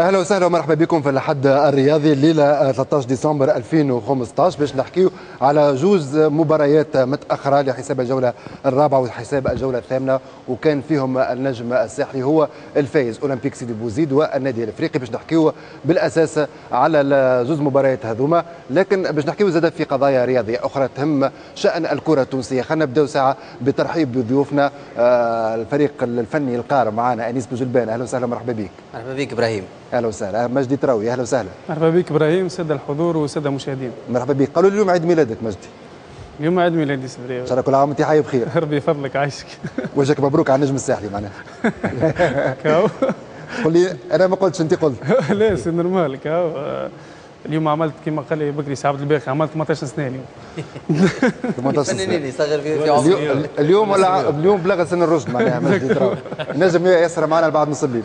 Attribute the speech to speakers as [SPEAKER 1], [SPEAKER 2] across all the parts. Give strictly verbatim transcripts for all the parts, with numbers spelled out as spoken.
[SPEAKER 1] اهلا وسهلا ومرحبا بكم في الأحد الرياضي الليلة ثلاثة عشر ديسمبر ألفين وخمسة عشر باش نحكيو على جوز مباريات متاخرة لحساب الجولة الرابعة وحساب الجولة الثامنة، وكان فيهم النجم الساحلي هو الفايز اولمبيك سيدي بوزيد والنادي الافريقي. باش نحكيو بالاساس على زوز مباريات هذوما، لكن باش نحكيو زاد في قضايا رياضية اخرى تهم شان الكره التونسية. خلينا نبداو ساعة بترحيب بضيوفنا، الفريق الفني القار معنا انيس بوجلبان، اهلا وسهلا ومرحبا بك.
[SPEAKER 2] مرحبا بك ابراهيم.
[SPEAKER 1] اهلا وسهلا. مجدي تراوي، اهلا وسهلا.
[SPEAKER 3] مرحبا بك ابراهيم، ساده الحضور والسادة المشاهدين.
[SPEAKER 1] مرحبا بك. قالوا لي اليوم عيد ميلادك مجدي.
[SPEAKER 3] اليوم عيد ميلادي سبري.
[SPEAKER 1] ان شاء الله كل عام وانت حي بخير.
[SPEAKER 3] ربي يفضلك عايشك.
[SPEAKER 1] وجهك مبروك على النجم الساحلي معناها.
[SPEAKER 3] كاو.
[SPEAKER 1] قول لي انا ما قلتش، انت قلت.
[SPEAKER 3] لا c'est normal كاو. اليوم عملت كما قال لي بكري سي عبد الباقي، عملت ثمانية عشر سنة اليوم.
[SPEAKER 1] ثمانية عشر سنة.
[SPEAKER 2] صغر في عمري.
[SPEAKER 1] اليوم ولا اليوم بلغ سن الرشد معناها مجدي تراوي. نجم يسرى معنا بعد نص الليل.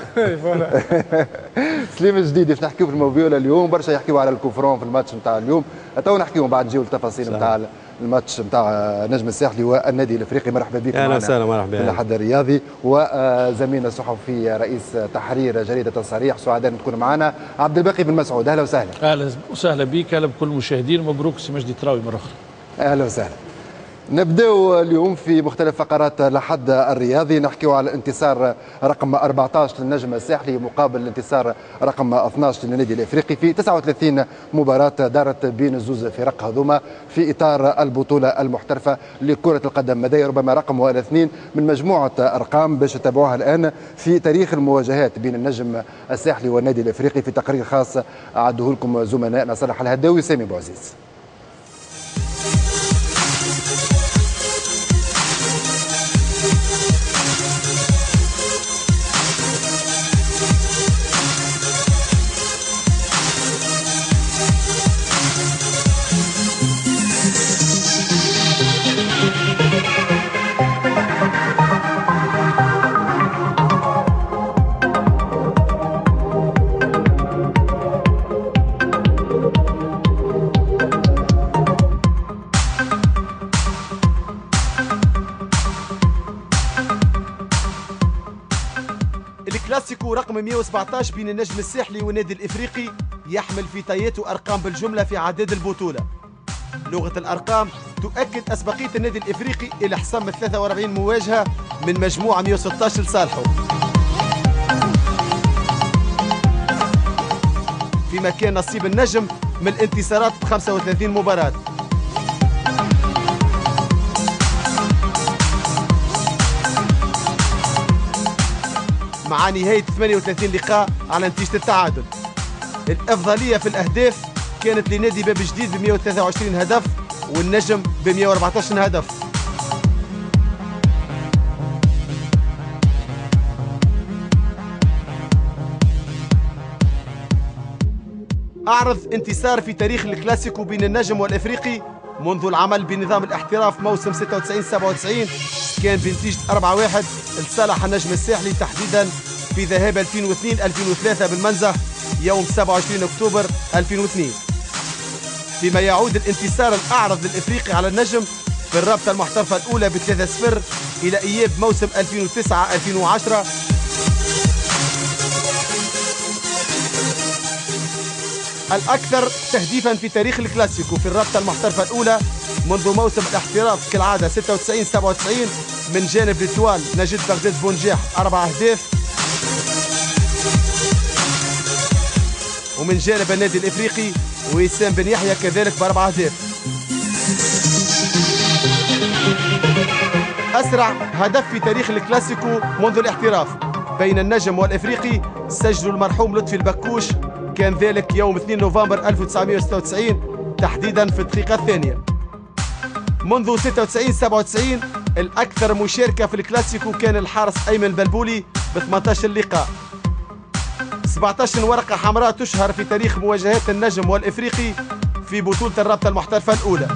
[SPEAKER 1] سليم الجديدي باش نحكيو في الموفيولا اليوم، برشا يحكيو على ال coup franc في الماتش نتاع اليوم، تو نحكيو بعد نجيو التفاصيل نتاع الماتش نتاع نجم الساحلي والنادي الافريقي. مرحبا بكم.
[SPEAKER 4] اهلا وسهلا. مرحبا.
[SPEAKER 1] في الأحد الرياضي وزميلنا الصحفي رئيس تحرير جريدة الصريح، سعداء تكون معنا عبد الباقي بن مسعود، اهلا وسهلا.
[SPEAKER 5] اهلا وسهلا بك، اهلا بكل المشاهدين، مبروك سي مجدي تراوي مرة اخرى.
[SPEAKER 1] اهلا وسهلا. نبداو اليوم في مختلف فقرات الأحد الرياضي، نحكيو على الانتصار رقم أربعة عشر للنجم الساحلي مقابل الانتصار رقم اثنا عشر للنادي الافريقي في تسعة وثلاثين مباراة دارت بين الزوز فرق هذوما في اطار البطولة المحترفة لكرة القدم. مدى ربما رقم ولا اثنين من مجموعة ارقام باش تتابعوها الان في تاريخ المواجهات بين النجم الساحلي والنادي الافريقي في تقرير خاص اعده لكم زملائنا صالح الهداوي وسامي بوعزيز.
[SPEAKER 6] الكلاسيكو رقم مئة وسبعة عشر بين النجم الساحلي والنادي الافريقي يحمل في طياته ارقام بالجملة في عداد البطولة. لغة الارقام تؤكد اسبقيه النادي الافريقي الى حسم ثلاثة وأربعين مواجهة من مجموعة مئة وستة عشر لصالحه. فيما كان نصيب النجم من الانتصارات ب خمسة وثلاثين مباراة. مع نهاية ثمانية وثلاثين لقاء على نتيجة التعادل. الأفضلية في الأهداف كانت لنادي باب جديد ب مئة وثلاثة وعشرين هدف والنجم ب مئة وأربعة عشر هدف. أعرض انتصار في تاريخ الكلاسيكو بين النجم والإفريقي منذ العمل بنظام الاحتراف موسم ستة وتسعين سبعة وتسعين كان بنتيجة أربعة واحد لصالح النجم الساحلي تحديدا في ذهاب ألفين واثنين ألفين وثلاثة بالمنزه يوم سبعة وعشرين أكتوبر ألفين واثنين. فيما يعود الانتصار الأعرض للإفريقي على النجم في الرابطة المحترفة الأولى ب ثلاثة صفر إلى إياب موسم ألفين وتسعة ألفين وعشرة. الأكثر تهديفا في تاريخ الكلاسيكو في الرابطة المحترفة الأولى منذ موسم الاحتراف كالعادة ستة وتسعين سبعة وتسعين من جانب l'Étoile نجد بغداد بونجاح أربع أهداف، ومن جانب النادي الإفريقي وسام بن يحيى كذلك بأربع أهداف. أسرع هدف في تاريخ الكلاسيكو منذ الاحتراف بين النجم والإفريقي سجلوا المرحوم لطفي البكوش، كان ذلك يوم اثنين نوفمبر ألف وتسعمئة وستة وتسعين تحديدا في الدقيقة الثانية. منذ ستة وتسعين سبعة وتسعين الأكثر مشاركة في الكلاسيكو كان الحارس أيمن بلبولي ب ثمانية عشر لقاء. سبعة عشر ورقة حمراء تشهر في تاريخ مواجهات النجم والإفريقي في بطولة الرابطة المحترفة الأولى.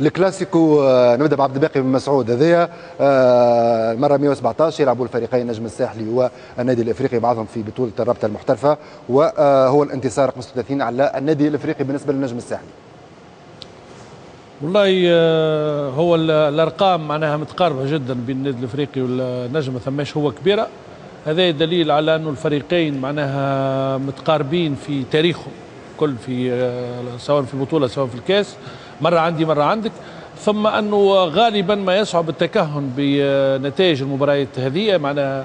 [SPEAKER 1] الكلاسيكو نبدا بعبد الباقي بن مسعود، هذايا المرة مئة وسبعطاش يلعبوا الفريقين النجم الساحلي والنادي الافريقي بعضهم في بطوله الرابطة المحترفه، وهو الانتصار خمسة وثلاثين على النادي الافريقي بالنسبة للنجم الساحلي.
[SPEAKER 5] والله هو الارقام معناها متقاربة جدا بين النادي الافريقي والنجم، ما ثماش هو كبيرة. هذا دليل على انه الفريقين معناها متقاربين في تاريخهم كل، في سواء في البطولة سواء في الكاس، مرة عندي مرة عندك. ثم أنه غالبا ما يصعب التكهن بنتائج المباريات هذه، معناها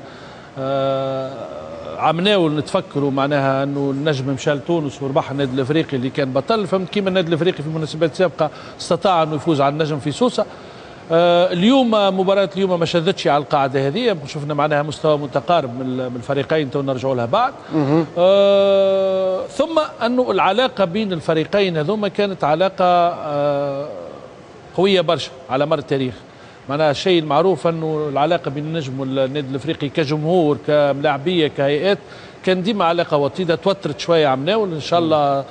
[SPEAKER 5] عمناول نتفكروا معناها أنه النجم مشى لتونس وربح النادي الأفريقي اللي كان بطل، فهمت كيما النادي الأفريقي في مناسبات سابقة استطاع أنه يفوز على النجم في سوسة. اليوم مباراة اليوم ما شدتش على القاعدة هذه، شفنا معناها مستوى متقارب من الفريقين، تو نرجعوا لها بعد. آه ثم أنه العلاقة بين الفريقين هذوما كانت علاقة آه قوية برشا على مر التاريخ. معناها الشيء المعروف أنه العلاقة بين النجم والنادي الأفريقي كجمهور كملاعبية كهيئات كان ديما علاقة وطيدة، توترت شوية عمناول. إن شاء الله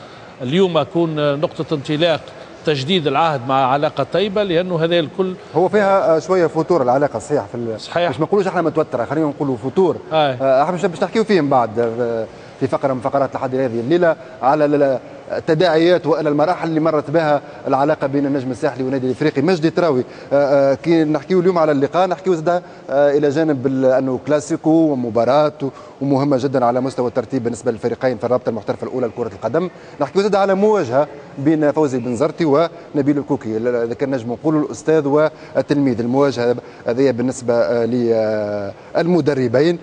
[SPEAKER 5] اليوم أكون نقطة انطلاق تجديد العهد مع علاقة طيبة، لأنه هذا الكل
[SPEAKER 1] هو فيها شوية فتور العلاقة. صحيح في
[SPEAKER 5] صحيح،
[SPEAKER 1] مش ما نقولوش احنا متوترة، خلينا نقولوا فتور. احنا باش نحكيو فيه من بعد في فقرة من فقرات لحد هذه الليلة على التداعيات والى المراحل اللي مرت بها العلاقة بين النجم الساحلي والنادي الافريقي. مجدي تراوي، كي نحكيو اليوم على اللقاء نحكيو زاد الى جانب انه كلاسيكو ومباراة ومهمة جدا على مستوى الترتيب بالنسبة للفريقين في الرابطة المحترفه الاولى لكرة القدم، نحكيو زاد على مواجهة بين فوزي بنزرتي ونبيل الكوكي، اذا كان نجم نقولوا الاستاذ والتلميذ. المواجهة هذه بالنسبة للمدربين،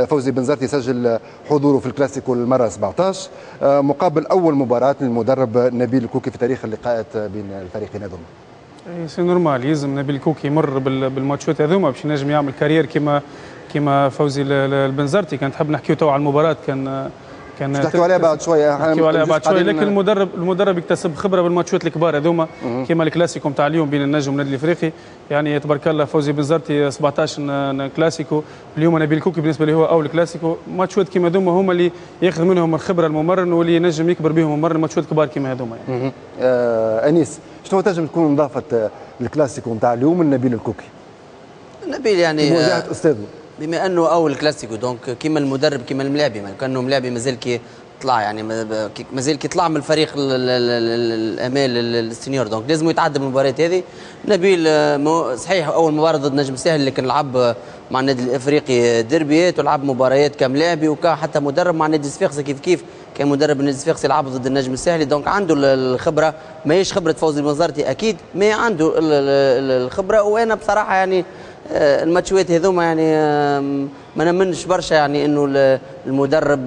[SPEAKER 1] فوزي بنزرتي سجل حضوره في الكلاسيكو المرة سبعطاش مقابل اول مباراة للمدرب نبيل الكوكي في تاريخ اللقاءات بين الفريقين هذوما.
[SPEAKER 3] c'est normal، يلزم نبيل الكوكي يمر بالماتشات هذوما باش ينجم يعمل carrière كيما كيما فوزي البنزرتي. كان تحب نحكيو تو على المباراة، كان كان
[SPEAKER 1] نحكيو عليها بعد شوية،
[SPEAKER 3] نحكيو عليها بعد شوية، لكن المدرب المدرب يكتسب خبره بالماتشات الكبار هذوما كيما الكلاسيكو نتاع اليوم بين النجم والنادي الافريقي. يعني تبارك الله فوزي بنزرتي سبعطاش كلاسيكو، اليوم نبيل الكوكي بالنسبة لي هو اول كلاسيكو. ماتشات كيما هذوما هما اللي ياخذ منهم الخبرة الممرن واللي ينجم يكبر بهم الممرن، ماتشات كبار كيما هذوما يعني.
[SPEAKER 1] آه انيس، شنو تنجم تكون اضافه الكلاسيكو نتاع اليوم لنبيل الكوكي؟
[SPEAKER 2] نبيل يعني
[SPEAKER 1] مواجهة استاذه،
[SPEAKER 2] بما انه اول كلاسيكو donc كيما المدرب كيما الملاعبي، كانه ملاعبي مازال كي طلع، يعني مازال كي طلع من الفريق الامال ال senior، donc لازم يتعدى بالمباراة هذه. نبيل صحيح اول مباراة ضد نجم ساحل، لكن لعب مع النادي الافريقي دربيات ولعب مباريات كملاعبي وكحتى مدرب مع النادي الصفاقسي كيف كيف، كان مدرب النادي الصفاقسي لعب ضد النجم الساحلي، donc عنده الخبرة. ماهيش خبره فوزي البنزرتي اكيد، mais عنده الخبرة. وانا بصراحة يعني الماتشوات هذوما يعني ما نمنش برشا، يعني انه المدرب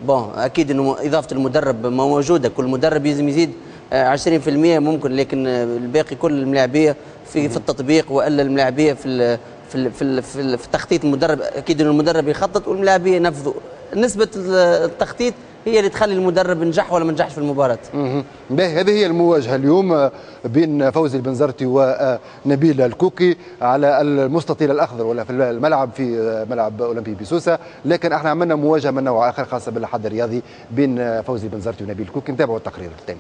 [SPEAKER 2] bon اكيد انه اضافه المدرب موجودة، كل مدرب لازم يزيد عشرين بالمئة ممكن، لكن الباقي كل الملاعبيه في في التطبيق والا الملاعبيه في في في في تخطيط المدرب. اكيد انه المدرب يخطط والملاعبيه ينفذوا. نسبه التخطيط هي اللي تخلي المدرب نجح ولا ما نجحش في المباراة.
[SPEAKER 1] باهي، هذه هي المواجهة اليوم بين فوزي البنزرتي ونبيل الكوكي على المستطيل الاخضر ولا في الملعب في ملعب اولمبي بسوسه، لكن احنا عملنا مواجهة من نوع اخر خاصة بالحد الرياضي بين فوزي البنزرتي ونبيل الكوكي. نتابعوا التقرير التالي.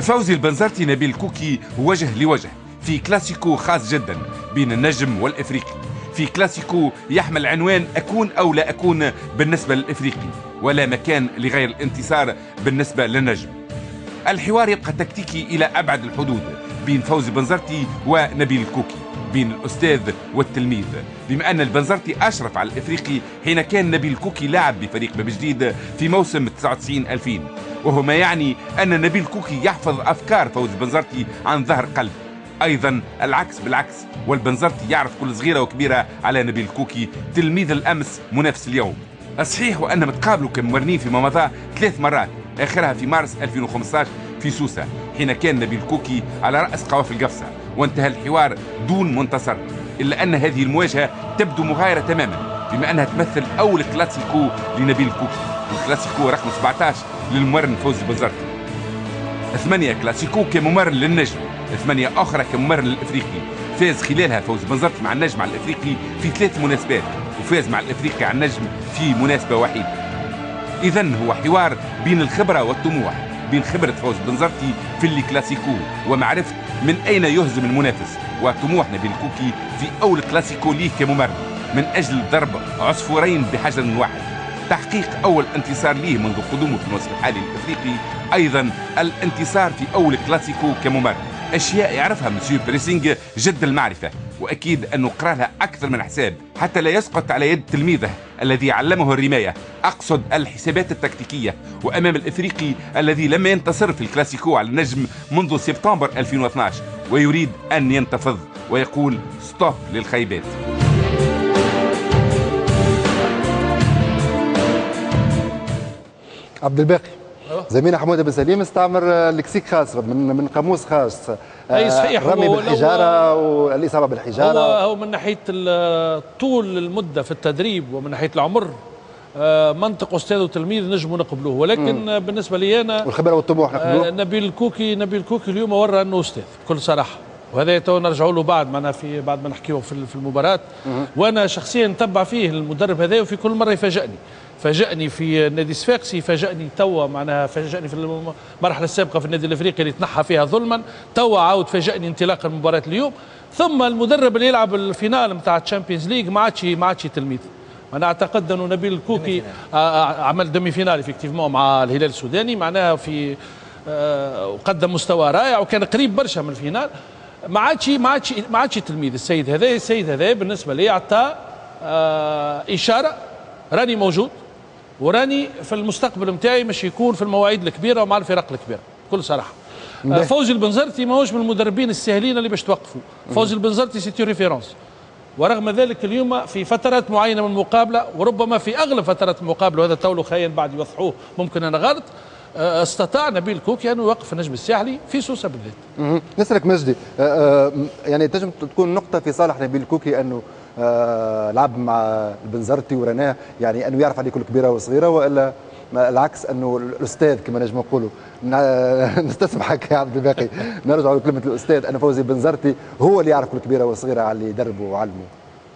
[SPEAKER 4] فوزي البنزرتي نبيل كوكي وجه لوجه في كلاسيكو خاص جدا بين النجم والإفريقي، في كلاسيكو يحمل عنوان أكون أو لا أكون بالنسبة للإفريقي، ولا مكان لغير الانتصار بالنسبة للنجم. الحوار يبقى تكتيكي إلى أبعد الحدود بين فوزي البنزرتي ونبيل الكوكي، بين الأستاذ والتلميذ، بما أن البنزرتي أشرف على الإفريقي حين كان نبيل كوكي لاعب بفريق باب جديد في موسم تسعة وتسعين ألفين، وهو ما يعني أن نبيل كوكي يحفظ أفكار فوزي البنزرتي عن ظهر قلب. أيضا العكس بالعكس، والبنزرتي يعرف كل صغيرة وكبيرة على نبيل كوكي تلميذ الأمس منافس اليوم. الصحيح وأنهم تقابلوا كممرنين فيما مضى ثلاث مرات، آخرها في مارس ألفين وخمسطاش في سوسة حين كان نبيل كوكي على رأس قوافل قفصة وانتهى الحوار دون منتصر، إلا أن هذه المواجهة تبدو مغايرة تماما بما أنها تمثل أول كلاسيكو لنبيل الكوكي والكلاسيكو رقم سبعة عشر للممرن فوزي بنزرتي. ثمانية كلاسيكو كممرن للنجم، ثمانية أخرى كممرن للإفريقي، فاز خلالها فوزي بنزرتي مع النجم على الإفريقي في ثلاث مناسبات، وفاز مع الإفريقي على النجم في مناسبة وحيدة. إذن هو حوار بين الخبرة والطموح، بين خبرة فوزي بنزرتي في الكلاسيكو ومعرفة من أين يهزم المنافس، وطموح نبيل الكوكي في أول كلاسيكو ليه كممرن من أجل ضرب عصفورين بحجر واحد، تحقيق أول انتصار ليه منذ قدومه في الموسم الحالي الإفريقي، أيضا الانتصار في أول كلاسيكو كممرن، أشياء يعرفها monsieur pressing جد المعرفة، وأكيد أنه قرأ لها أكثر من حساب حتى لا يسقط على يد تلميذه الذي علمه الرماية، أقصد الحسابات التكتيكية، وأمام الإفريقي الذي لم ينتصر في الكلاسيكو على النجم منذ سبتمبر ألفين واثناش ويريد أن ينتفض ويقول stop للخيبات.
[SPEAKER 1] عبد الباقي، زميلنا حمود بن سليم استعمر lexique خاص من من قاموس خاص.
[SPEAKER 5] اي صحيح،
[SPEAKER 1] الرمي بالحجارة والاصابه بالحجارة.
[SPEAKER 5] هو هو من ناحية طول المدة في التدريب ومن ناحية العمر منطق استاذ وتلميذ نجموا نقبلوه، ولكن مم. بالنسبة لي انا
[SPEAKER 1] والخبرة والطموح نقبلوه.
[SPEAKER 5] نبيل الكوكي نبيل الكوكي اليوم ورى انه استاذ بكل صراحة، وهذا تو نرجعوا له بعد معنا في بعد ما نحكيو في المباراة. مم. وانا شخصيا نتبع فيه المدرب هذا، وفي كل مرة يفاجئني، فاجأني في النادي الصفاقسي، فاجأني توا معناها فاجأني في المرحلة السابقة في النادي الافريقي اللي تنحى فيها ظلما، توا عاود فاجأني انطلاق المباراة اليوم. ثم المدرب اللي يلعب ال finale نتاع ال Champions League ما عادش ما عادش تلميذ. انا اعتقد انه نبيل الكوكي عمل demi-finale effectivement مع الهلال السوداني، معناها في وقدم مستوى رائع وكان قريب برشا من ال finale. ما عادش ما عادش ما عادش تلميذ السيد هذا. السيد هذا بالنسبة لي اعطى اشارة راني موجود وراني في المستقبل نتاعي مش يكون في المواعيد الكبيرة ومع الفرق الكبيرة بكل صراحة. فوزي البنزرتي ماهوش من المدربين السهلين اللي باش توقفوا. فوزي البنزرتي c'est une référence، ورغم ذلك اليوم في فترات معينة من المقابلة وربما في اغلب فترات المقابلة، وهذا تولو خيان بعد يوضحوه ممكن انا غلط، استطاع نبيل كوكي انه يوقف النجم الساحلي في سوسة بالذات.
[SPEAKER 1] نسألك مجدي، يعني تنجم تكون نقطة في صالح نبيل كوكي انه آه لعب مع البنزرتي ورناه، يعني انه يعرف عليه كل كبيرة وصغيره، والا العكس انه الاستاذ كما نجم نقولوا نستسمحك يا عبد الباقي نرجع لكلمة الاستاذ، ان فوزي بنزرتي هو اللي يعرف كل كبيرة وصغيره على اللي يدربه وعلمه.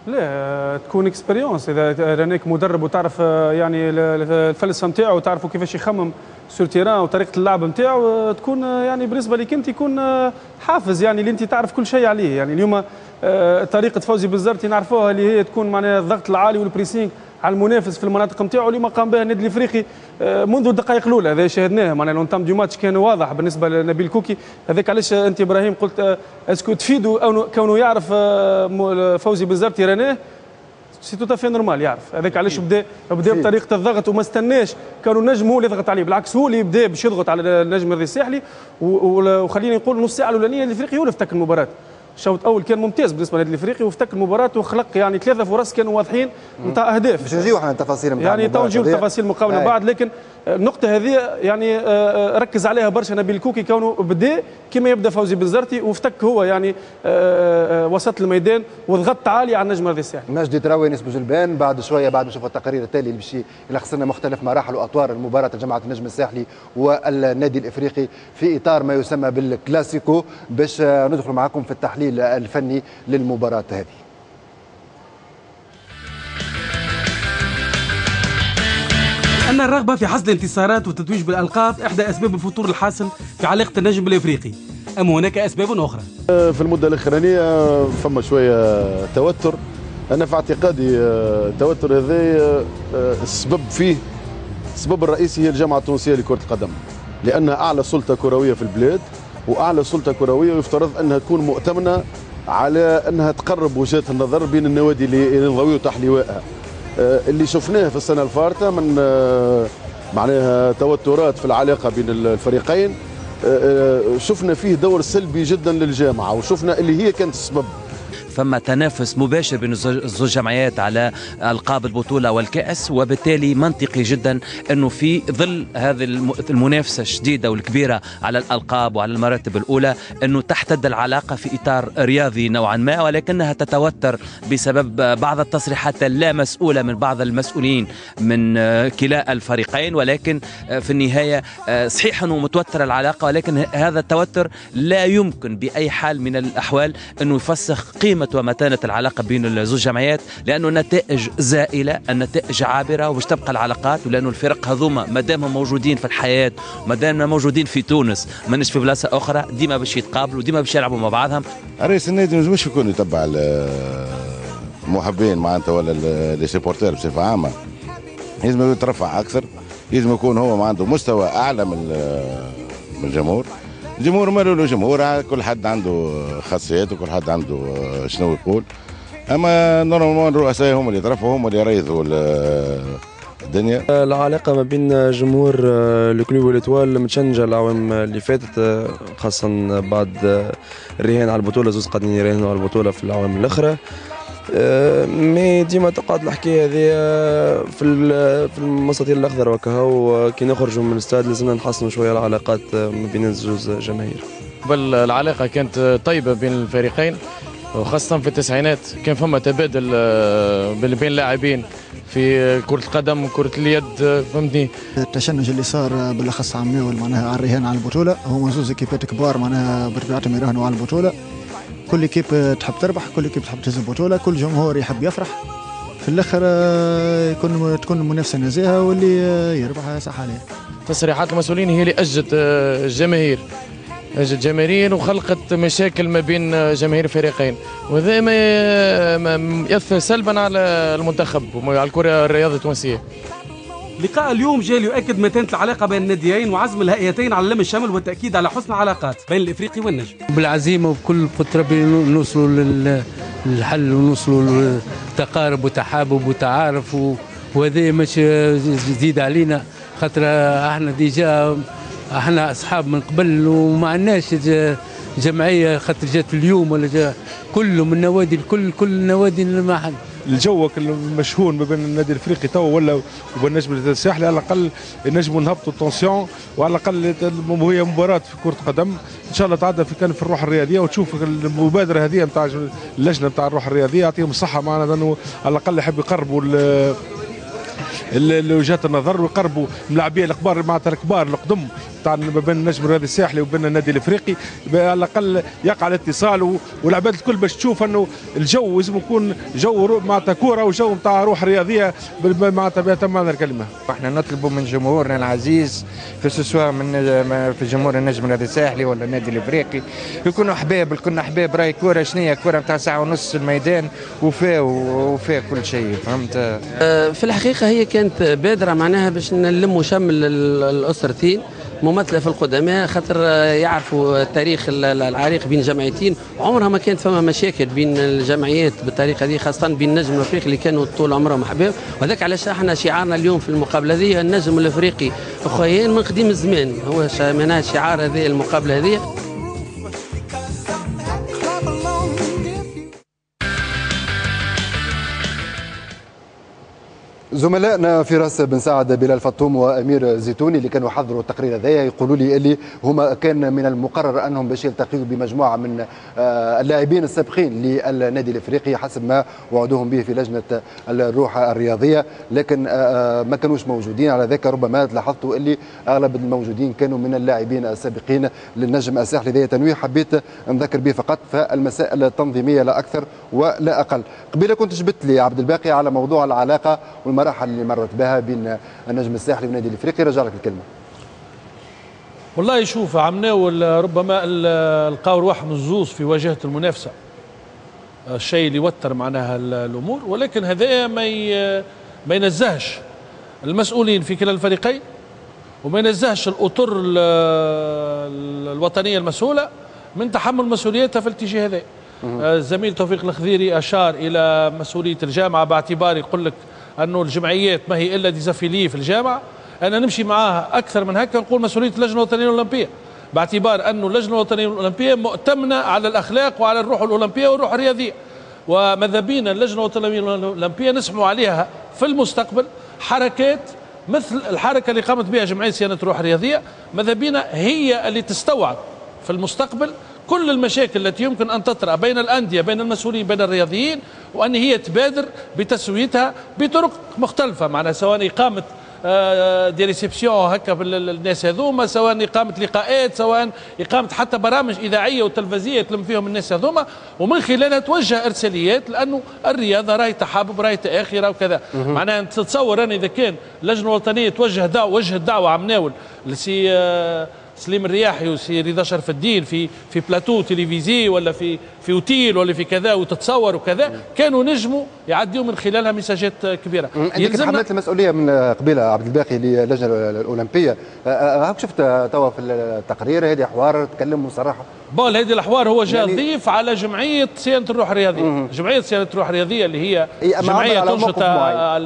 [SPEAKER 3] لا تكون expérience اذا رانيك مدرب وتعرف يعني الفلسفة نتاعو وتعرفوا كيفاش يخمم sur terrain وطريقه اللعب نتاعو، تكون يعني بالنسبة لك انت يكون حافز، يعني اللي انت تعرف كل شيء عليه. يعني اليوم طريقه فوزي بنزرتي نعرفوها اللي هي تكون معناها الضغط العالي وال pressing على المنافس في المناطق نتاعو، اليوم قام بها النادي الافريقي منذ الدقائق الاولى، هذا شاهدناه معناها l'entame du match كان واضح بالنسبة لنبيل كوكي. هذاك علاش انت ابراهيم قلت est-ce que تفيدوا او كونه يعرف فوزي بنزرتي راناه c'est tout à fait normal يعرف. هذاك علاش بدا بدا بطريقة الضغط وما استناش كانوا النجم هو اللي يضغط عليه، بالعكس هو اللي بدا باش يضغط على النجم الساحلي. وخليني نقول نص ساعة الاولانية الافريقي هو اللي افتك المباراة. الشوط الاول كان ممتاز بالنسبة للنادي الافريقي وافتك المباراة وخلق يعني ثلاثة فرص كانوا واضحين نتاع اهداف.
[SPEAKER 1] باش نجيو احنا التفاصيل نتاع
[SPEAKER 3] يعني تو نجيو لتفاصيل المقابلة بعد، لكن النقطة هذه يعني ركز عليها برشا نبيل كوكي كونه بدا كما يبدا فوزي بنزرتي وافتك هو يعني وسط الميدان وضغط عالي على النجم الرياضي الساحلي.
[SPEAKER 1] مجدي تراوي نسبة جلبان بعد شوية بعد ما نشوف التقرير التالي اللي باش يلخص لنا مختلف مراحل واطوار المباراة جماعة النجم الساحلي والنادي الافريقي في اطار ما يسمى بالكلاسيكو، باش ندخل معكم في التحليل الفني للمباراة هذه.
[SPEAKER 7] أن الرغبة في حصد الانتصارات والتتويج بالألقاب إحدى أسباب الفتور الحاصل في علاقة النجم بالإفريقي، أم هناك أسباب أخرى؟
[SPEAKER 8] في المدة الأخرانية فما شوية توتر، أنا في اعتقادي التوتر هذا السبب فيه السبب الرئيسي هي الجامعة التونسية لكرة القدم، لأنها أعلى سلطة كروية في البلاد، وأعلى سلطة كروية يفترض أنها تكون مؤتمنة على أنها تقرب وجهات النظر بين النوادي اللي ينضويوا تحت لوائها. اللي شفناه في السنة الفارطة من معناها توترات في العلاقة بين الفريقين، شفنا فيه دور سلبي جدا للجامعة، وشفنا اللي هي كانت السبب.
[SPEAKER 9] فما تنافس مباشر بين الزوج جمعيات على ألقاب البطولة والكأس، وبالتالي منطقي جدا أنه في ظل هذه المنافسة الشديدة والكبيرة على الألقاب وعلى المراتب الأولى أنه تحتد العلاقة في إطار رياضي نوعا ما، ولكنها تتوتر بسبب بعض التصريحات اللا مسؤولة من بعض المسؤولين من كلا الفريقين. ولكن في النهاية صحيح أنه متوتر العلاقة، ولكن هذا التوتر لا يمكن بأي حال من الأحوال أنه يفسخ قيمة ومتانة العلاقة بين الزوج جمعيات، لأنه النتائج زائلة، النتائج عابرة وباش تبقى العلاقات، ولأنه الفرق هذوما ما دامهم موجودين في الحياة، ما دامنا موجودين في تونس، ماناش في بلاصة أخرى، ديما باش يتقابلوا، ديما باش يلعبوا مع بعضهم.
[SPEAKER 10] رئيس النادي مش يكون يتبع المحبين معناتها ولا les supporters بصفة عامة، لازم يترفع أكثر، لازم يكون هو عنده مستوى أعلى من من الجمهور. الجمهور ماله له جمهور، كل حد عنده خاصيات وكل حد عنده شنو يقول، اما normalement الرؤساء هم اللي يترفعوا، هم اللي يريضوا الدنيا.
[SPEAKER 11] العلاقة ما بين جمهور ال Club و l'Étoile متشنجه العوام اللي فاتت، خاصة بعد الرهان على البطولة، زوز قاعدين يراهنوا على البطولة في العوام الاخرى، mais ديما تقعد الحكاية هذه في في المستطيل الاخضر وكهو. كي نخرجوا من الاستاد لازمنا نحسنوا شوية العلاقات ما بين الزوز جماهير.
[SPEAKER 12] قبل العلاقة كانت طيبة بين الفريقين، وخاصة في التسعينات كان فما تبادل بين اللاعبين في كره القدم وكره اليد، فهمتني.
[SPEAKER 13] التشنج اللي صار بالاخص عمناول معناها على الرهان على البطولة، هما زوز équipe ات كبار معناها بطبيعتهم يراهنوا على البطولة، كل équipe تحب تربح، كل équipe تحب تهز البطولة، كل جمهور يحب يفرح. في الاخر يكون تكون المنافسة نزيهة واللي يربح صح عليه.
[SPEAKER 12] تصريحات المسؤولين هي اللي اجت الجماهير، اجت الجماهير وخلقت مشاكل ما بين جماهير الفريقين، وهذا ما ياثر سلبا على المنتخب وعلى الكره الرياضية التونسية.
[SPEAKER 7] لقاء اليوم جاء ليؤكد متانة العلاقة بين الناديين وعزم الهيئتين على لم الشمل والتأكيد على حسن العلاقات بين الإفريقي والنجم.
[SPEAKER 14] بالعزيمة وبكل قدرة ربي نوصلوا للحل ونوصلوا لتقارب وتحابب وتعارف، وهذا مش جديد علينا، خاطر احنا déjà احنا اصحاب من قبل وما عندناش جمعية خاطر جات اليوم ولا جا كلهم النوادي الكل كل النوادي ما حد.
[SPEAKER 15] الجو المشهون ما بين النادي الافريقي تو ولا وبين النجم الساحلي، على الاقل نجموا نهبطوا ال tension، وعلى الاقل هي مباراة في كره قدم ان شاء الله تعدى في كان في الروح الرياضية، وتشوف المبادرة هذه نتاع اللجنة نتاع الروح الرياضية يعطيهم الصحة معنا، لانه على الاقل يحب يقربوا وجهات النظر ويقربوا الملاعبيه الكبار معناتها الكبار القدم تاع ما بين النجم الرياضي الساحلي وبين النادي الافريقي، على الاقل يقع الاتصال والعباد الكل باش تشوف انه الجو لازم يكون جو معناتها كورة وجو نتاع روح رياضية معناتها بأتم معنى الكلمة.
[SPEAKER 16] احنا نطلبوا من جمهورنا العزيز في سواء من في جمهور النجم الرياضي الساحلي ولا النادي الافريقي يكونوا احباب، كنا احباب، راي كورة شنية كورة نتاع ساعة ونص في الميدان وفا وفا كل شيء، فهمت؟
[SPEAKER 2] في الحقيقة هي كانت بادره معناها باش نلموا شمل الاسرتين ممثلة في القدماء، خاطر يعرفوا التاريخ العريق بين جمعيتين، عمرها ما كانت فما مشاكل بين الجمعيات بالطريقة دي، خاصة بين النجم الافريقي اللي كانوا طول عمرهم احباب، وهذاك علاش احنا شعارنا اليوم في المقابلة هذه النجم الافريقي اخويين من قديم الزمان، هو معناها شعار هذه المقابلة هذه.
[SPEAKER 1] زملائنا فراس بن سعد، بلال فطوم، وامير زيتوني اللي كانوا حضروا التقرير هذايا يقولوا لي اللي هما كان من المقرر انهم باش يلتقيوا بمجموعه من اللاعبين السابقين للنادي الافريقي حسب ما وعدوهم به في لجنة الروح الرياضية، لكن ما كانوش موجودين. على ذاك ربما لاحظتوا اللي اغلب الموجودين كانوا من اللاعبين السابقين للنجم الساحلي. ذا تنويه حبيت نذكر به فقط، فالمسائل التنظيمية لا اكثر ولا اقل. قبيلة كنت جبت لي عبد الباقي على موضوع العلاقة والمراحل اللي مرت بها بين النجم الساحلي والنادي الافريقي، رجع لك الكلمة.
[SPEAKER 5] والله شوف عمناول ربما لقاو رواحهم الزوز في واجهه المنافسة، الشيء اللي وتر معناها الامور، ولكن هذا ما ما ينزهش المسؤولين في كلا الفريقين وما ينزهش الاطر الوطنية المسؤولة من تحمل مسؤوليتها في الاتجاه هذا. الزميل توفيق الخذيري اشار الى مسؤولية الجامعة باعتبار يقول لك أنه الجمعيات ما هي إلا des affiliés في الجامعة. أنا نمشي معاها أكثر من هكا، نقول مسؤولية اللجنة الوطنية الأولمبية، باعتبار أنه اللجنة الوطنية الأولمبية مؤتمنة على الأخلاق وعلى الروح الأولمبية والروح الرياضية. وماذا بينا اللجنة الوطنية الاولمبية نسمعوا عليها في المستقبل حركات مثل الحركة اللي قامت بها جمعية صيانة الروح الرياضية، ماذا بينا هي اللي تستوعب في المستقبل كل المشاكل التي يمكن أن تطرأ بين الأندية، بين المسؤولين، بين الرياضيين، وأن هي تبادر بتسويتها بطرق مختلفة، معناها سواء إقامة des réceptions هكا بالناس هذوما، سواء إقامة لقاءات، سواء إقامة حتى برامج إذاعية وتلفزية تلم فيهم الناس هذوما، ومن خلالها توجه إرساليات، لأنه الرياضة راهي تحابب، راهي تآخي، راهي وكذا. معناها تتصور أنا إذا كان اللجنة الوطنية توجه دعوة، وجه الدعوة عمناول لسي سليم الرياحي وسي رضا شرف الدين في في plateau télévisé ولا في في اوتيل ولا في كذا وتتصور وكذا، كانوا نجموا يعديوا من خلالها ميساجات كبيرة.
[SPEAKER 1] انت حملت المسؤولية من قبيلة عبد الباقي للجنة الاولمبية، هاك شفت توا في التقرير هذه حوار تكلم وصراحة.
[SPEAKER 5] bon هذه الحوار هو جاء يعني ضيف على جمعية صيانة الروح الرياضية، مم. جمعية صيانة الروح الرياضية اللي هي جمعية تنشط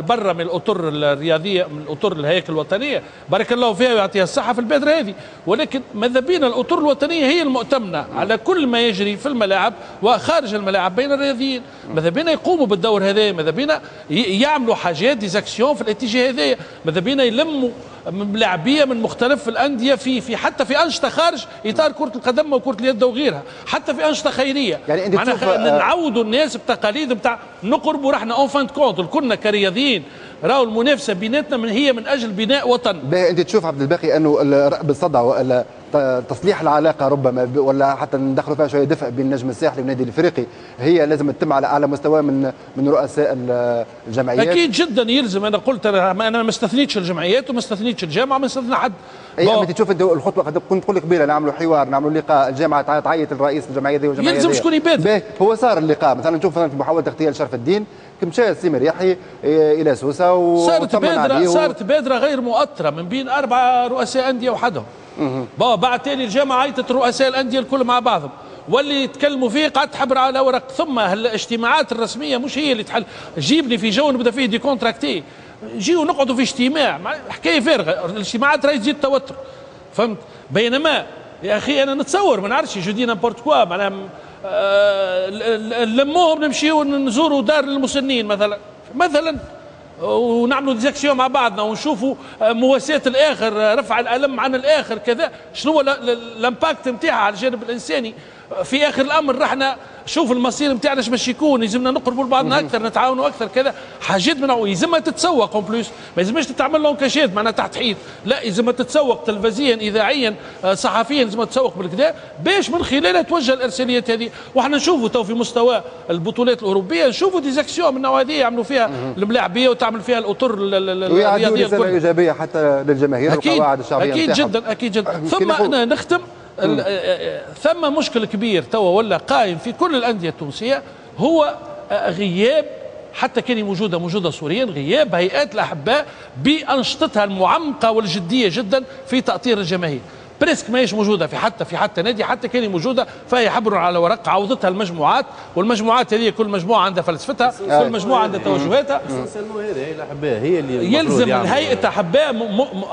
[SPEAKER 5] برا من الاطر الرياضية، من الاطر الهياكل الوطنية، بارك الله فيها ويعطيها الصحة في البادرة هذه، ولكن ماذا بينا الاطر الوطنية هي المؤتمنه على كل ما يجري في الملاعب وخارج الملاعب بين الرياضيين، ماذا بينا يقوموا بالدور هذا، ماذا بينا يعملوا حاجات des actions في الاتجاه هذا، ماذا بينا يلموا ملاعبيه من مختلف الاندية في في حتى في انشطة خارج اطار كره القدم وكره اليد وغيرها، حتى في انشطة خيرية.
[SPEAKER 1] يعني انت تشوف
[SPEAKER 5] نعودوا الناس بتقاليد نتاع نقربوا رحنا en fin de compte كلنا كرياضيين، راهو المنافسة بيناتنا من هي من اجل بناء وطن.
[SPEAKER 1] انت تشوف عبد الباقي انه رأب الصدع ولا تصليح العلاقة ربما ولا حتى ندخلوا فيها شوية دفء بين النجم الساحلي والنادي الافريقي هي لازم تتم على اعلى مستوى من من رؤساء الجمعيات؟
[SPEAKER 5] اكيد جدا يلزم. انا قلت انا ما استثنيتش الجمعيات وما استثنيتش الجامعة وما استثنى حد.
[SPEAKER 1] اي انت تشوف الخطوة كنت تقول قبيلة نعملوا حوار، نعملوا لقاء، الجامعة تعيط الرئيس الجمعية ذي والجمعية
[SPEAKER 5] يلزم شكون يبادر.
[SPEAKER 1] هو صار اللقاء مثلا، نشوف مثلا في محاولة اغتيال شرف الدين مشى سليم الرياحي الى سوسة و
[SPEAKER 5] صارت بادره، صارت بادره غير مؤطره من بين اربعة رؤساء اندية وحدهم. بعد تالي الجامعة عيطت رؤساء الاندية الكل مع بعضهم، واللي يتكلموا فيه قعدت حبر على ورق. ثم الاجتماعات الرسمية مش هي اللي تحل، جيبني في جو نبدا فيه décontracté، نجيو نقعدوا في اجتماع حكاية فارغة، الاجتماعات راهي تزيد التوتر، فهمت؟ بينما يا اخي انا نتصور ما نعرفش je dis n'importe quoi، معناها نلموهم نمشيو نزوروا دار المسنين مثلا مثلا ونعملوا des actions مع بعضنا ونشوفوا مواساة الاخر، رفع الالم عن الاخر كذا، شنو هو l'impact نتاعها على الجانب الانساني. في اخر الامر رحنا شوف المصير نتاعنا اش باش يكون، يلزمنا نقربوا لبعضنا اكثر، نتعاونوا اكثر كذا، حاجات من يلزمها تتسوق en plus، ما يلزمش تتعمل en cachette معناها تحت حيط، لا يلزمها تتسوق تلفزيا اذاعيا صحفيا، يلزمها تسوق بالكذا باش من خلالها توجه الارساليات هذه. وحنا نشوفوا تو في مستوى البطولات الاوروبية نشوفوا des actions من النوع هذه يعملوا فيها الملاعبيه وتعمل فيها الاطر الرياضية
[SPEAKER 1] الكل، ايجابية حتى للجماهير والقواعد الشعبية.
[SPEAKER 5] اكيد جدا اكيد جدا. ثم أنا نختم، ثم مشكل كبير توا ولا قائم في كل الأندية التونسية، هو غياب حتى كان موجودة موجودة صوريا، غياب هيئات الأحباء بأنشطتها المعمقة والجدية جدا في تأطير الجماهير. presque ماهيش موجودة في حتى في حتى نادي، حتى كان موجودة فهي حبر على ورق، عوضتها المجموعات، والمجموعات هذه كل مجموعة عندها فلسفتها، كل مجموعة عندها توجهاتها.
[SPEAKER 17] هذه الاحباء هي اللي
[SPEAKER 5] يلزم الهيئة احباء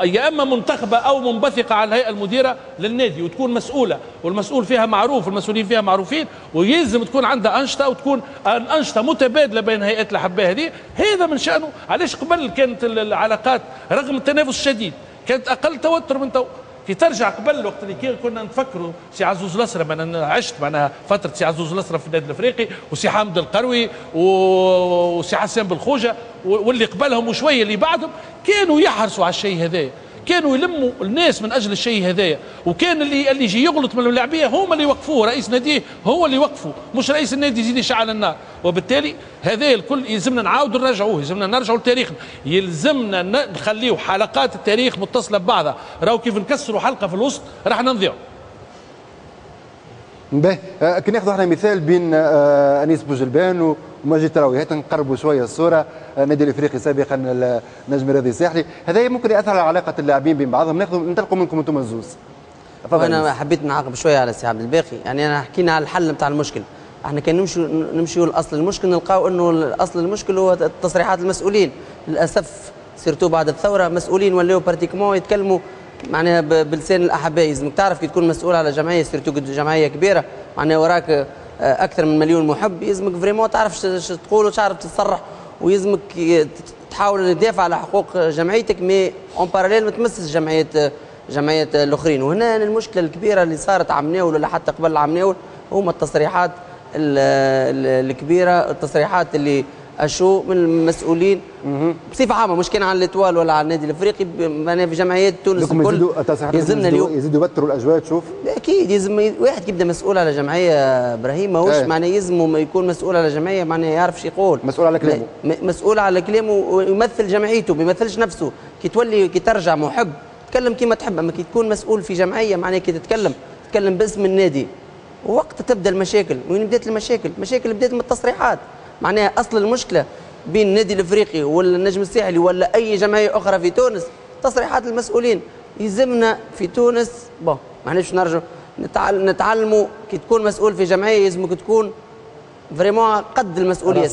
[SPEAKER 5] يا اما منتخبه او منبثقه على الهيئة المديرة للنادي وتكون مسؤولة، والمسؤول فيها معروف والمسؤولين فيها معروفين، ويلزم تكون عندها انشطة وتكون انشطة متبادلة بين هيئات الاحباء هذه. هذا من شانه. علاش قبل كانت العلاقات رغم التنافس الشديد كانت اقل توتر من تو؟ كي ترجع قبل وقت اللي كنا نفكروا سي عزوز الأسرم، انا عشت معناها فترة سي عزوز الأسرم في النادي الافريقي وسي حامد القروي وسي حسان بالخوجه واللي قبلهم وشوية اللي بعدهم، كانوا يحرصوا على الشيء هذايا، كانوا يلموا الناس من اجل الشيء هذايا، وكان اللي اللي يجي يغلط من اللاعبيه هما اللي يوقفوه، رئيس ناديه هو اللي يوقفه، مش رئيس النادي يزيد يشعل النار. وبالتالي هذا الكل يلزمنا نعاودوا نرجعوه، يلزمنا نرجعوا لتاريخنا، يلزمنا نخليو حلقات التاريخ متصلة ببعضها، راهو كيف نكسروا حلقة في الوسط راح نضيعوا.
[SPEAKER 1] باهي، كي ناخذوا احنا مثال بين انيس بوجلبان ومجيد تراوي، هات نقربوا شوية الصورة، النادي الافريقي سابقا النجم الرياضي الساحلي، هذا ممكن ياثر على علاقة اللاعبين بين بعضهم. ناخذ ننطلقوا منكم انتم الزوز.
[SPEAKER 2] انا حبيت نعاقب شوية على سي عبد الباقي، يعني انا حكينا على الحل نتاع المشكل، احنا كان نمشوا نمشيوا لاصل المشكل نلقاو انه اصل المشكل هو تصريحات المسؤولين، للاسف surtout بعد الثورة مسؤولين ولاو pratiquement يتكلموا معناها بلسان الاحباء. لازمك تعرف كي تكون مسؤول على جمعية surtout جمعية كبيرة، معناها وراك اكثر من مليون محب، يلزمك vraiment تعرف اش تقول وتعرف تصرح، ويلزمك تحاول تدافع على حقوق جمعيتك، mais en parallèle ما تمسش جمعية جمعيات الاخرين. وهنا المشكلة الكبيرة اللي صارت عمناول ولا حتى قبل عمناول هما التصريحات الكبيرة، التصريحات اللي اشو من المسؤولين بصفة عامة، مش كان على l'Étoile ولا على النادي الافريقي، معناها في جمعيات تونس الكل
[SPEAKER 1] يلزمنا اليوم يزيدوا يوتروا الاجواء. تشوف
[SPEAKER 2] اكيد يلزم واحد يبدا مسؤول على جمعية ابراهيم، ماهوش معناها يلزم يكون مسؤول على جمعية، معناها يعرف شو يقول،
[SPEAKER 1] مسؤول على كلامه،
[SPEAKER 2] مسؤول على كلامه ويمثل جمعيته، ما يمثلش نفسه. كي تولي كي ترجع محب تكلم كيما تحب، اما كي تكون مسؤول في جمعية معناها كي تتكلم تتكلم باسم النادي. وقت تبدا المشاكل، وين بدات المشاكل؟ المشاكل بدات من التصريحات. معناها اصل المشكلة بين النادي الافريقي ولا النجم الساحلي ولا اي جمعية اخرى في تونس تصريحات المسؤولين. يلزمنا في تونس bon معناش نرجع نتعلموا كي تكون مسؤول في جمعية يلزمك تكون vraiment قد المسؤولية.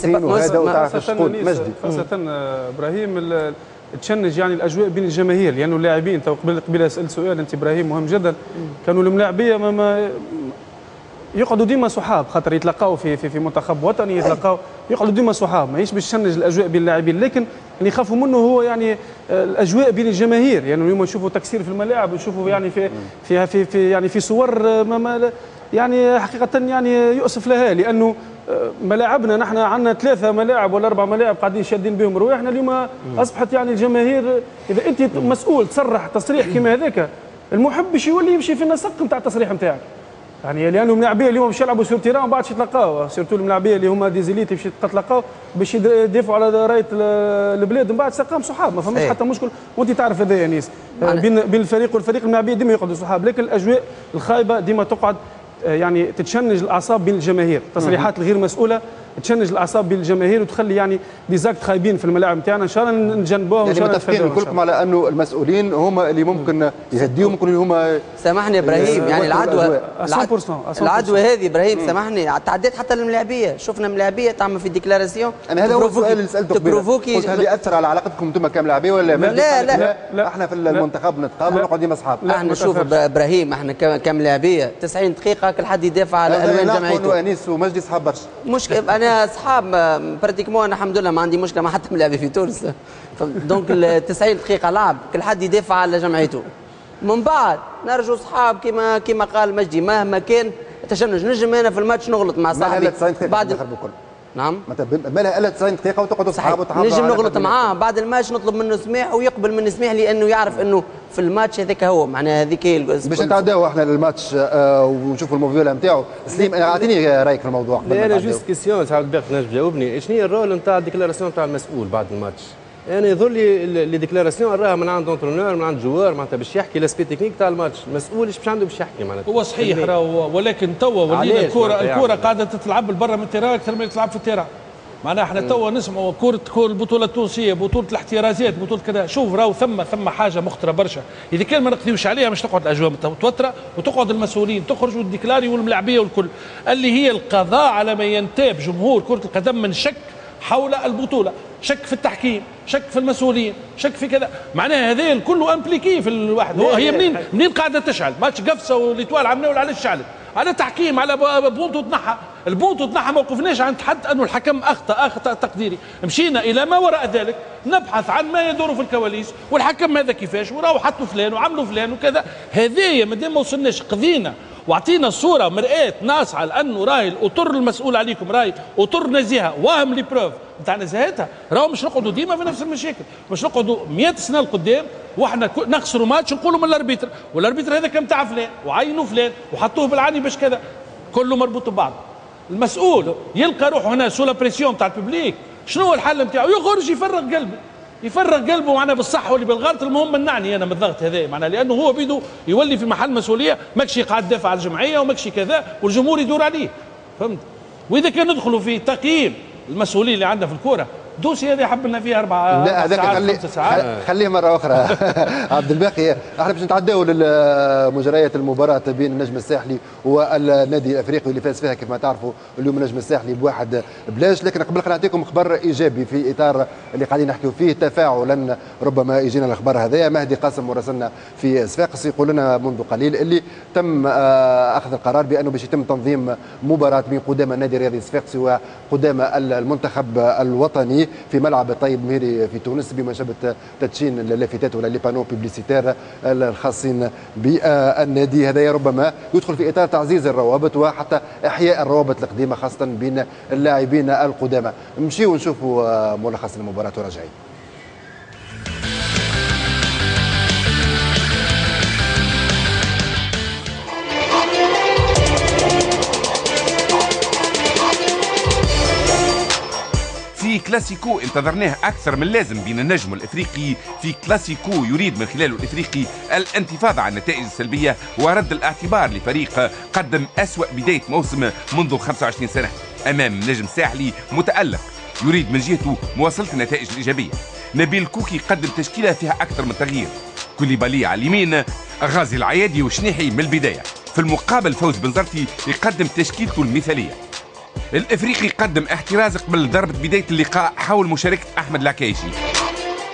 [SPEAKER 3] خاصة ابراهيم تشنج يعني الاجواء بين الجماهير، لانه يعني اللاعبين تو قبل قبل سالت سؤال انت ابراهيم مهم جدا، كانوا الملاعبيه ما, ما يقعدوا ديما صحاب، خاطر يتلاقاو في في في منتخب وطني، يتلاقاو يقعدوا ديما صحاب، ماهيش باش تشنج الاجواء بين اللاعبين، لكن اللي يخافوا منه هو يعني الاجواء بين الجماهير. يعني اليوم نشوفوا تكسير في الملاعب، ونشوفوا يعني في في في, في يعني في صور ما ما يعني حقيقة يعني يؤسف لها، لانه ملاعبنا نحن عندنا ثلاثة ملاعب ولا اربع ملاعب قاعدين شادين بهم رواحنا. اليوم اصبحت يعني الجماهير اذا انت مسؤول تصرح تصريح كما هذاك المحب باش يولي يمشي في النسق نتاع التصريح نتاعك، يعني لانه الملاعبيه اليوم باش يلعبوا sur terrain ومن بعد يتلاقاو، surtout الملاعبيه اللي هما des élites باش يتلاقاو باش يدافعوا على رايه البلاد، من بعد سقام صحاب ما فماش حتى مشكل. وانت تعرف هذا يا انيس، بين بين الفريق والفريق الملاعبيه ديما يقعدوا صحاب، لكن الاجواء الخايبة ديما تقعد يعني تتشنج الاعصاب بين الجماهير، التصريحات الغير مسؤولة تشنج الاعصاب بين الجماهير وتخلي يعني des actes خايبين في الملاعب نتاعنا. ان شاء الله نتجنبوها.
[SPEAKER 1] يعني متفقين كلكم على انه المسؤولين هما اللي ممكن يهديوا، ممكن هما
[SPEAKER 2] سامحني ابراهيم يعني العدوى العدوى هذه ابراهيم سامحني تعديت حتى للملاعبيه، شفنا ملاعبيه تعمل في déclaration.
[SPEAKER 1] انا هذا هو السؤال اللي سالته قبل، قلت هل ياثر على علاقتكم انتم كملاعبيه ولا
[SPEAKER 2] لا؟ لا لا, لا, لا
[SPEAKER 1] احنا في المنتخب نتقابل ونقعد ديما اصحاب.
[SPEAKER 2] احنا شوف ابراهيم احنا كملاعبيه تسعين دقيقة كل حد يدافع على الوان جمعيته.
[SPEAKER 1] انيس ومجدي اصحاب برشا.
[SPEAKER 2] مش انا اصحاب pratiquement، انا الحمد لله ما عندي مشكلة مع حتى ملاعبي في تونس، donc ال تسعين دقيقة لعب كل حد يدافع على جمعيته. من بعد نرجو اصحاب كما كما قال مجدي مهما كان تشنج، نجم انا في الماتش نغلط مع صاحبي
[SPEAKER 1] بعد
[SPEAKER 2] نعم
[SPEAKER 1] ما لها الا تسعين دقيقة وتقعدوا صحاب وتحافظوا.
[SPEAKER 2] نجم نغلط معاه بعد الماتش نطلب منه سماح ويقبل مني سماح، لانه يعرف انه في الماتش هذاك هو معناها هذيك هي.
[SPEAKER 1] باش نتعداو احنا للماتش آه ونشوفوا الموفيولا نتاعو. سليم اعطيني رايك في الموضوع قبل.
[SPEAKER 17] لا انا juste question ساعات باقي تنجم تجاوبني، شنو هي ال rôle نتاع ال déclaration نتاع المسؤول بعد الماتش؟ انا يظهر لي les déclarations راها من عند entraîneur من عند joueur، معناتها باش يحكي l'aspect technique تاع الماتش، المسؤول ايش باش عنده باش يحكي معناتها.
[SPEAKER 5] هو صحيح راهو، ولكن توا ولينا الكره الكره قاعدة تتلعب برا من ال terrain اكثر من تلعب في ال terrain. معناها احنا توا نسمعوا كره كره البطولة التونسية، بطوله الاحترازات، بطوله كذا. شوف راهو ثم ثم حاجة مخطره برشا، اذا كان ما نقضيوش عليها مش تقعد الاجواء متوترة وتقعد المسؤولين تخرج وال déclarer والملاعبيه والكل، اللي هي القضاء على ما ينتاب جمهور كره القدم من شك حول البطولة، شك في التحكيم، شك في المسؤولين، شك في كذا، معناها هذا الكل impliqué في الواحد. هي منين منين قاعدة تشعل؟ ماتش قفصه و l'Étoile عملناه علاش شعلت؟ على تحكيم، على بونتو تنحى، البونتو تنحى ما وقفناش عند حد انه الحكم اخطا اخطا تقديري، مشينا الى ما وراء ذلك نبحث عن ما يدور في الكواليس والحكم هذا كيفاش وراهو حطوا فلان وعملوا فلان وكذا. هذايا مادام ما وصلناش قضينا واعطينا الصورة مرآة ناصعه لانه راهي الاطر المسؤول عليكم راهي اطر نزيهة واهم les preuves نتاع نزاهتها، راهو مش نقعدوا ديما في نفس المشاكل، مش نقعدوا مئة سنة لقدام واحنا نخسروا ماتش نقولوا من ال arbitre، وال arbitre هذا كان تاع فلان وعينوا فلان وحطوه بالعاني باش كذا، كله مربوط ببعض. المسؤول يلقى روحه هنا sous la pression تاع ال public، شنو هو الحل نتاعو؟ يخرج يفرغ قلبه، يفرغ قلبه معناها بالصح واللي بالغلط، المهم منعني انا من الضغط هذا معناها، لانه هو بيدو يولي في محل مسؤولية، ماكش قاعد دافع على الجمعية وماكش كذا والجمهور يدور عليه، فهمت؟ واذا كان ندخلوا في تقييم المسؤولين اللي عندنا في الكورة dossier هذا حب لنا فيه اربع
[SPEAKER 1] لا هذاك خلي خليه مرة اخرى. عبد الباقي، احنا باش نتعداو لمجريات المباراة بين النجم الساحلي والنادي الافريقي اللي فاز فيها كيف ما تعرفوا اليوم النجم الساحلي بواحد بلاش. لكن قبل خلينا نعطيكم خبر ايجابي في اطار اللي قاعدين نحكيو فيه، تفاعلا ربما يجينا الخبر هذايا. مهدي قاسم مراسلنا في صفاقس يقول لنا منذ قليل اللي تم اخذ القرار بانه باش يتم تنظيم مباراة بين قدامى النادي الرياضي الصفاقسي وقدامى المنتخب الوطني في ملعب الطيب مهيري في تونس بمناسبة تدشين اللافتات ولا les panneaux publicitaires الخاصين بالنادي. هذا ربما يدخل في اطار تعزيز الروابط وحتى احياء الروابط القديمة خاصة بين اللاعبين القدامى. نمشيو ونشوفوا ملخص المباراة وراجعين.
[SPEAKER 4] في كلاسيكو انتظرناه أكثر من اللازم بين النجم والإفريقي، في كلاسيكو يريد من خلاله الإفريقي الانتفاضة عن النتائج السلبية ورد الاعتبار لفريق قدم أسوأ بداية موسم منذ خمسة وعشرين سنة أمام نجم ساحلي متألق يريد من جهته مواصلة النتائج الإيجابية. نبيل كوكي قدم تشكيلة فيها أكثر من تغيير، كوليبالي على اليمين، غازي العيادي وشنيحي من البداية. في المقابل فوز بنزرتي يقدم تشكيلته المثالية. الافريقي قدم احتراز قبل ضربه بداية اللقاء حول مشاركة احمد العكايشي.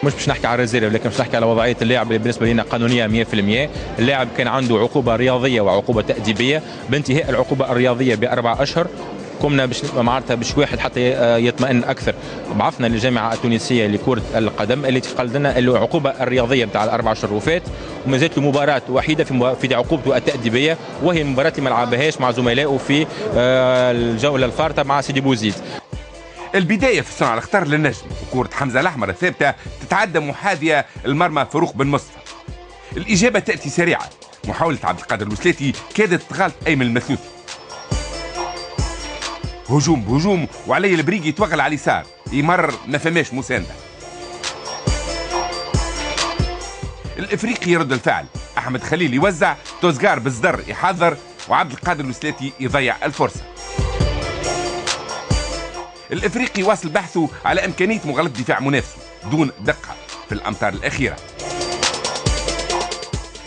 [SPEAKER 18] مش باش نحكي على ال réserve، لكن باش نحكي على وضعية اللاعب اللي بالنسبة لنا قانونية مية في المية. اللاعب كان عنده عقوبه رياضية وعقوبه تاديبيه، بانتهاء العقوبة الرياضية باربع اشهر قمنا باش معناتها باش واحد حتى يطمئن اكثر، بعثنا للجامعة التونسية لكرة القدم اللي تقال لنا العقوبة الرياضية نتاع الاربع اشهر وفات، وما زالت له مباراة وحيده في في عقوبته التاديبيه، وهي المباراة اللي ما لعبهاش مع زملائه في الجولة الفارطه مع سيدي بوزيد.
[SPEAKER 4] البداية في صنع الخطر للنجم، وكره حمزة الاحمر الثابتة تتعدى محاذيه المرمى فاروق بن مصطفى. الاجابة تاتي سريعة، محاولة عبد القادر الوسلاتي كادت تغالط ايمن المثلوثي. هجوم بهجوم وعلي البريقي يتوغل على اليسار، يمر ما فماش مساندة. الافريقي يرد الفعل، احمد خليل يوزع، توزقار بالزدر يحضر، وعبد القادر الوسلاتي يضيع الفرصة. الافريقي واصل بحثه على امكانية مغالطة دفاع منافسه دون دقه في الامتار الاخيرة.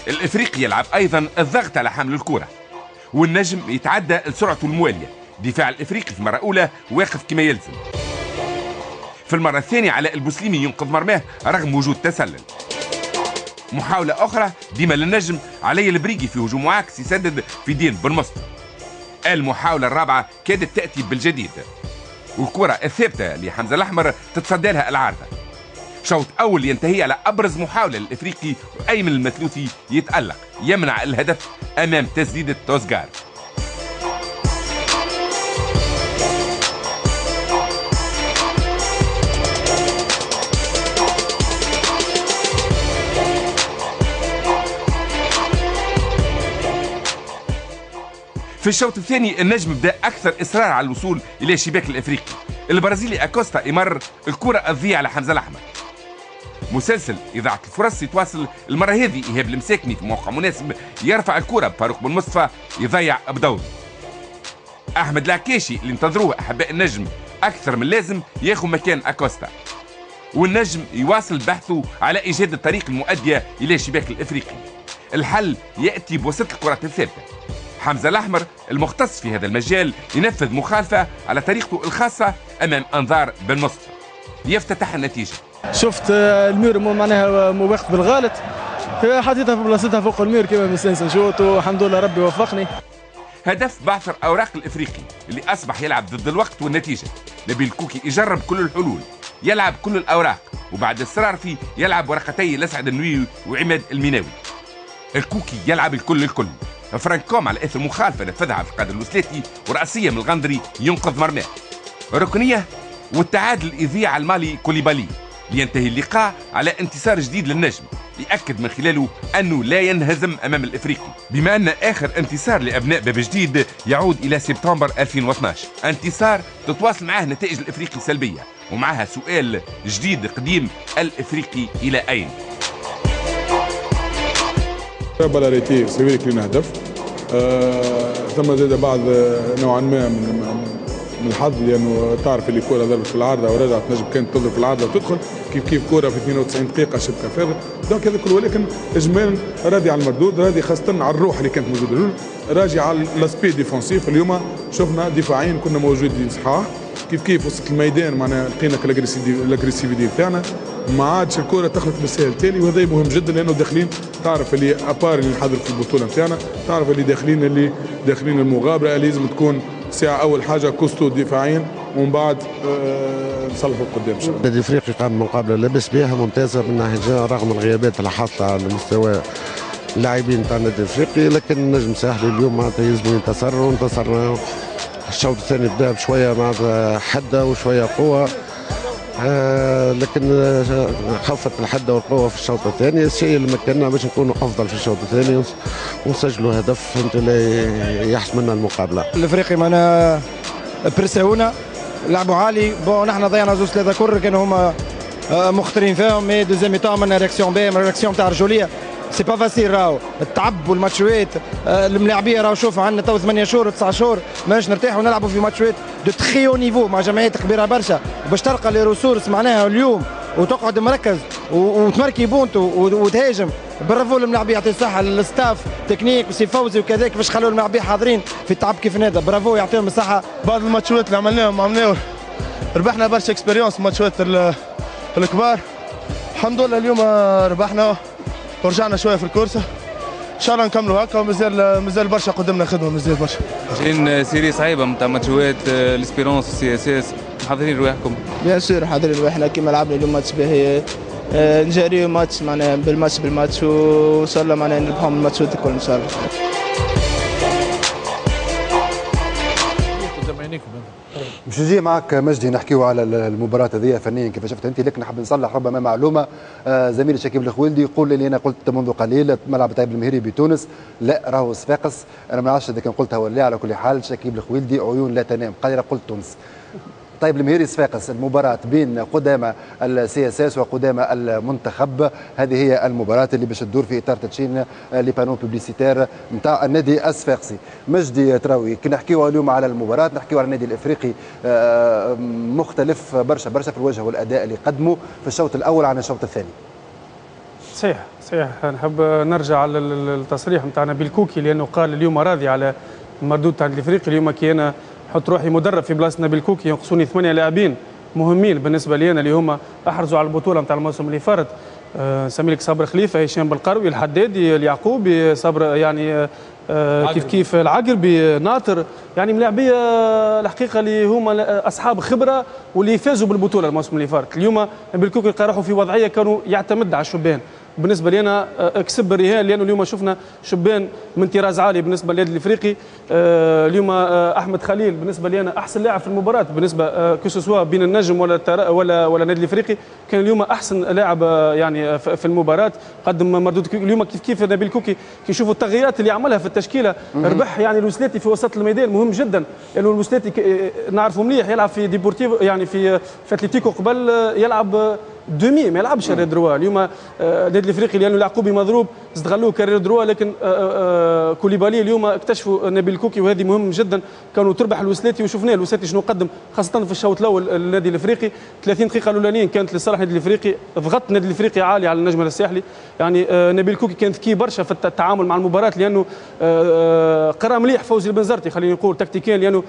[SPEAKER 4] الافريقي يلعب ايضا الضغط على حامل الكره، والنجم يتعدى لسرعته الموالية. دفاع الافريقي في المرة الاولى واقف كما يلزم. في المرة الثانية علاء البوسليمي ينقذ مرماه رغم وجود تسلل. محاولة اخرى ديما للنجم، علي البريقي في هجوم معاكس يسدد في دين بن مصطفى. المحاولة الرابعة كادت تاتي بالجديد، والكره الثابتة لحمزة الاحمر تتصدى لها العارضة. شوط اول ينتهي على ابرز محاولة للافريقي، وايمن المثلوثي يتالق يمنع الهدف امام تسديده توزغار. في الشوط الثاني النجم بدا اكثر اصرار على الوصول الى شباك الافريقي. البرازيلي اكوستا يمر الكره تضيع على حمزة الاحمر. مسلسل اضاعه الفرص يتواصل المرة هذه، ايهاب المساكني في موقع مناسب يرفع الكره بفاروق بن مصطفى يضيع بدوره. احمد العكاشي اللي انتظروه احباء النجم اكثر من لازم ياخذ مكان اكوستا، والنجم يواصل بحثه على ايجاد الطريق المؤدية الى شباك الافريقي. الحل ياتي بواسطة الكرات الثابتة. حمزة الأحمر المختص في هذا المجال ينفذ مخالفة على طريقته الخاصة أمام أنظار بن مصطفى، يفتتح النتيجة.
[SPEAKER 19] شفت ال mur معناها مواقف بالغلط، حطيتها في بلاصتها فوق ال mur كما مستانس نشوط، والحمد لله ربي وفقني.
[SPEAKER 4] هدف بعثر أوراق الإفريقي اللي أصبح يلعب ضد الوقت والنتيجة. نبيل كوكي يجرب كل الحلول، يلعب كل الأوراق، وبعد الصرار فيه يلعب ورقتي لسعد النويوي وعماد الميناوي. الكوكي يلعب الكل الكل. فرانكوم على اثر مخالفة نفذها عبد القادر الوسلاتي، وراسيه من الغندري ينقذ مرماه. ركنيه والتعادل يضيع على المالي كوليبالي، لينتهي اللقاء على انتصار جديد للنجم يأكد من خلاله أنه لا ينهزم أمام الإفريقي، بما أن آخر انتصار لأبناء باب جديد يعود إلى سبتمبر ألفين واثناش، انتصار تتواصل معاه نتائج الإفريقي سلبية، ومعها سؤال جديد قديم: الإفريقي إلى أين؟
[SPEAKER 20] balle arrêtée c'est vrai كلينا هدف، آه، ثم زاد بعض نوعا ما من من الحظ، لانه تعرف اللي كره ضربت في العارضة ورجعت نجم كانت تضرب في العارضة وتدخل كيف كيف كره في اثنين وتسعين دقيقة شبكة فارغة. donc هذا كله، ولكن اجمالا راضي على المردود، راضي خاصة على الروح اللي كانت موجودة اليوم، راجع على l'aspect défensif. اليوم شفنا دفاعيا كنا موجودين صحاح، كيف كيف وسط الميدان معناها لقينا l'agressivité بتاعنا، ما عادش الكره تخلط بالسهل تالي، وهذا مهم جدا لانه داخلين تعرف اللي à part اللي نحضر في البطولة نتاعنا، تعرف اللي داخلين اللي داخلين المغامرة اللي لازم تكون ساعة اول حاجة costaud دفاعيا ومن بعد آه نصلحوا قدام ان شاء الله.
[SPEAKER 21] النادي الافريقي قام بمقابله لاباس بها ممتازة من ناحية رغم الغيابات اللي حاصله على مستوى اللاعبين تاع النادي الافريقي، لكن النجم الساحلي اليوم معناتها يلزم ينتصر، وانتصرنا. الشوط الثاني بدا بشوية معناتها حده وشوية قوة، آه لكن خفت الحدة والقوه في الشوط الثاني، الشيء اللي مكننا باش نكونوا افضل في الشوط الثاني ونسجلوا هدف فهمت اللي يحسم لنا المقابلة.
[SPEAKER 22] الافريقي معناها برساونا لعبوا عالي، bon نحن ضيعنا زوج ثلاثة كر كانوا هما مخطرين فيهم، mais deuxième mi-temps عملنا réaction باهيه، réaction تاع رجوليه. c'est pas facile راهو التعب والماتشوات، الملاعبيه راهو شوف عندنا تو ثمانية شهور وتسعة شهور ماناش نرتاحوا ونلعبوا في ماتشوات de très haut niveau مع جمعيات كبيرة برشا، باش تلقى les ressources معناها اليوم وتقعد مركز وتمركي بونتو وتهاجم. برافو الملاعبيه، يعطي الصحة لل staff technique وسي فوزي وكذا كيفاش خلوا الملاعبيه حاضرين في التعب كيف هذا، برافو يعطيهم الصحة.
[SPEAKER 23] بعض الماتشوات اللي عملناهم عملناهم ربحنا برشا expérience الماتشوات الكبار، الحمد لله اليوم ربحنا ورجعنا شوية في ال course، ان شاء الله نكملوا هكا ومازال مازال برشا قدامنا خدمة، مازال برشا.
[SPEAKER 24] جايين série صعيبة نتاع ماتشوات l'Espérance وال CSS، محضرين رواحكم؟
[SPEAKER 25] bien sûr حاضرين رواحنا كيما لعبنا اليوم ماتش باهي، نجاريو ماتش معناها بالماتش بالماتش، وان شاء الله معناها نربحهم الماتشات الكل ان شاء الله.
[SPEAKER 1] باش نجي معك مجدي نحكيو على المباراة هذه فنيا كيف شفت انت، لكن نحب نصلح ربما معلومة. زميلي شكيب الخويلدي يقول لي انا قلت منذ قليل ملعب طيب المهيري بتونس، لا راهو صفاقس، انا ما نعرفش اذا كان قلتها ولا لا. على كل حال شكيب الخويلدي عيون لا تنام، قال لي قلت تونس. طيب المهيري صفاقس، المباراة بين قدامى ال CSS وقدامى المنتخب، هذه هي المباراة اللي باش تدور في اطار تدشين les panneaux publicitaires نتاع النادي الصفاقسي. مجدي تراوي، كي نحكيو اليوم على المباراة نحكيو على النادي الافريقي مختلف برشا برشا في الوجه والاداء اللي قدمه في الشوط الاول عن الشوط الثاني.
[SPEAKER 3] صحيح صحيح، نحب نرجع على التصريح نتاع نبيل كوكي لانه قال اليوم راضي على المردود تاع الافريقي. اليوم كي انا نحط روحي مدرب في بلاصة نبيل كوكي ينقصوني ثمانية لاعبين مهمين بالنسبة لي انا اللي هما احرزوا على البطولة نتاع الموسم اللي فات. أه نسمي لك صابر خليفة، هشام بالقروي، الحدادي، اليعقوبي، صابر يعني أه كيف كيف العقربي، ناطر، يعني ملاعبيه الحقيقة اللي هما اصحاب خبره واللي فازوا بالبطولة الموسم اللي فات. اليوم نبيل كوكي لقى روحه في وضعية كانوا يعتمد على الشبان. بالنسبة لي انا كسب الرهان لانه اليوم شفنا شبان من طراز عالي بالنسبة للنادي الافريقي. اليوم احمد خليل بالنسبة لي انا احسن لاعب في المباراة بالنسبة que ce soit بين النجم ولا ولا ولا النادي الافريقي، كان اليوم احسن لاعب يعني في المباراة، قدم مردود. اليوم كيف كيف نبيل كوكي كي نشوفوا التغييرات اللي عملها في التشكيلة، ربح يعني الوسلاتي في وسط الميدان مهم جدا، لانه الوسلاتي نعرفه مليح يلعب في ديبورتيفو يعني في في اتلتيكو قبل يلعب demi ما يلعبش arrière droit. اليوم النادي الافريقي لانه اليعقوبي مضروب استغلوه ك arrière droit، لكن كوليبالي اليوم اكتشفوا نبيل كوكي وهذه مهم جدا، كانوا تربح الوسلاتي وشفناه الوسلاتي شنو قدم خاصة في الشوط الاول النادي الافريقي. ثلاثين دقيقة الاولانيين كانت لصالح النادي الافريقي، ضغط النادي الافريقي عالي على النجم الساحلي. يعني نبيل كوكي كان ذكي برشا في التعامل مع المباراة لانه قرا مليح فوزي البنزرتي خلينا نقول تكتيكيا، لانه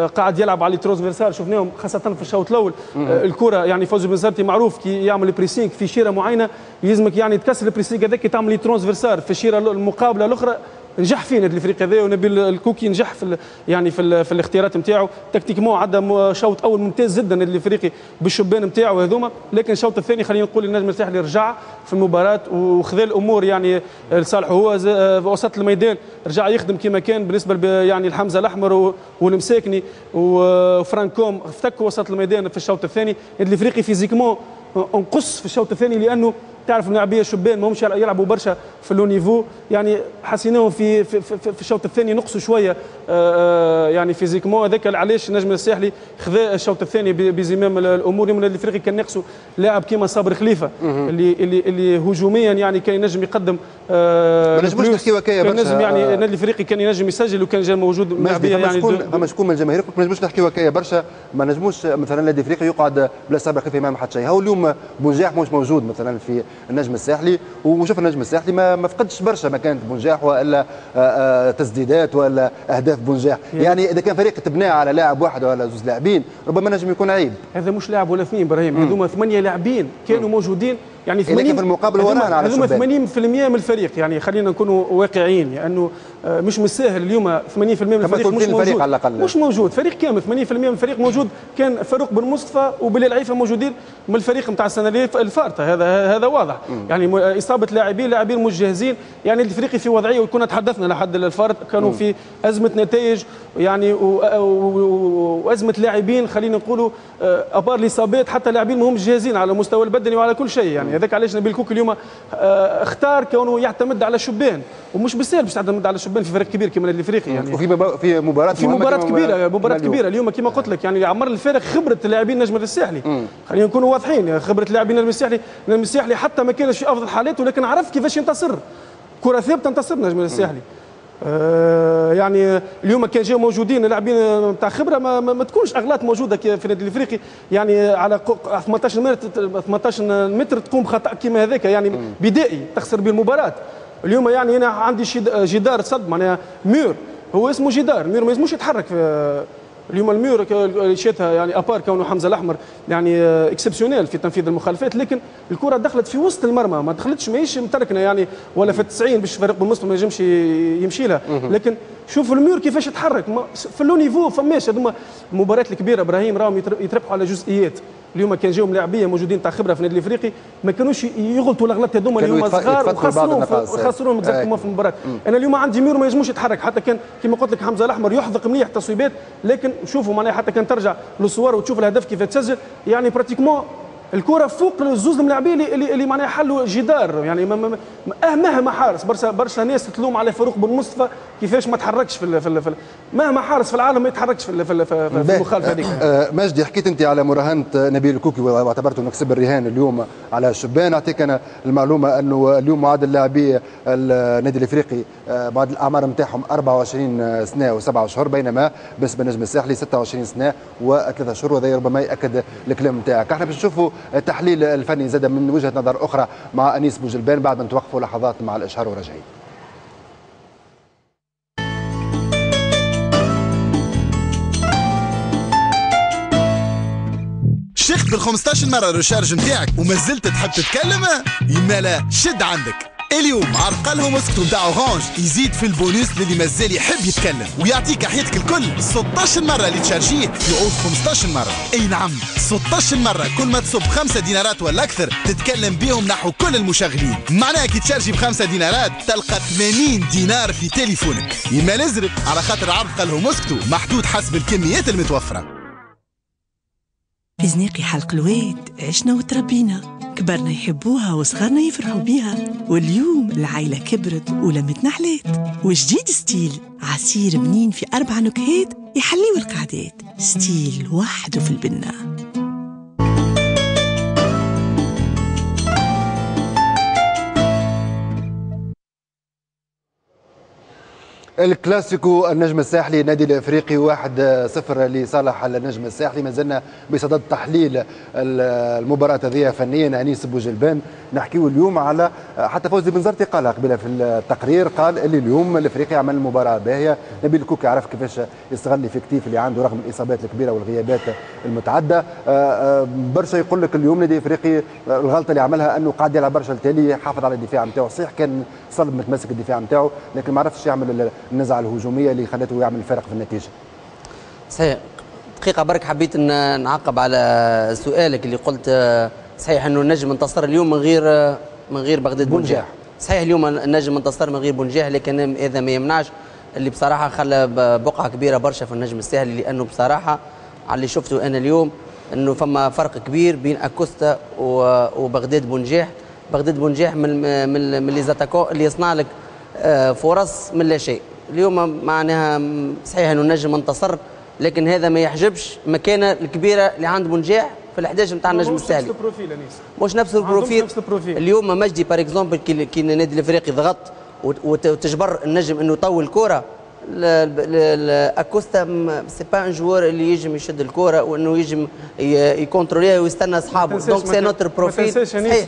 [SPEAKER 3] قاعد يلعب على transversales شفناهم خاصة في الشوط الاول. الكره يعني فوزي البنزرتي معروف كي يعمل pressing في شيره معينة يلزمك يعني تكسر ال pressing هذاك تعمل transversale في الشيره المقابلة الاخرى. نجح فيه النادي الافريقي هذا ونبيل الكوكي نجح في يعني في, في الاختيارات نتاعو tactiquement، عدى شوط اول ممتاز جدا النادي الافريقي بالشبان نتاعو هذوما، لكن الشوط الثاني خلينا نقول النجم الساحلي رجع في المباراة وخذا الامور يعني لصالحه هو في وسط الميدان، رجع يخدم كما كان بالنسبة يعني لحمزة الاحمر والمساكني وفرانكوم افتكوا وسط الميدان في الشوط الثاني. النادي الافريقي physiquement انقص في الشوط الثاني لانه تعرف اللاعبيه شبان ماهمش يلعبوا برشا في le niveau، يعني حسيناهم في في, في, في الشوط الثاني نقصوا شوية يعني physiquement. هذاك علاش النجم الساحلي خذا الشوط الثاني بزمام الامور. اليوم النادي الافريقي كان ناقصه لاعب كيما صابر خليفة اللي اللي اللي هجوميا يعني كان ينجم يقدم.
[SPEAKER 1] ما نجموش نحكيو هكايا برشا،
[SPEAKER 3] نجم يعني النادي الافريقي كان ينجم يسجل وكان جا موجود
[SPEAKER 1] لاعبيه يعني. فما شكون من الجماهير ما نجموش نحكيو هكايا برشا، ما نجموش مثلا النادي الافريقي يقعد بلا صابر خليفة ما حد شيء. هو اليوم بونجاح مش موجود مثلا في النجم الساحلي، وشوف النجم الساحلي ما, ما فقدش برشا مكانه بونجاح والا تسديدات ولا اهداف بونجاح. يعني اذا كان فريق تبناه على لاعب واحد ولا زوج لاعبين ربما نجم يكون عيب.
[SPEAKER 3] هذا مش لاعب ولا اثنين ابراهيم، هذوما ثمانية لاعبين كانوا موجودين يعني ثمانين
[SPEAKER 1] في المقابل ورانا على
[SPEAKER 3] هذوما ثمانين بالمئة من الفريق. يعني خلينا نكونوا واقعيين، لانه مش من الساهل اليوم ثمانين بالمئة من الفريق مش موجود، على الأقل. مش موجود فريق كامل ثمانين بالمئة من الفريق موجود. كان فاروق بن مصطفى وبلال عيفه موجودين من الفريق نتاع السنة اللي الفارطه، هذا هذا واضح. مم. يعني اصابه لاعبين لاعبين مش جاهزين، يعني الافريقي في وضعية، وكنا تحدثنا لحد الفارط كانوا مم. في ازمة نتائج يعني وازمة لاعبين، خلينا نقولوا à part الاصابات حتى لاعبين ما همش جاهزين على المستوى البدني وعلى كل شيء. يعني هذاك علاش نبيل كوكي اليوم اختار كونه يعتمد على شبان، ومش بالسهل باش تعتمد على شبان في فريق كبير كما النادي الافريقي. يعني
[SPEAKER 1] وفي في مباراة
[SPEAKER 3] في مباراة كبيرة، مباراة كبيرة اليوم كما قلت لك، يعني عمر الفارق خبره لاعبين النجم الساحلي. خلينا نكونوا واضحين، خبره لاعبين النجم الساحلي، النجم الساحلي حتى ما كانش في افضل حالاته ولكن عرف كيفاش ينتصر. كره ثابتة انتصر النجم الساحلي. آه يعني اليوم كان جاو موجودين لاعبين نتاع خبره ما, ما, ما تكونش اغلاط موجودة في النادي الافريقي. يعني على ثمنطاش متر ثمنطاش متر تقوم بخطا كيما هذاك يعني بدائي تخسر به المباراة. اليوم يعني انا عندي جدار صد معناها mur، هو اسمه جدار، mur ما يلزموش يتحرك. اليوم ال mur شاتها يعني à part كونه حمزة الاحمر يعني exceptionnel في تنفيذ المخالفات، لكن الكره دخلت في وسط المرمى، ما دخلتش ماهيش متركنه يعني ولا في التسعين باش فريق بن مصطفى ما ينجمش يمشي لها. لكن شوف ال mur كيفاش يتحرك في le niveau فماش. هذوما المباريات الكبيرة ابراهيم راهم يتربحوا على جزئيات. اليوم كان جاهم لاعبيه موجودين تاع خبره في النادي الافريقي ما كانوش يغلطوا الاغلاط هذوما اليوم صغار وخسروهم خسروهم exactement في المباراة. انا اليوم عندي mur ما ينجموش يتحرك، حتى كان كما قلت لك حمزة الاحمر يحذق مليح تصويبات، لكن شوفوا معناها حتى كان ترجع للصور وتشوف الهدف كيف تسجل، يعني pratiquement الكره فوق الزوز الملاعبين اللي اللي, اللي معناها حلوا جدار. يعني مهما حارس، برشا برشا ناس تلوم على فاروق بن مصطفى كيفاش ما تحركش في في, في مهما حارس في العالم ما يتحركش في في, في المخالفة هذيك.
[SPEAKER 1] مجدي، حكيت انت على مراهنه نبيل الكوكي واعتبرته انه كسب الرهان اليوم على الشبان. اعطيك انا المعلومة انه اليوم معدل لاعبي النادي الافريقي بعد الاعمار نتاعهم أربعة وعشرين سنة وسبعة اشهر، بينما بالنسبة للنجم الساحلي ستة وعشرين سنة وثلاثة اشهر، وهذا ربما ياكد الكلام نتاعك. احنا باش نشوفوا التحليل الفني زاد من وجهة نظر أخرى مع أنيس بوجلبان بعد ما نتوقفوا لحظات مع الإشهار وراجعين.
[SPEAKER 6] شيخت بال خمسطاش مرة recharge نتاعك وما زلت تحب تتكلم؟ يمالا شد عندك. اليوم عرقلهم اسكتوا نتاع Orange يزيد في البونوس للي مازال يحب يتكلم ويعطيك حياتك الكل ستطاش مرة اللي تشارجيه يعود خمسطاش مرة. اي نعم ستطاش مرة، كل ما تصب خمسة دينارات ولا اكثر تتكلم بيهم نحو كل المشغلين. معناها كي تشارجي بخمسة دينارات تلقى ثمانين دينار في تليفونك. يما نزرب على خاطر عرض قالهم اسكتوا محدود حسب الكميات المتوفرة.
[SPEAKER 8] في زناقي حلق الواد عشنا وتربينا، كبرنا يحبوها وصغرنا يفرحوا بيها، واليوم العائلة كبرت ولمتنا حلات. وجديد ستيل عصير بنين في أربع نكهات يحليوا القعدات، ستيل وحده في البنة.
[SPEAKER 1] الكلاسيكو النجم الساحلي النادي الافريقي واحد صفر لصالح النجم الساحلي. ما زلنا بصدد تحليل المباراة هذه فنيا. انيس بوجلبان، نحكيو اليوم على حتى فوزي بنزرتي قال قبل في التقرير، قال اللي اليوم الافريقي عمل مباراة باهيه، نبيل الكوكي عرف كيفاش يستغل l'effectif اللي عنده رغم الاصابات الكبيرة والغيابات المتعددة. برشا يقول لك اليوم النادي الافريقي الغلطة اللي عملها انه قاعد يلعب برشا التالي، حافظ على الدفاع نتاعو، صحيح كان صلب متمسك الدفاع نتاعو لكن ما عرفش يعمل النزعة الهجومية اللي خلته يعمل الفرق في النتيجة.
[SPEAKER 2] صحيح. دقيقة برك حبيت ان نعقب على سؤالك اللي قلت صحيح انه النجم انتصر اليوم من غير من غير بغداد بونجاح. صحيح اليوم النجم انتصر من غير بونجاح، لكن هذا ما يمنعش اللي بصراحة خلى بقعة كبيرة برشا في النجم الساحلي، لانه بصراحة على اللي شفته انا اليوم انه فما فرق كبير بين اكوستا وبغداد بونجاح بغداد بونجاح من من من les attaquants اللي يصنع لك فرص من لا شيء. اليوم معناها صحيح انه النجم انتصر، لكن هذا ما يحجبش المكانة الكبيرة اللي عند بونجاح في الأحد عشر نتاع النجم الساحلي.
[SPEAKER 3] مش نفس ال profil انيس،
[SPEAKER 2] مش نفس ال profil.
[SPEAKER 3] نفس ال profil.
[SPEAKER 2] اليوم مجدي par exemple كي النادي الافريقي ضغط وتجبر النجم انه يطول الكره، اكوستا c'est pas un joueur اللي يجم يشد الكره وانه يجم يكونتروليها ويستنى اصحابه، donc c'est un autre profil.
[SPEAKER 3] صحيح،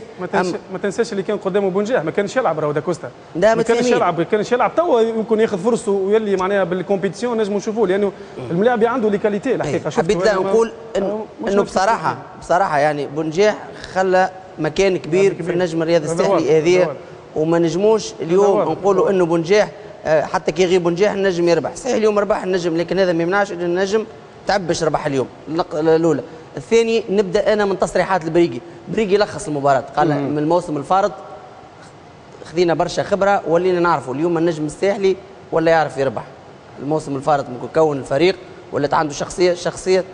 [SPEAKER 3] ما تنساش اللي كان قدامه بونجاح ما كانش يلعب، راهو داكوستا ما كانش يلعب، ما كانش يلعب. توا يمكن ياخذ فرصته ويلي معناها بال compétition نجموا نشوفوه، لانه الملاعب عنده les qualités الحقيقة.
[SPEAKER 2] حبيت لا نقول انه بصراحة بصراحة يعني بونجاح خلى مكان كبير في النجم الرياضي الساحلي هذه، وما نجموش اليوم نقولوا انه بونجاح حتى كي يغيب بونجاح النجم يربح. صحيح اليوم ربح النجم، لكن هذا ما يمنعش ان النجم تعب باش ربح اليوم. الاولى. الثاني نبدا انا من تصريحات البريقي، بريقي لخص المباراة قال من الموسم الفارط خذينا برشا خبره ولينا نعرفوا اليوم النجم الساحلي ولا يعرف يربح. الموسم الفارط ممكن كون الفريق ولات عنده شخصية، شخصية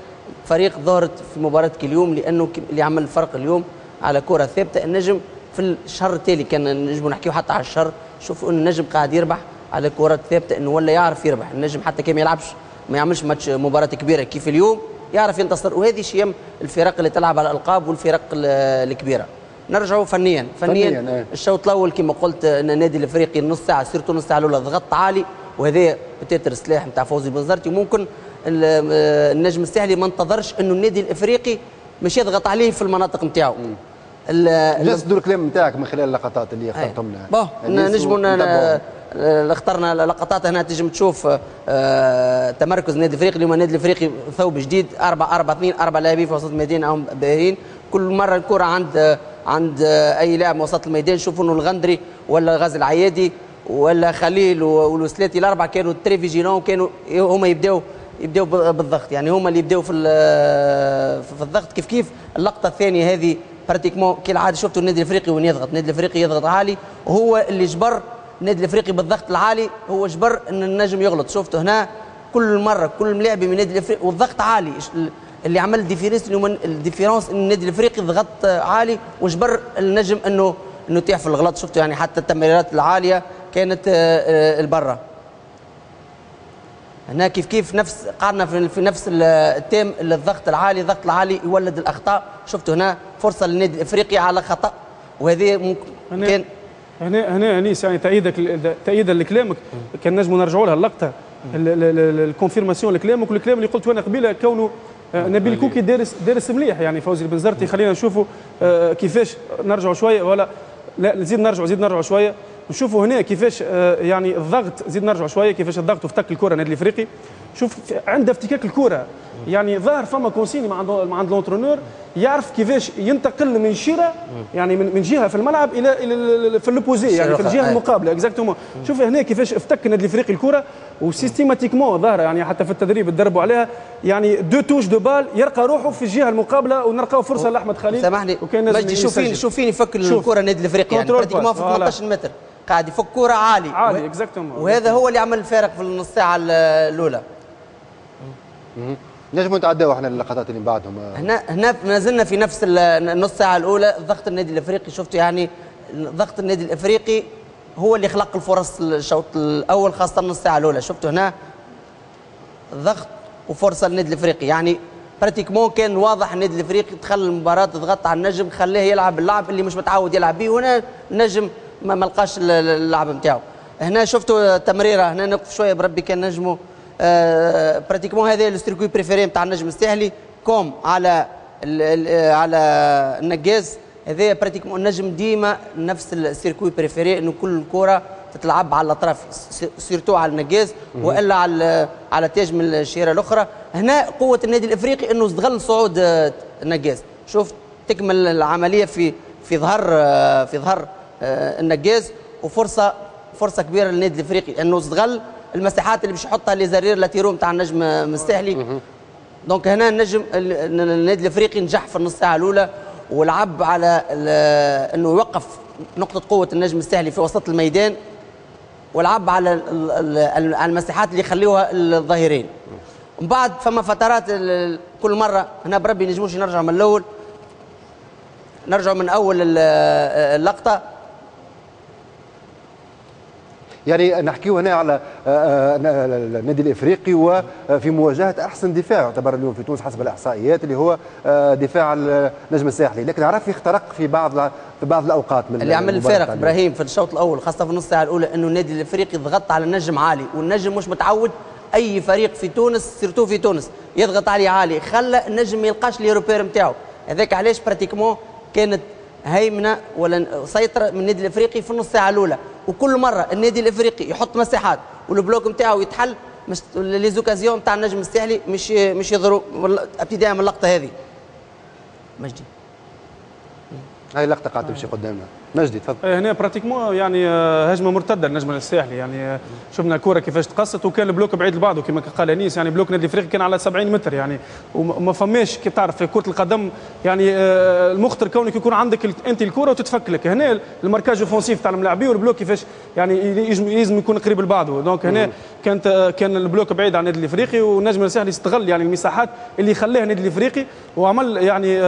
[SPEAKER 2] فريق ظهرت في مباراة اليوم، لانه اللي عمل الفرق اليوم على كره ثابتة. النجم في الشهر التالي كان نجموا نحكيو حتى على الشهر، شوفوا ان النجم قاعد يربح على كرات ثابتة، انه ولا يعرف يربح النجم حتى كي ما يلعبش ما يعملش ماتش مباراة كبيرة كيف اليوم يعرف ينتصر. وهذه شيم الفرق اللي تلعب على الالقاب والفرق الكبيرة. نرجعوا فنيا فنيا, فنياً. الشوط الاول كما قلت ان النادي الافريقي نص ساعة surtout نص ساعة الاولى ضغط عالي، وهذا peut-être السلاح نتاع فوزي بنزرتي، وممكن النجم الساحلي ما انتظرش انه النادي الافريقي مش يضغط عليه في المناطق نتاعو.
[SPEAKER 1] جالس دور الكلام نتاعك من خلال اللقطات اللي اخترتهم لنا.
[SPEAKER 2] bon نجموا اخترنا لقطات هنا تنجم تشوف آه تمركز النادي الافريقي اليوم. النادي الافريقي ثوب جديد أربعة أربعة اثنين، أربع لاعبين في وسط الميدان او باهرين، كل مرة الكره عند عند اي لاعب وسط الميدان. شوفوا انه الغندري ولا غازي العيادي ولا خليل والوسلاتي الاربعة كانوا très vigilants، وكانوا هما يبداو يبداو بالضغط، يعني هما اللي يبداو في في الضغط. كيف كيف اللقطة الثانية هذه pratiquement كالعادة شفتوا النادي الافريقي وين يضغط، النادي الافريقي يضغط عالي، وهو اللي جبر النادي الافريقي بالضغط العالي، هو جبر ان النجم يغلط. شفتوا هنا كل مرة كل ملاعب من النادي الافريقي والضغط عالي، اللي عمل différence اليوم ال différence ان النادي الافريقي ضغط عالي وجبر النجم انه انه يطيح في الغلط. شفتوا يعني حتى التمريرات العالية كانت البرة. هنا كيف كيف نفس قعدنا في نفس ال thème، الضغط العالي، الضغط العالي يولد الاخطاء. شفتوا هنا فرصة للنادي الافريقي على خطا، وهذه ممكن كان
[SPEAKER 3] هنا هنا انيس يعني تأييدك تأييدا لكلامك كان نجموا نرجعوا لها اللقطة ال confirmation لكلامك والكلام اللي قلته انا قبيلة، كونه نبيل كوكي دارس دارس مليح يعني فوزي البنزرتي. خلينا نشوفوا كيفاش نرجعوا شوية ولا لا نزيد نرجعوا زيد نرجعوا شوية نشوفوا هنا كيفاش يعني الضغط، زيد نرجعوا شوية كيفاش الضغط وافتك الكره النادي الافريقي. شوف عند افتكاك الكره يعني ظاهر فما consigne مع عند مع عند l'entraîneur يعرف كيفاش ينتقل من شيره يعني من من جهة في الملعب الى الى في l'opposé يعني في الجهة المقابلة exactement. شوف هنا كيفاش افتك النادي الافريقي الكره و systématiquement ظاهره يعني حتى في التدريب تدربوا عليها، يعني deux touches de balle يلقى روحه في الجهة المقابلة ونلقاو فرصة لاحمد خليل.
[SPEAKER 2] سامحني مجدي، شوفين شوفين يفك الكره النادي الافريقي يعني pratiquement في ثمانية عشر متر قاعد يفك كره عالي
[SPEAKER 3] عالي exactement،
[SPEAKER 2] وهذا هو اللي عمل الفارق في النص ساعة الاولى.
[SPEAKER 1] نجموا نتعداو احنا اللقطات اللي من بعدهم.
[SPEAKER 2] هنا هنا ما زلنا في نفس النص ساعة الاولى. ضغط النادي الافريقي شفتوا يعني ضغط النادي الافريقي هو اللي خلق الفرص الشوط الاول خاصة النص ساعة الاولى. شفتوا هنا ضغط وفرصه للنادي الافريقي، يعني pratiquement كان واضح النادي الافريقي دخل المباراة ضغط على النجم خلاه يلعب اللعب اللي مش متعود يلعب به، وهنا النجم ما لقاش اللعب نتاعو. هنا شفتوا تمريره، هنا نقف شوية بربي كان نجموا آه pratiquement هذا ال circuit préféré نتاع النجم الساحلي كوم على ال ال على النقاز. هذا pratiquement النجم ديما نفس ال circuit préféré، انه كل كره تتلعب على الاطراف surtout على النقاز والا على على تاج من الشيره الاخرى. هنا قوة النادي الافريقي انه استغل صعود النقاز. شوف تكمل العملية في في ظهر في ظهر النقاز، وفرصه فرصة كبيرة للنادي الافريقي انه استغل المساحات اللي باش يحطها les arrières latéraux نتاع النجم الساحلي. donc هنا النجم النادي الافريقي نجح في النص ساعة الاولى ولعب على انه يوقف نقطة قوة النجم الساحلي في وسط الميدان، ولعب على المساحات اللي يخليوها الظهيرين. ومن بعد فما فترات كل مرة هنا بربي نجموش نرجع من الاول. نرجعوا من اول اللقطة.
[SPEAKER 1] يعني نحكيو هنا على النادي الافريقي وفي مواجهة احسن دفاع يعتبر اليوم في تونس حسب الاحصائيات اللي هو دفاع النجم الساحلي، لكن عرف يخترق في بعض في بعض الاوقات من
[SPEAKER 2] اللي عمل الفارق ابراهيم في الشوط الاول خاصة في النص ساعة الاولى، انه النادي الافريقي ضغط على النجم عالي، والنجم مش متعود اي فريق في تونس surtout في تونس يضغط عليه عالي، خلى النجم ما يلقاش les repères نتاعو. هذاك علاش pratiquement كانت هيمنة ولا سيطرة من النادي الافريقي في النص ساعة الاولى، وكل مرة النادي الافريقي يحط مساحات وال bloc نتاعو يتحل، مش les occasions نتاع النجم الساحلي مش مش يضروا ابتداء من اللقطة هذه. مجدي
[SPEAKER 1] هاي اللقطة قاعدة تمشي قدامنا، مجدي تفضل.
[SPEAKER 3] هنا pratiquement يعني هجمة مرتدة للنجم الساحلي، يعني شفنا الكره كيفاش تقصت وكان ال bloc بعيد لبعضه كما قال انيس، يعني bloc النادي الافريقي كان على سبعين متر يعني، وما فماش كي تعرف في كره القدم يعني المخطر كونك يكون عندك انت الكره وتتفك لك. هنا ال marquage offensif تاع الملاعبين وال bloc كيفاش يعني يلزم يكون قريب لبعضه، donc هنا كانت كان ال bloc بعيد عن النادي الافريقي، والنجم الساحلي استغل يعني المساحات اللي خلاها النادي الافريقي وعمل يعني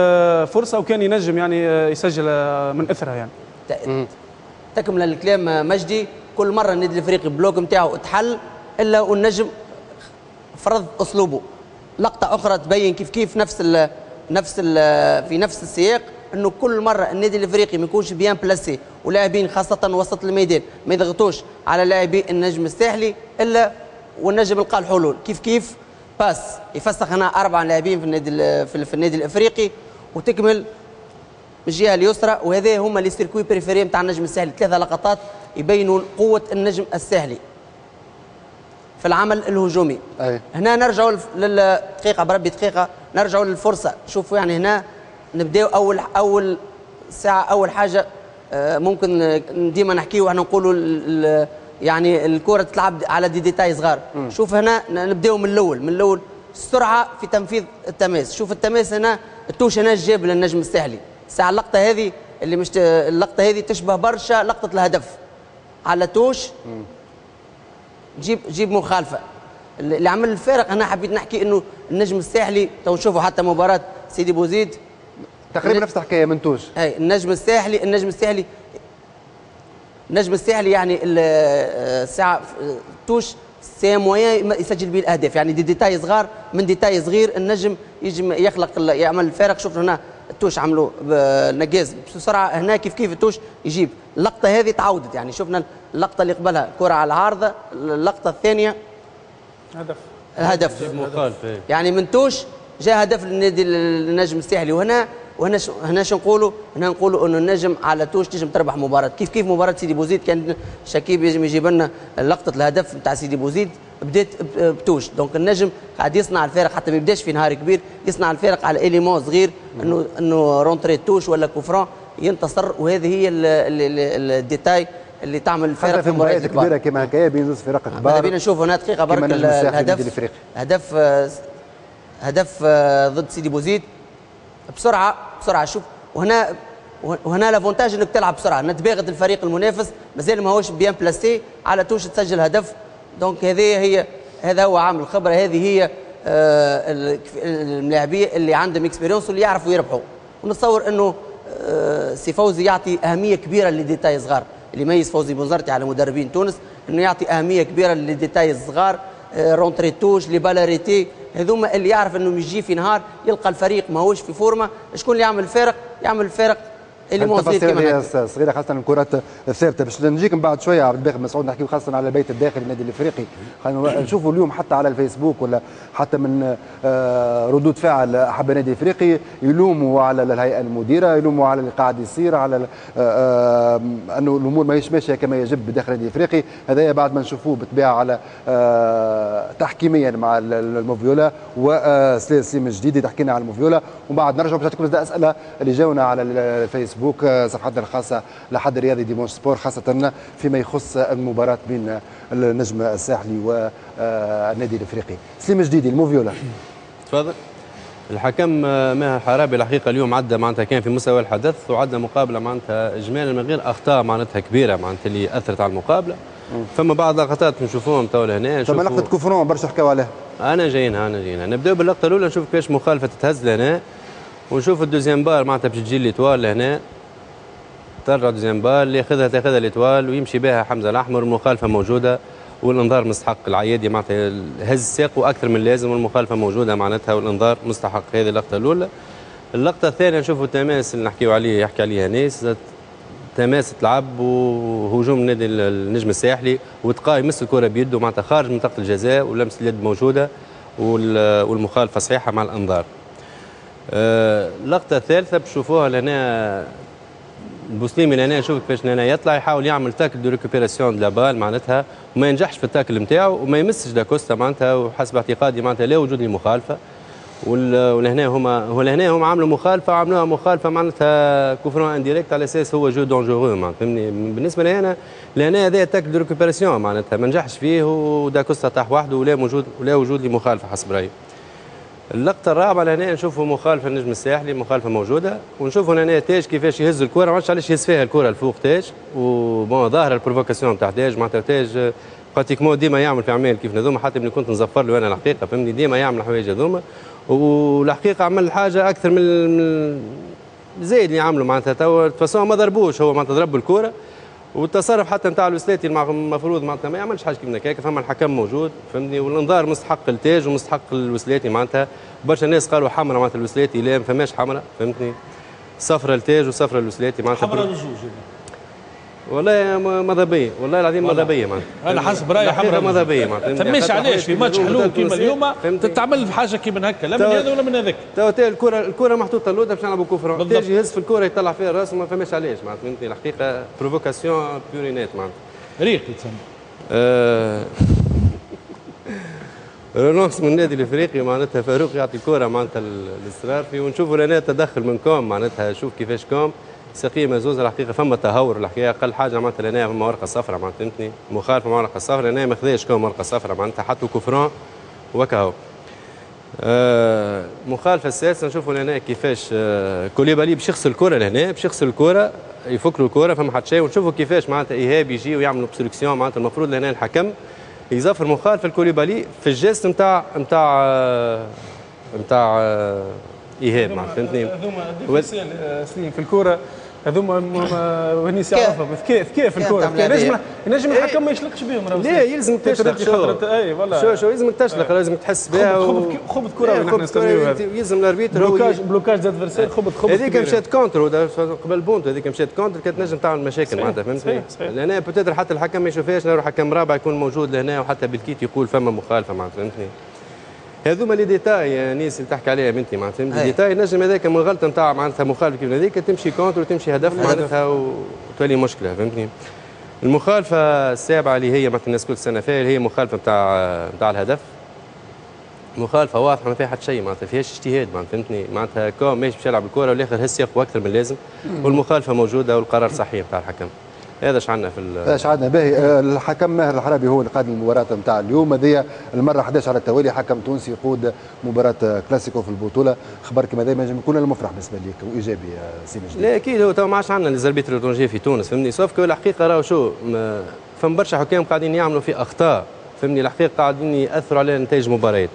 [SPEAKER 3] فرصة وكان ينجم يعني يسجل من اثرها يعني.
[SPEAKER 2] تكمل الكلام مجدي، كل مرة النادي الافريقي bloc نتاعو تحل الا والنجم فرض اسلوبه. لقطة اخرى تبين كيف كيف نفس ال نفس ال في نفس السياق، انه كل مرة النادي الافريقي ما يكونش bien placé ولاعبين خاصة وسط الميدان ما يضغطوش على لاعبي النجم الساحلي الا والنجم لقى الحلول. كيف كيف passe يفسخ هنا اربع لاعبين في النادي في النادي الافريقي وتكمل من الجهة اليسرى، وهذا هما les circuits préférés نتاع النجم الساحلي. ثلاثة لقطات يبينوا قوة النجم الساحلي في العمل الهجومي. أي. هنا نرجعوا للدقيقه بربي دقيقة، نرجعوا للفرصه. شوفوا يعني هنا نبداو اول اول ساعة اول حاجة ممكن ديما نحكيو احنا نقولوا يعني الكره تلعب على des détails صغار. م. شوف هنا نبداو من الاول، من الاول السرعة في تنفيذ التماس. شوف التماس هنا، ال touche هنا جاب للنجم الساحلي. ساعة اللقطة هذه اللي مش اللقطة هذه تشبه برشا لقطة الهدف على touche جيب جيب مخالفة اللي عمل الفارق. أنا حبيت نحكي إنه النجم الساحلي تو نشوفوا حتى مباراة سيدي بوزيد
[SPEAKER 1] تقريبا نفس الحكاية من touche.
[SPEAKER 2] أي النجم الساحلي النجم الساحلي النجم الساحلي يعني الساعة touche c'est moyen يسجل به الأهداف، يعني des détails صغار من détail صغير النجم يجم يخلق يعمل الفارق. شوف هنا ال touche عملوا نجاز بسرعة، هنا كيف كيف ال touche يجيب. اللقطة هذه تعودت، يعني شفنا اللقطة اللي قبلها كره على العارضة، اللقطة الثانية
[SPEAKER 3] هدف
[SPEAKER 2] الهدف يعني من touche جاء هدف للنادي النجم الساحلي. وهنا وهنا هنا شو نقولوا؟ هنا نقولوا انه النجم على touche تنجم تربح مباراة. كيف كيف مباراة سيدي بوزيد كان شكيب يجم يجيب لنا لقطة الهدف نتاع سيدي بوزيد بدات ب touche. donc النجم قاعد يصنع الفارق حتى ما يبداش في نهار كبير، يصنع الفارق على élément صغير انه انه rentrée touche ولا coup franc ينتصر. وهذه هي ال détail اللي تعمل الفارق
[SPEAKER 1] في مباريات كبيرة كما هكايا بين زوج فرق كبار.
[SPEAKER 2] ماذا بينا نشوفوا هنا دقيقة برك الهدف، هدف هدف ضد سيدي بوزيد بسرعة بسرعة. شوف وهنا وهنا l'avantage انك تلعب بسرعة، نتباغت الفريق المنافس مازال ماهوش bien placé على touche تسجل هدف. donc هذه هي هذا هو عامل الخبرة، هذه هي آه الملاعبيه اللي عندهم expérience واللي يعرفوا يربحوا. ونتصور انه آه سي فوزي يعطي اهمية كبيرة ل détails صغار. اللي يميز فوزي بنزرتي على مدربين تونس انه يعطي اهمية كبيرة ل détails الصغار، آه rentrée touche، les balles arrêtées، هذوما اللي يعرف انه يجي في نهار يلقى الفريق ماهوش في forme. شكون اللي يعمل الفارق؟ يعمل الفارق اللي موصل كما
[SPEAKER 1] صغيرة خاصة الكرات الثابتة. باش نجيك من بعد شوية عبد الباقي مسعود نحكيو خاصة على البيت الداخلي النادي الافريقي. خلينا نشوفوا اليوم حتى على الفيسبوك ولا حتى من ردود فعل احب النادي الافريقي يلوموا على الهيئة المديرة، يلوموا على اللي قاعد يصير، على انه الامور ماهيش ماشية كما يجب بداخل النادي الافريقي. هذايا بعد ما نشوفوه بالطبيعة على تحكيميا مع الموفيولا وسليم الجديدي تحكينا على الموفيولا، ومن بعد نرجعوا باش نعطيكم اسئلة اللي جاونا على الفيسبوك صفحتنا الخاصة لحد الرياضي Dimanche Sport، خاصة فيما يخص المباراة بين النجم الساحلي والنادي الافريقي. سليم جديدي الموفيولا.
[SPEAKER 17] تفضل. الحكم ماهر حرابي الحقيقة اليوم عدى معناتها كان في مستوى الحدث وعدى مقابلة معناتها اجمالا من غير اخطاء معناتها كبيرة معناتها اللي اثرت على المقابلة. فما بعض اللقطات نشوفوهم تو لهنا.
[SPEAKER 1] فما لقطة coup franc برشا حكاو عليها.
[SPEAKER 17] انا جايينها انا جايينها. نبداو باللقطة الأولى نشوف كيفاش مخالفة تتهز لهنا. ونشوف ال deuxième balle معناتها باش تجي l'Étoile لهنا، ترجع deuxième balle اللي ياخذها تاخذها l'Étoile ويمشي بها حمزة الاحمر. المخالفة موجودة والانذار مستحق. العيادي معناتها هز ساقه اكثر من اللازم والمخالفة موجودة معناتها والانذار مستحق. هذه اللقطة الاولى. اللقطة الثانية نشوفوا التماس اللي نحكيو عليه يحكي عليه انيس، تماس تلعب وهجوم نادي النجم الساحلي وتقا يمس الكره بيده معناتها خارج منطقة الجزاء ولمس اليد موجودة والمخالفة صحيحه مع الانذار. اللقطة الثالثة بتشوفوها لهنا البوسليمي لهنا، شوف كيفاش لهنا يطلع يحاول يعمل tacle de récupération de la balle معناتها وما ينجحش في ال tacle نتاعو وما يمسش داكوستا معناتها، وحسب اعتقادي معناتها لا وجود لمخالفة. ولهنا هما ولهنا هما عملوا مخالفة، عملوها مخالفة معناتها coup franc indirect على اساس هو jeu dangereux معناتها، فهمني؟ بالنسبة لي انا لهنا هذا tacle de récupération معناتها ما نجحش فيه وداكوستا طاح وحده ولا موجود ولا وجود لمخالفة حسب رايي. اللقطة الرابعة لهنا نشوفوا مخالفة النجم الساحلي، مخالفة موجودة، ونشوفوا لهنا تاج كيفاش يهز الكره، ما عرفتش علاش يهز فيها الكره الفوق تاج، و bon ظاهره ال provocation تاع تاج معناتها تاج pratiquement ديما يعمل في اعمال كيف هذوما، حتى ملي كنت نزفر له انا الحقيقة فهمني ديما يعمل حوايج هذوما، والحقيقة عمل حاجة اكثر من زايد اللي عملوا معناتها توا façon ما ضربوش هو معناتها ضرب الكره، والتصرف حتى نتاع الوسلاتي المفروض معناتها ما يعملش حاجة كيف هكاك، فما الحكم موجود فهمتني، والانذار مستحق التاج ومستحق الوسلاتي معناتها. برشا ناس قالوا حمراء معناتها الوسلاتي، لا ما فماش حمراء فهمتني، صفرة التاج وصفرة الوسلاتي معناتها
[SPEAKER 5] حمراء للزوج.
[SPEAKER 17] والله ماذا بيا، والله العظيم ماذا بيا معناتها.
[SPEAKER 5] انا حسب رايي حمراء
[SPEAKER 17] ماذا بيا معناتها.
[SPEAKER 5] فماش علاش في ماتش حلو كيما اليوم تتعمل في حاجة كيما هكا، لا من هذا ولا من هذاك.
[SPEAKER 17] تو الكره الكره محطوطة اللوطه باش نلعبوا coup franc، تاج يهز في الكره يطلع فيها راسه ما فماش علاش معناتها، فهمتني؟ الحقيقة provocation pure et nette معناتها.
[SPEAKER 5] ريق يتسمى.
[SPEAKER 17] relance من النادي الافريقي معناتها فاروق يعطي الكره معناتها للسرارفي، ونشوفوا لنا تدخل من كوم معناتها، شوف كيفاش كوم ساقيه مزوزه. الحقيقة فما تهور الحقيقة، اقل حاجة معناتها لهنا فما ورقة صفراء معناتها فهمتني، مخالفة مع ورقة صفراء، لهنا ما خذاش كوم ورقة صفراء معناتها حطوا coup franc وكهو. آه مخالفة السادسة نشوفوا لهنا كيفاش آه كوليبالي باش يخسر الكره لهنا، باش يخسر الكره يفك له الكره فما حتى شيء، ونشوفوا كيفاش معناتها ايهاب يجي ويعمل obstruction معناتها المفروض لهنا الحكم يزفر مخالفة الكوليبالي في ال geste نتاع نتاع نتاع ايهاب معناتها فهمتني.
[SPEAKER 3] هذوما سليم في الكره هذوما ونيس يعرفهم ذكاء ذكاء في الكره، ينجم ينجم الحكم ما يشلقش بهم.
[SPEAKER 17] لا يلزم تشلق، شو اي شو شو لازم تشلق، لازم تحس بها.
[SPEAKER 3] خبث خبث كروي نحن نسميوه هذا،
[SPEAKER 17] يلزم l'arbitre
[SPEAKER 3] blocage blocage d'adversaire، خبث خبث.
[SPEAKER 17] هذيك مشات contre قبل بونتو، هذيك مشات contre كانت نجم تعمل مشاكل معناتها فهمتني. لهنا peut-être حتى الحكم ما يشوفهاش، نروح حكم رابع يكون موجود لهنا وحتى بالكيت يقول فما مخالفة معناتها فهمتني. هذوما les détails يا نيس اللي تحكي عليها بنتي معناتها les détails، نجم هذاك من غلطه نتاع معناتها مخالفة كيف هذيك تمشي contre وتمشي هدف معناتها وتولي مشكلة فهمتني. المخالفة السابعة اللي هي معناتها الناس كل السنة فيها اللي هي مخالفة نتاع نتاع الهدف، مخالفة واضحة ما فيها حتى شيء معناتها فيهاش اجتهاد معناتها فهمتني، معناتها كوم ماشي باش يلعب الكره والاخر هز يقوى اكثر من اللازم، والمخالفة موجودة والقرار صحيح نتاع الحكم. هذا اش عندنا في
[SPEAKER 1] هذا اش عندنا باهي. الحكم ماهر الحرابي هو اللي قاد المباراة نتاع اليوم، هذه المرة أحد عشر على التوالي حكم تونسي يقود مباراة كلاسيكو في البطولة. خبر كما هذا ينجم يكون المفرح بالنسبة لك وايجابي سي مجدي.
[SPEAKER 17] لا اكيد هو تو ما عادش عندنا les arbitres étrangers في تونس فهمني، sauf que الحقيقة راهو شو فما برشا حكام قاعدين يعملوا في اخطاء فهمني، الحقيقة قاعدين ياثروا على نتائج المباريات،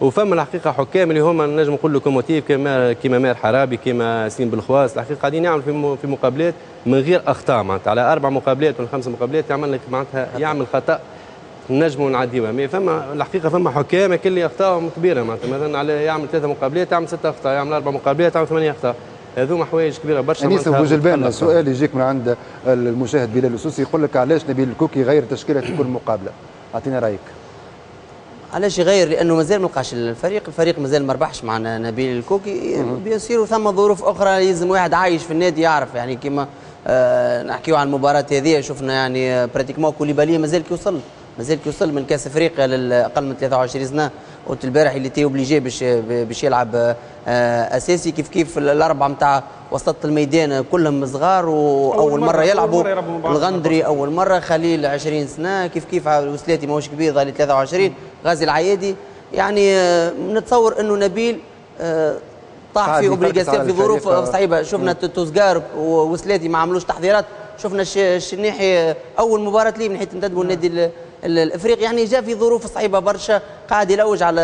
[SPEAKER 17] وفما الحقيقة حكام اللي هما نجم نقول locomotives كما كيما ماهر حرابي كيما سليم بالخواص، الحقيقة قاعدين يعملوا في في مقابلات من غير اخطاء معناتها على اربع مقابلات ولا خمس مقابلات يعمل لك معناتها يعمل خطا نجموا نعديوها، mais فما الحقيقة فما حكام اللي اخطائهم كبيرة معناتها مثلا على يعمل ثلاثة مقابلات يعمل ستة اخطاء، يعمل اربع مقابلات يعمل ثمانية اخطاء، هذوما حوايج كبيرة برشا.
[SPEAKER 1] انيس بوجلبان سؤال يجيك من عند المشاهد بلال السوسي يقول لك علاش نبيل الكوكي يغير تشكيله في كل مقابله؟ اعطينا رايك.
[SPEAKER 2] علاش يغير؟ لانه مازال ما لقاش الفريق، الفريق مازال ما ربحش مع نبيل الكوكي، bien sûr ثم ظروف اخرى لازم واحد عايش في النادي يعرف يعني كيما آه نحكيو عن المباراة هذه شفنا يعني pratiquement كوليبالي مازال كي وصل مازال كي وصل من كاس افريقيا للاقل من ثلاثة وعشرين سنة، قلت البارح اللي était obligé باش باش يلعب آه اساسي. كيف كيف الاربعة نتاع وسط الميدان كلهم صغار واول مرة, مرة يلعبوا، الغندري اول مرة، خليل عشرين سنة، كيف كيف الوسلاتي ماهوش كبير ظهر ثلاثة وعشرين، غازي العيادي يعني آه نتصور انه نبيل آه طاح في obligation في ظروف صعيبة. شفنا توزقار وسلاتي ما عملوش تحضيرات، شفنا الشنيحي اول مباراة ليه من حيث انتدبوا النادي الافريقي يعني جاء في ظروف صعيبة برشا، قاعد يلوج على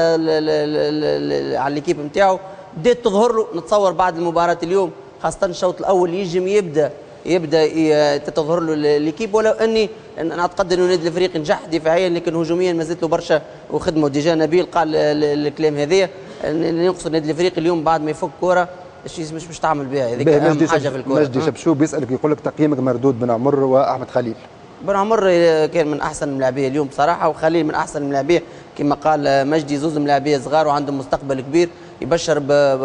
[SPEAKER 2] على l'équipe نتاعو. بدات تظهر له. نتصور بعد المباراة اليوم خاصة الشوط الاول يجم يبدا يبدا تتظهر له l'équipe، ولو اني انا اعتقد انه النادي الافريقي نجح دفاعيا لكن هجوميا ما زالت له برشا وخدمه. و déjà نبيل قال الكلام هذايا، ينقص النادي الافريقي اليوم بعد ما يفك كره مش مش تعمل بها، هذيك اهم حاجة في الكره.
[SPEAKER 1] مجدي شبشوب بيسالك يقول لك تقييمك مردود بن عمر واحمد خليل.
[SPEAKER 2] بن عمر كان من احسن الملاعبيه اليوم بصراحة، وخليل من احسن الملاعبيه كما قال مجدي، زوز ملاعبيه صغار وعندهم مستقبل كبير يبشر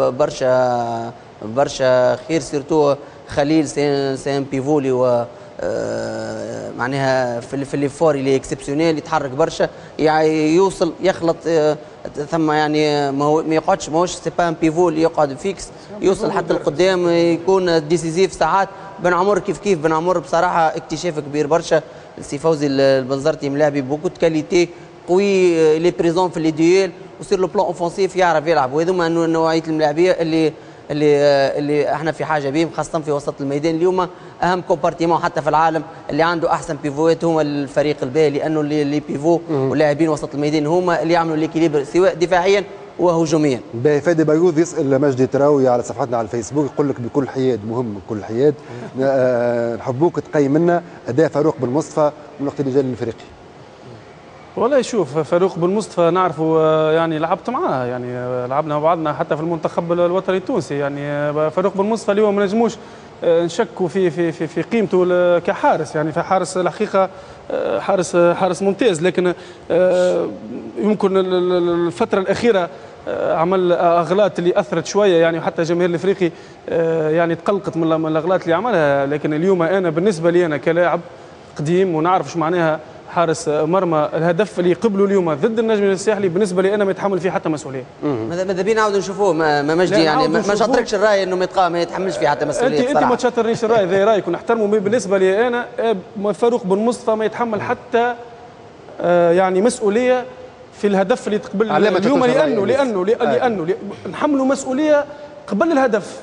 [SPEAKER 2] برشا برشا خير، surtout خليل c'est un pivot و معناها في في l'effort اللي exceptionnel، يتحرك برشا يعني يوصل يخلط ثم يعني ما هو ما يقعدش، ماهوش c'est pas un pivot اللي يقعد fixe، يوصل حتى القدام يكون décisif ساعات. بن عمر كيف كيف، بن عمر بصراحة اكتشاف كبير برشا. سي فوزي البنزرتي ملاعبي beaucoup de qualités، قوي il est présent في les duels و sur le plan offensif يعرف يلعب، وهذوما نوعية الملاعبيه اللي اللي اللي احنا في حاجة بهم خاصة في وسط الميدان. اليوم اهم compartiment حتى في العالم اللي عنده احسن pivot هو الفريق الباهي، لانه les pivots واللاعبين وسط الميدان هما اللي يعملوا l'équilibre سواء دفاعيا وهجوميا.
[SPEAKER 1] باهي فادي بيوض يسال مجدي تراوي على صفحتنا على الفيسبوك يقول لك بكل حياد، مهم بكل حياد آه نحبوك تقيم لنا اداء فاروق بن مصطفى من وقت اللي جا للافريقي.
[SPEAKER 3] والله شوف فاروق بن مصطفى نعرفه، يعني لعبت معاه، يعني لعبنا مع بعضنا حتى في المنتخب الوطني التونسي. يعني فاروق بن مصطفى اليوم ما نجموش نشكوا في في في في قيمته كحارس، يعني فحارس الحقيقة حارس حارس ممتاز، لكن يمكن الفترة الاخيرة عمل اغلاط اللي اثرت شوية، يعني وحتى جماهير الافريقي يعني تقلقت من الاغلاط اللي عملها. لكن اليوم انا بالنسبة لي انا كلاعب قديم ونعرف ايش معناها حارس مرمى، الهدف اللي قبله اليوم ضد النجم الساحلي بالنسبة لي انا ما يتحمل فيه حتى مسؤولية.
[SPEAKER 2] ماذا بينا نعاودوا نشوفوه ما مجدي، يعني ما شاطركش الراي انه ما يتحملش فيه حتى مسؤولية.
[SPEAKER 3] انت انت ما تشاطرنيش الراي، ذا رايك ونحترمه. بالنسبة لي انا فاروق بن مصطفى ما يتحمل حتى يعني مسؤولية في الهدف اللي تقبل اليوم، لانه لانه لانه نحملوا مسؤولية قبل الهدف،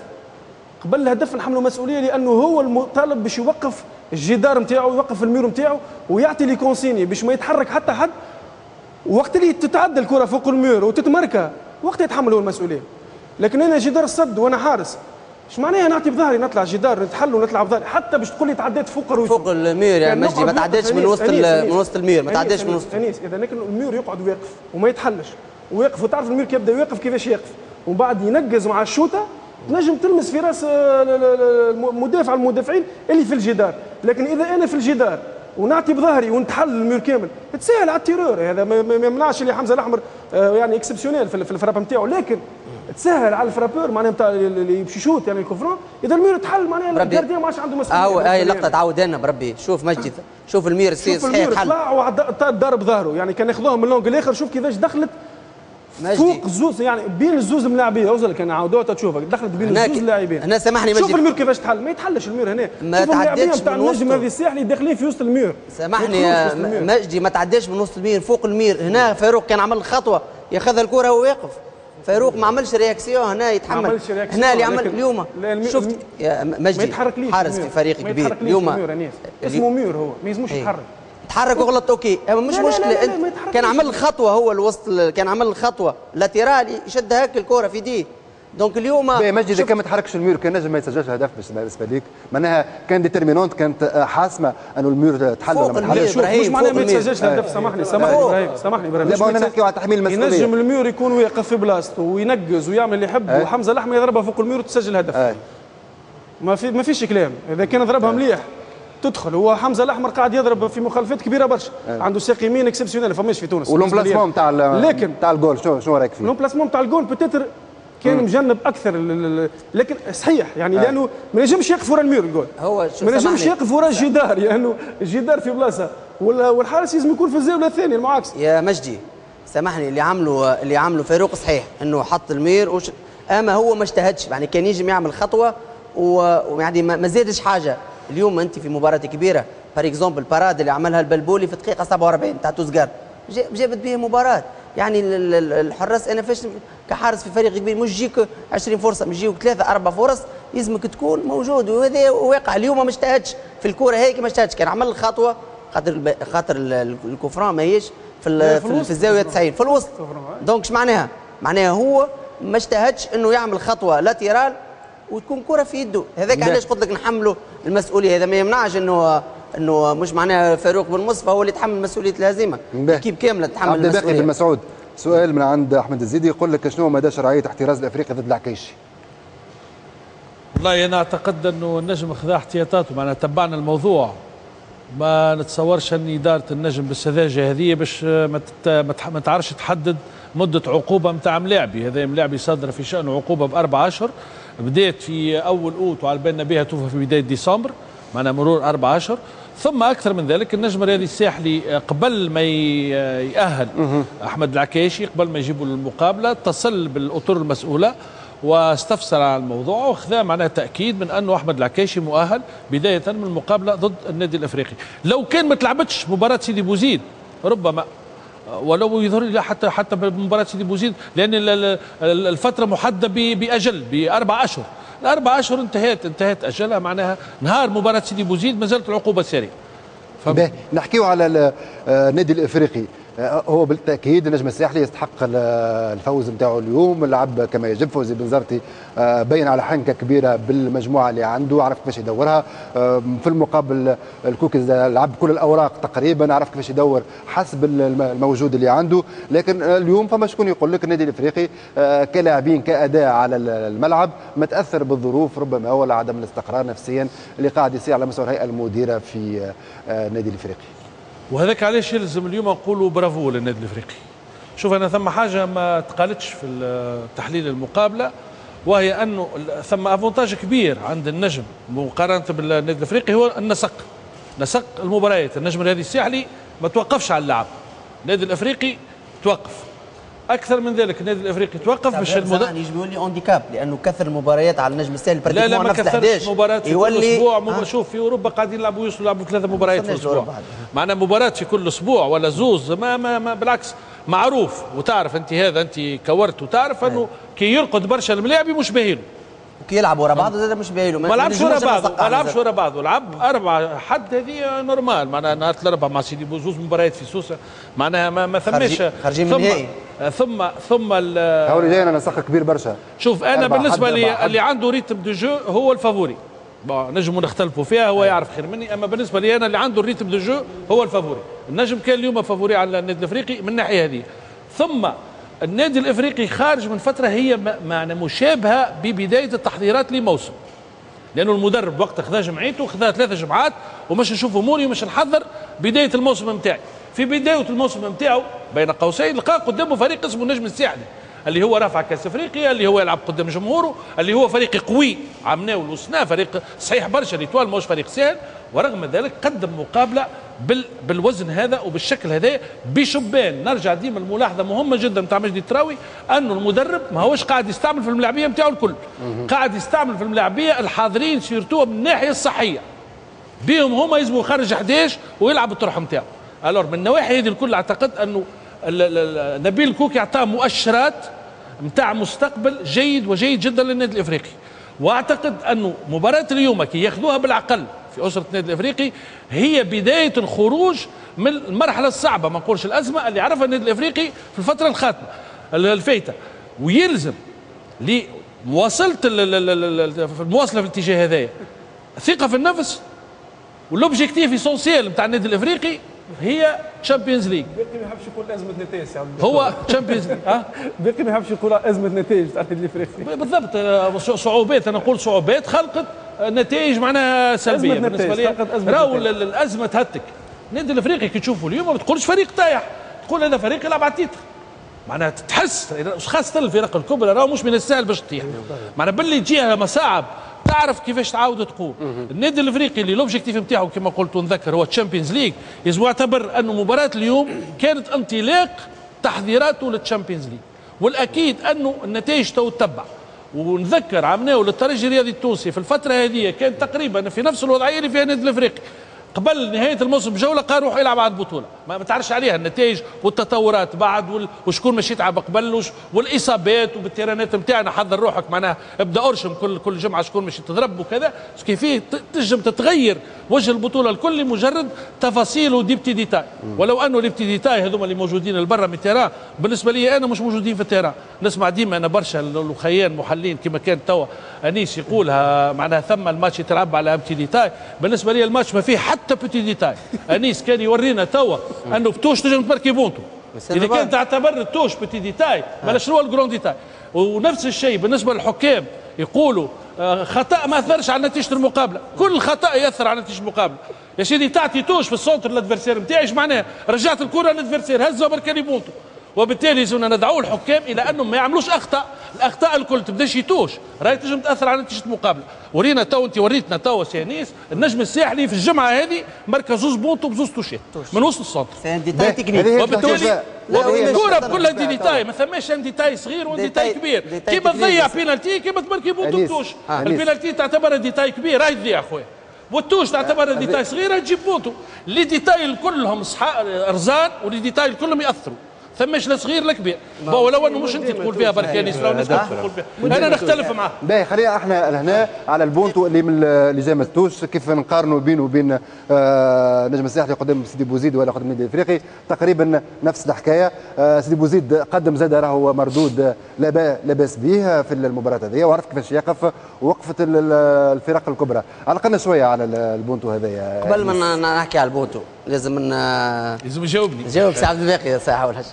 [SPEAKER 3] قبل الهدف نحملوا مسؤولية، لانه هو المطالب باش يوقف الجدار نتاعو، يوقف ال mur نتاعو ويعطي les consignes باش ما يتحرك حتى حد. وقت اللي تتعدى الكره فوق ال mur وتتمركى وقت يتحمل هو المسؤولية. لكن انا جدار الصد وانا حارس، اش معناها نعطي بظهري نطلع جدار نتحل ونطلع بظهري، حتى باش تقول لي تعديت فوق الروس
[SPEAKER 2] فوق ال mur يا مجدي، ما تعديتش من وسط من وسط ال mur، ما تعديتش من وسط.
[SPEAKER 3] انيس اذا لكن ال mur يقعد واقف وما يتحلش ويقف، وتعرف ال mur كي يبدا واقف كيفاش يقف، ومن بعد ينقز مع الشوطه تنجم تلمس في راس المدافع المدافعين اللي في الجدار. لكن اذا انا في الجدار ونعطي بظهري ونتحل ال mur كامل تسهل على ال tireur، هذا ما يمنعش اللي حمزة الاحمر يعني exceptionnel في ال frappe نتاعو، لكن تسهل على ال frappeur معناها نتاع اللي باش يشوت يعني ال coup franc. اذا ال mur تحل معناها ال gardien ما عادش عنده مسؤولية.
[SPEAKER 2] اه هاي اللقطة تعاود لنا بربي، شوف مجدي، شوف ال mur صحيح تحل،
[SPEAKER 3] طلع وضرب ظهره، يعني كان ياخذوها من l'angle الاخر، شوف كيفاش دخلت فوق الزوز، يعني بين الزوز ملاعبيه، اوصل كان عاودوها تشوفك دخلت بين الزوز اللاعبين.
[SPEAKER 2] هنا سامحني مجدي،
[SPEAKER 3] شوف ال mur كيفاش تحل، ما يتحلش ال mur هنا،
[SPEAKER 2] ما تعديتش
[SPEAKER 3] نتاع النجم هذه الساحلي داخلين في وسط ال mur.
[SPEAKER 2] سامحني يا مجدي، ما تعداش من وسط ال mur، فوق ال mur. هنا فاروق كان عمل خطوة ياخذها الكره وهو واقف، فاروق ما عملش réaction هنا، يتحمل هنا اللي عمل اليوم. شفت يا مجدي حارس في فريق كبير اليوم
[SPEAKER 3] اسمه mur، هو ما يلزموش يتحرك،
[SPEAKER 2] تحرك وغلط OK، اما مش لا مشكلة. لا لا لا لا كان عمل خطوة هو الوسط، كان عمل خطوة latérale يشد هاك الكره في دي. donc اليوم
[SPEAKER 1] مجدي اذا كان ما تحركش ال mur كان نجم ما يسجلش هدف بالنسبة ليك، معناها كان déterminante، كانت حاسمة انه ال mur تحل ولا ما تحلش.
[SPEAKER 3] مش معناها ما يتسجلش الهدف. سامحني سامحني ابراهيم، سامحني ابراهيم،
[SPEAKER 1] لا نحكيو على تحميل المسؤولية.
[SPEAKER 3] ينجم ال mur يكون واقف في بلاصته وينقز ويعمل اللي يحب، وحمزة الاحمر يضربها فوق ال mur وتسجل هدف. ما في ما فيش كلام، اذا كان ضربها مليح تدخل. هو حمزة الاحمر قاعد يضرب في مخالفات كبيرة برشا، أه. عنده ساق يمين exceptionnel فماش في تونس.
[SPEAKER 1] و l'emplacement تاع لكن تاع الجول شنو شنو رايك فيه؟
[SPEAKER 3] l'emplacement تاع ال goal peut-être كان مم. مجنب اكثر، لكن صحيح يعني أه. لانه ما نجمش يقف ورا ال mur ال goal،
[SPEAKER 2] هو
[SPEAKER 3] ما نجمش يقف ورا الجدار، لانه الجدار في بلاصة والحارس لازم يكون في الزاوية الثانية المعاكسة.
[SPEAKER 2] يا مجدي سامحني، اللي عمله اللي عمله فاروق صحيح انه حط ال mur وش... اما هو ما اجتهدش، يعني كان يجم يعمل خطوة ويعني ما زادش حاجة. اليوم انت في مباراة كبيرة par exemple parade اللي عملها البلبولي في دقيقة سبعة وأربعين تاع توزقار جابت به مباراة. يعني الحراس انا فاش كحارس في فريق كبير مش يجيك عشرين فرصة، مش يجيك ثلاثة اربع فرص، لازمك تكون موجود، وهذا واقع. اليوم ما اجتهدش في الكره هيك، ما اجتهدش، كان عمل الخطوة خاطر خاطر ال coup franc ماهيش في في, في الزاوية تسعين في الوسط. donc اش معناها؟ معناها هو ما اجتهدش انه يعمل خطوة latérale وتكون كره في يده. هذاك علاش قلت لك نحمله المسؤولية. هذا ما يمنعش انه انه مش معناها فاروق بن مصطفى هو اللي يتحمل مسؤولية الهزيمة، équipe كاملة تتحمل المسؤولية. عبد الباقي بن مسعود، سؤال من عند احمد الزيدي يقول لك شنو مدى شرعية احتراز الافريقي ضد العكيشي؟
[SPEAKER 5] والله انا اعتقد انه النجم خذا احتياطاته، معناها تبعنا الموضوع، ما نتصورش ان ادارة النجم بالسذاجه هذه باش ما ما تعرفش تحدد مده عقوبه نتاع ملاعبي. هذا ملاعبي صدر في شانه عقوبه باربع اشهر، بدات في اول اوت وعلى بالنا بها توفى في بداية ديسمبر، معناها مرور اربع اشهر. ثم اكثر من ذلك النجم الرياضي الساحلي قبل ما يأهل احمد العكايشي، قبل ما يجيبوا للمقابله، اتصل بالاطر المسؤولة واستفسر على الموضوع وخذا معناها تاكيد من انه احمد العكايشي مؤهل بداية من المقابلة ضد النادي الافريقي. لو كان ما تلعبتش مباراة سيدي بوزيد ربما، ولو يظهر لي حتى حتى بمباراة سيدي بوزيد، لان الفترة محددة باجل باربع اشهر، الاربع اشهر انتهت انتهت اجلها، معناها نهار مباراة سيدي بوزيد ما زالت العقوبة ساريه.
[SPEAKER 1] نحكيو على النادي الافريقي، هو بالتاكيد النجم الساحلي يستحق الفوز نتاعو اليوم، لعب كما يجب. فوزي بنزرتي بين على حنكه كبيرة بالمجموعة اللي عنده، عرف كيفاش يدورها. في المقابل الكوكي لعب كل الاوراق تقريبا، عرف كيفاش يدور حسب الموجود اللي عنده. لكن اليوم فما شكون يقول لك النادي الافريقي كلاعبين كاداء على الملعب متاثر بالظروف ربما، ولا عدم الاستقرار نفسيا اللي قاعد يصير على مستوى الهيئة المديرة في النادي الافريقي.
[SPEAKER 5] وهذاك علاش يلزم اليوم نقولوا برافو للنادي الافريقي. شوف انا ثم حاجة ما تقالتش في تحليل المقابلة، وهي انه ثم avantage كبير عند النجم مقارنة بالنادي الافريقي، هو النسق، نسق المباريات. النجم الرياضي الساحلي ما توقفش على اللعب، النادي الافريقي توقف. اكثر من ذلك النادي الافريقي توقف باش
[SPEAKER 2] المدرب يجب يولي handicap، لانه كثر المباريات على النجم الساحلي.
[SPEAKER 5] لا لا ما كثرش مباريات في كل اسبوع. آه. شوف في اوروبا قاعدين يلعبوا، يوصلوا يلعبوا ثلاثة مباريات في الاسبوع، معنا مباراة في كل اسبوع ولا زوز، ما ما, ما بالعكس معروف. وتعرف انت هذا، انت كورت وتعرف انه كي يرقد برشا الملاعبي مش باهيله،
[SPEAKER 2] وكي يلعب ورا بعض زاد مش باهيله.
[SPEAKER 5] ما لعبش ورا بعض، ما لعبش ورا بعض، لعب أربعة حد، هذه normal. معناها نهار الأربعاء مع سيدي بوزوز مباريات في سوسة، معناها ما, ما ثماش
[SPEAKER 2] خارجين من النهائي.
[SPEAKER 5] ثم ثم
[SPEAKER 1] هاو اللي جاي انا نسق كبير برشا.
[SPEAKER 5] شوف انا بالنسبة لي اللي عنده rythme de jeu هو ال favori، bon نجموا نختلفوا فيها، هو يعرف خير مني، اما بالنسبة لي انا اللي عنده ال rythme de jeu هو ال favori. النجم كان اليوم favori على النادي الافريقي من الناحية هذه. ثم النادي الافريقي خارج من فترة هي معنى مشابهة ببداية التحضيرات لموسم، لانه المدرب وقت خذا جمعيته خذا ثلاثة جمعات ومش نشوف اموري ومش نحضر بداية الموسم نتاعي. في بداية الموسم نتاعو بين قوسين لقى قدامه فريق اسمه النجم الساحلي، اللي هو رافع كاس افريقيا، اللي هو يلعب قدام جمهوره، اللي هو فريق قوي عمناول وسنا، فريق صحيح برشا، l'Étoile ماهوش فريق سهل، ورغم ذلك قدم مقابله بال بالوزن هذا وبالشكل هذا بشبان. نرجع ديما الملاحظة مهمة جدا نتاع مجدي التراوي، انه المدرب ما هوش قاعد يستعمل في الملاعبيه نتاعو الكل، قاعد يستعمل في الملاعبيه الحاضرين surtout من الناحية الصحية بهم هما، يلزموا يخرج أحد عشر ويلعب الطرح نتاعو. alors من النواحي هذه الكل اعتقد انه نبيل الكوكي اعطاه مؤشرات نتاع مستقبل جيد وجيد جدا للنادي الافريقي، واعتقد انه مباراة اليوم كي ياخذوها بالعقل في اسره النادي الافريقي هي بداية الخروج من المرحلة الصعبة، ما نقولش الازمة اللي عرفها النادي الافريقي في الفترة الخاتمة الفايته، ويلزم لمواصلة المواصلة في الاتجاه هذايا ثقة في النفس، وال objectif essentiel نتاع النادي الافريقي هي Champions League.
[SPEAKER 3] باقي ما يحبش يقول ازمة نتائج،
[SPEAKER 5] هو Champions League. اه
[SPEAKER 3] باقي ما يحبش يقول ازمة نتائج تاع النادي الافريقي.
[SPEAKER 5] بالضبط، صعوبات، انا نقول صعوبات خلقت نتائج معناها سلبية بالنسبة لي. راهو الازمة تهتك النادي الافريقي كي تشوفه اليوم ما تقولش فريق طايح، تقول هذا فريق يلعب على ال titre، معناها تحس خاصة الفرق الكبرى راهو مش من السهل باش تطيح، معناها باللي تجيها مصاعب تعرف كيفاش تعاود تقوم. النادي الافريقي اللي l'objectif نتاعو كما قلت ونذكر هو Champions League، لازم يعتبر انه مباراة اليوم كانت انطلاق تحضيراته لل Champions League، والاكيد انه النتائج تو تتبع. ونذكر عمناو للترجي الرياضي التونسي في الفترة هذه كان تقريبا في نفس الوضعية اللي فيها النادي الافريقي قبل نهاية الموسم بجولة، قال روح يلعب على البطولة، ما تعرفش عليها النتائج والتطورات بعد، وشكون مش يتعب قبل، والاصابات وبالتيرانات نتاعنا. حضر روحك معناها، ابدا ارشم كل كل جمعه شكون مش تضرب وكذا. كيفية تنجم تتغير وجه البطولة الكل لمجرد تفاصيل و des petits détails، ولو انه les petits détails هذوما اللي موجودين البرا من ال terrain بالنسبة لي انا مش موجودين في ال terrain. نسمع ديما انا برشا الخيان محللين كما كان توا انيس يقولها، معناها ثم الماتش يتلعب على petits détails. بالنسبة لي الماتش ما فيه حتى petit détail. انيس كان يورينا توا انه ب touche تنجم تماركي بونتو، اذا كان تعتبر ال touche petit détail بلا شنو ال grand détail. ونفس الشيء بالنسبة للحكام، يقولوا خطا ما اثرش على نتيجة المقابلة، كل خطا ياثر على نتيجة المقابلة. يا سيدي تعطي touche في ال centre l'adversaire نتاعي، ايش معناها؟ رجعت الكره لل adversaire، هزها بركاني بونتو. وبالتالي لازمنا ندعو الحكام الى انهم ما يعملوش اخطاء، الاخطاء الكل تبداش touche راهي تنجم تاثر على نتيجة المقابلة. ورينا تو انت وريتنا تو سي انيس النجم الساحلي في الجمعة هذه مركز زوز بونتو بزوز توشات من وسط ال centre.
[SPEAKER 2] c'est un détail technique.
[SPEAKER 5] وبالتالي الكره كلها des détails، ما ثماش un détail صغير و détail كبير. كيما تضيع بينالتي كيما تماركي بونتو ب touche، ال pénalty تعتبر détail كبير راهي تضيع خويا، وال touche تعتبر détail صغيرة تجيب بونتو. les détails كلهم رزان و les détails كلهم ياثروا، ثماش لا صغير لا كبير. ولو انه مش انت تقول فيها برك انيس، لو الناس تقول فيها انا نختلف معاه.
[SPEAKER 1] باهي خلينا احنا لهنا على البونتو اللي من اللي جا من ال touche، كيف نقارنوا بينه وبين آه نجم الساحلي قدام سيدي بوزيد ولا قدام النادي الافريقي، تقريبا نفس الحكاية. آه سيدي بوزيد قدم زاد راهو مردود لا باس به في المباراة هذه، وعرف كيفاش يقف وقفت الفرق الكبرى. علقنا شوية على البونتو هذايا
[SPEAKER 2] قبل ما نحكي على البونتو لازم ن...
[SPEAKER 5] لازم يجاوبني.
[SPEAKER 2] جاوب سي عبد الباقي ساعة ولا حاجة.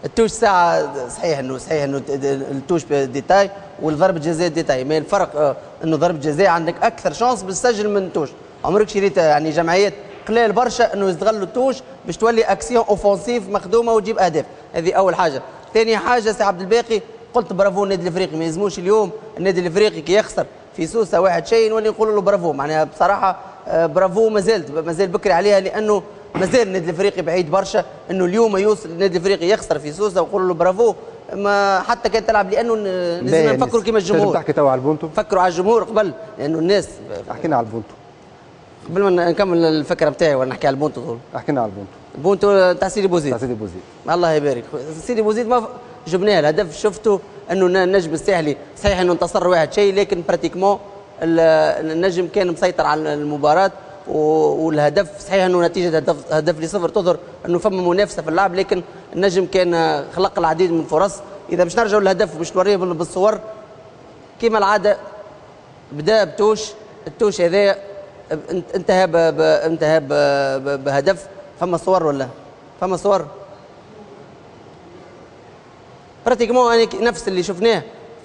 [SPEAKER 2] ال touche ساعة صحيح انه صحيح انه ال touche détail والضربه جزاء détail، mais الفرق انه ضربه جزاء عندك اكثر chance باش تسجل من touche. عمرك شريت يعني جمعيات قليل برشا انه يستغلوا ال touche باش تولي action offensive مخدومة وتجيب اهداف، هذه اول حاجة. ثاني حاجة سي عبد الباقي قلت برافو النادي الافريقي، ما يلزموش اليوم النادي الافريقي كي يخسر في سوسة واحد شيء نولي نقولوا له برافو، معناها بصراحة برافو مازالت مازال بكري عليها، لانه مازال النادي الافريقي بعيد برشا انه اليوم يوصل النادي الافريقي يخسر في سوسة ويقولوا له برافو، ما حتى كان تلعب، لانه لازم نفكروا كيما الجمهور.
[SPEAKER 1] تحكي توا على البونتو،
[SPEAKER 2] فكروا على الجمهور قبل، لانه الناس
[SPEAKER 1] حكينا على البونتو
[SPEAKER 2] قبل ما نكمل الفكرة بتاعي ولا نحكي على البونتو طول.
[SPEAKER 1] حكينا على البونتو،
[SPEAKER 2] البونتو تاع سيدي بوزيد.
[SPEAKER 1] تاع سيدي بوزيد
[SPEAKER 2] الله يبارك سيدي بوزيد ما جبناه الهدف، شفته انه النجم الساحلي صحيح انه انتصر واحد شيء، لكن pratiquement النجم كان مسيطر على المباراة، والهدف صحيح انه نتيجة هدف هدف لصفر تظهر انه فما منافسه في اللعب، لكن النجم كان خلق العديد من الفرص. اذا باش نرجعوا للهدف وباش نوريه بالصور كما العادة، بدا ب touche، ال touche هذا انتهى ب انتهى بهدف. فما صور ولا فما صور؟ pratiquement نفس اللي شفناه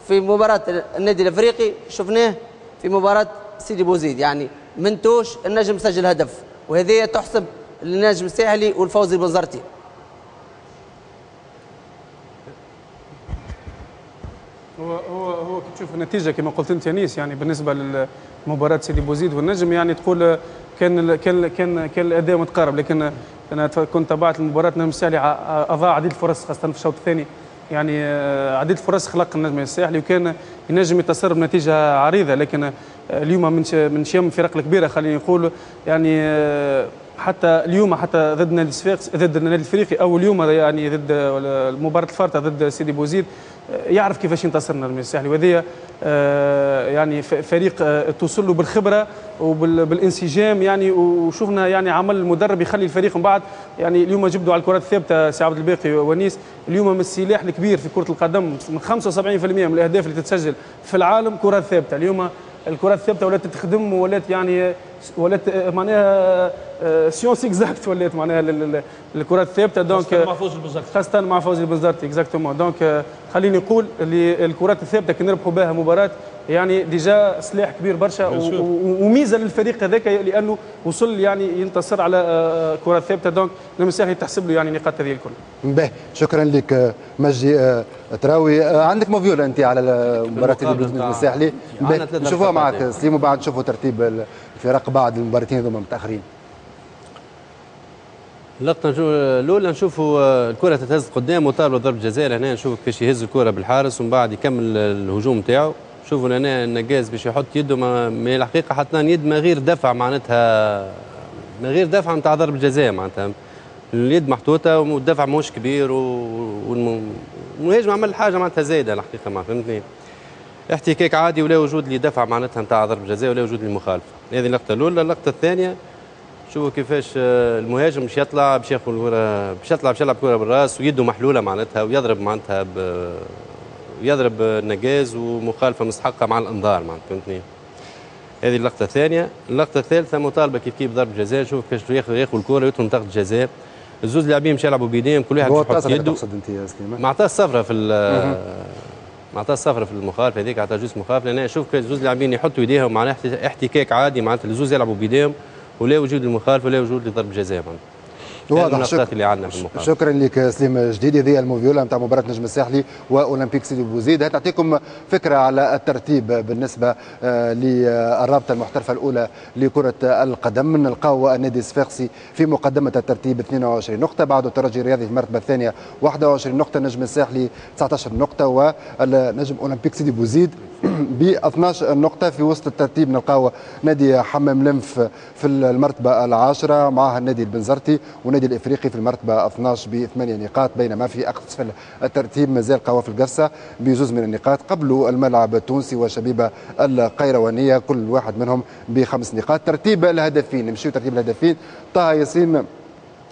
[SPEAKER 2] في مباراة النادي الافريقي شفناه في مباراة سيدي بوزيد، يعني من touche النجم سجل هدف، وهذه تحسب للنجم الساحلي والفوزي البنزرتي.
[SPEAKER 3] هو هو هو كي تشوف النتيجة كما قلت انت انيس، يعني بالنسبة لمباراة سيدي بوزيد والنجم، يعني تقول كان كان كان كان الاداء متقارب، لكن انا كنت تابعت المباراة، النجم الساحلي اضاع عديد الفرص خاصة في الشوط الثاني، يعني عديد الفرص خلق النجم الساحلي وكان ينجم يتصرف بنتيجة عريضة، لكن اليوم من من شيم الفرق الكبيرة خلينا نقول، يعني حتى اليوم حتى ضد النادي الصفاقسي ضد النادي الافريقي او اليوم يعني ضد مباراة الفارطه ضد سيدي بوزيد، يعرف كيفاش ينتصر النجم الساحلي، وهذه يعني فريق توصل له بالخبرة وبالانسجام، يعني وشفنا يعني عمل المدرب يخلي الفريق من بعد، يعني اليوم جبدوا على الكرات الثابتة سي عبد الباقي ونيس، اليوم من السلاح الكبير في كره القدم، من خمسة وسبعين بالمئة من الاهداف اللي تتسجل في العالم كرات ثابتة. اليوم الكرات الثابتة ولات تخدم ولات يعني ولات معناها science exacte، ولات معناها الكرات الثابتة، donc
[SPEAKER 5] مع فوز البنزرتي،
[SPEAKER 3] خاصة مع فوز البنزرتي exactement. donc خليني نقول اللي الكرات الثابتة كي نربحوا بها مباراة يعني déjà سلاح كبير برشا وميزه للفريق هذاك، لانه وصل يعني ينتصر على كرات ثابتة، donc النجم الساحلي تحسب له يعني نقاط هذه الكل.
[SPEAKER 1] باهي شكرا لك مجدي تراوي. عندك موفيولا انت على مباراة النجم الساحلي، نشوفوها معك سليم وبعد نشوفوا ترتيب الفرق بعد المباراتين هذوما متاخرين.
[SPEAKER 17] اللقطة الأولى نشوفوا الكرة تتهز قدام وطالبوا ضربة جزاء، هنا نشوفوا كيفاش يهز الكرة بالحارس ومن بعد يكمل الهجوم نتاعو. شوفوا هنا النجاز باش يحط يده، ما الحقيقة حطنا يد من غير دفع، معناتها من غير دفع نتاع ضربة جزاء، معناتها اليد محطوطة والدفع ماهوش كبير، والمهاجم عمل حاجة معناتها زايدة الحقيقة، ما فهمتني. احتكاك عادي ولا وجود لدفع معناتها نتاع ضرب جزاء ولا وجود للمخالفه. هذه اللقطة الاولى. اللقطة الثانية شوفوا كيفاش المهاجم باش يطلع باش ياخذ الكره، باش يطلع باش يلعب كره بالراس ويده محلولة معناتها، ويضرب معناتها ب... ويضرب النجاز، ومخالفه مستحقه مع الانذار معناتها، فهمتني. هذه اللقطة الثانية. اللقطة الثالثة مطالبه كيف كيف ضرب جزاء، شوف كيفاش ياخذ ياخذ الكره ويدخل منطقة الجزاء، الزوز لاعبين باش يلعبوا بيديهم، كل واحد يحط يده.
[SPEAKER 1] تقصد انت يا سليمان؟
[SPEAKER 17] ما عطاه الصفرة في ما عطاه الصفرة في المخالفة هذيك، عطاه juste مخالفة، لان شوف كيف الزوز لاعبين يحطوا يديهم معناها احتكاك عادي معناتها، الزوز يلعبوا بيديهم ولا وجود المخالفة ولا وجود لضرب جزاء معناتها.
[SPEAKER 1] واضح. شكرا
[SPEAKER 17] اللي عندنا في المخالفة.
[SPEAKER 1] شكرا لك سليم جديد. هذه الموفيولا نتاع مباراة نجم الساحلي واولمبيك سيدي بوزيد، تعطيكم فكرة على الترتيب بالنسبة للرابطة المحترفه الاولى لكرة القدم. نلقاو النادي الصفاقسي في مقدمه الترتيب اثنين وعشرين نقطة، بعده الترجي الرياضي في المرتبة الثانية واحد وعشرين نقطة، نجم الساحلي تسعة عشر نقطة، والنجم اولمبيك سيدي بوزيد ب اثناش نقطة. في وسط الترتيب نلقاو نادي حمام لنف في المرتبة العاشرة، معها النادي البنزرتي ونادي الافريقي في المرتبة اثناش بثمانية نقاط، بينما في اسفل الترتيب مازال قوافل قفصه بزوز من النقاط، قبله الملعب التونسي وشبيبه القيروانيه كل واحد منهم بخمس نقاط. ترتيب الهدفين، نمشيو ترتيب الهدفين. طه ياسين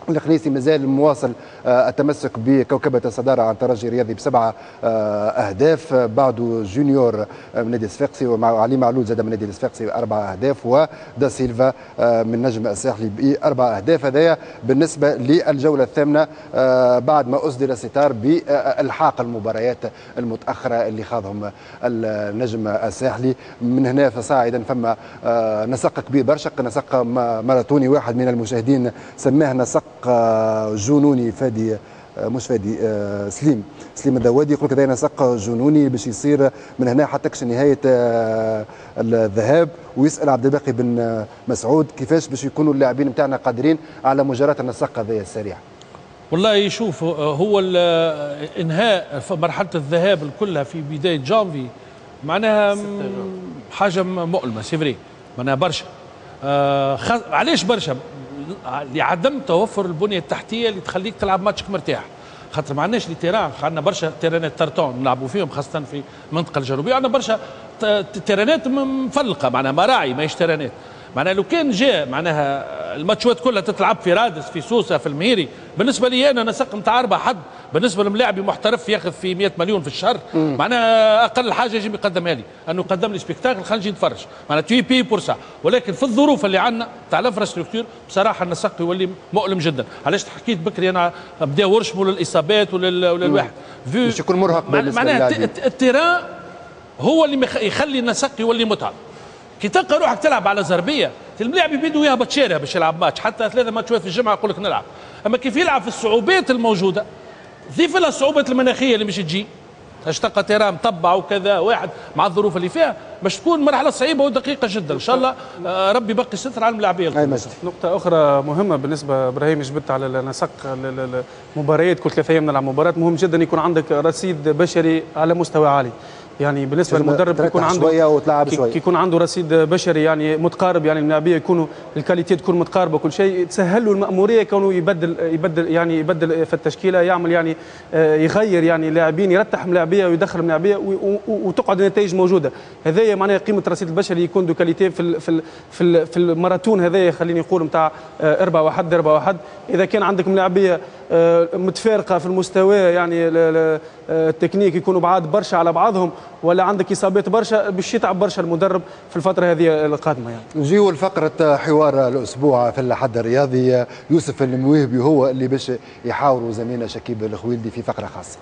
[SPEAKER 1] الخنيسي مازال مواصل التمسك بكوكبة الصدارة عن ترجي الرياضي بسبعة أهداف، بعده جونيور من نادي الصفاقسي ومع علي معلول زاد من نادي الصفاقسي بأربع أهداف، ودا سيلفا من نجم الساحلي بأربع أهداف. هذايا بالنسبة للجولة الثامنة بعد ما أصدر الستار بإلحاق المباريات المتأخرة اللي خاضهم النجم الساحلي. من هنا فصاعدا فما نسق كبير برشا، نسق ماراثوني، واحد من المشاهدين سماه نسق جنوني، فادي مش فادي سليم سليم الذوادي يقول كذا نسق جنوني باش يصير من هنا حتى كش نهاية الذهاب. ويسال عبد الباقي بن مسعود كيفاش باش يكونوا اللاعبين نتاعنا قادرين على مجاراة النسق هذا السريع.
[SPEAKER 5] والله يشوف هو انهاء مرحلة الذهاب كلها في بداية جانفي معناها حاجة مؤلمة، c'est vrai معناها برشا. آه خ... علاش برشا؟ لعدم توفر البنية التحتية اللي تخليك تلعب ماتشك مرتاح، خاطر ما عندناش les terrains، عندنا برشا terrain ات tartan نلعبوا فيهم خاصة في المنطقة الجنوبية، عندنا برشا terrain ات مفلقه معناها مراعي ماهيش terrain ات. معناها لو كان جاء معناها الماتشات كلها تتلعب في رادس في سوسة في المهيري، بالنسبة لي انا نسق نتاع اربع حد، بالنسبة لملاعبي محترف ياخذ في مئة مليون في الشهر معناها اقل حاجة يجب يقدمها لي انه يقدم لي spectacle خلينا نجي نتفرج، معناها tu payes pour ça. ولكن في الظروف اللي عندنا تاع l'infrastructure بصراحة النسق يولي مؤلم جدا. علاش حكيت بكري انا بداو ورشموا للاصابات وللواحد
[SPEAKER 1] باش يكون مرهق بالنسبة
[SPEAKER 5] معناها ال terrain هو اللي يخلي النسق يولي متعب. كي تلقى روحك تلعب على زربيه الملاعب يبيدو يهبط شارع باش يلعب ماتش، حتى ثلاثة ماتشات في الجمعة يقول لك نلعب. اما كيف يلعب في الصعوبات الموجودة، ضيف لها الصعوبات المناخية اللي مش تجي، تلقى terrain مطبع وكذا واحد مع الظروف اللي فيها باش تكون مرحلة صعيبة ودقيقة جدا. ان شاء الله ربي يبقي ستر على الملاعبيه.
[SPEAKER 3] نقطة اخرى مهمة بالنسبة ابراهيم جبت على نسق المباريات، كل ثلاث ايام نلعب مباراة، مهم جدا يكون عندك رصيد بشري على مستوى عالي. يعني بالنسبة للمدرب يكون عنده
[SPEAKER 1] شوية وتلعب شوية،
[SPEAKER 3] كي يكون عنده رصيد بشري يعني متقارب، يعني اللاعبيه يكونوا ال qualité تكون متقاربة كل شيء، تسهل له الماموريه كونه يبدل يبدل يعني يبدل في التشكيلة، يعمل يعني يغير يعني لاعبين، يرتح ملاعبيه ويدخل ملاعبيه وتقعد النتائج موجودة. هذايا معناها قيمة الرصيد البشري يكون de qualité في في في, في الماراثون هذايا، خليني نقول نتاع أربعة واحد أربعة واحد. اذا كان عندك ملاعبيه متفارقه في المستوى يعني التكنيك يكونوا بعاد برشا على بعضهم، ولا عندك اصابات برشا، باش يتعب برشا المدرب في الفترة هذه القادمة. يعني
[SPEAKER 1] نجيو لفقره حوار الاسبوع في الحد الرياضي، يوسف المويهبي هو اللي باش يحاوروا زميلنا شكيب الخويلدي في فقره خاصة.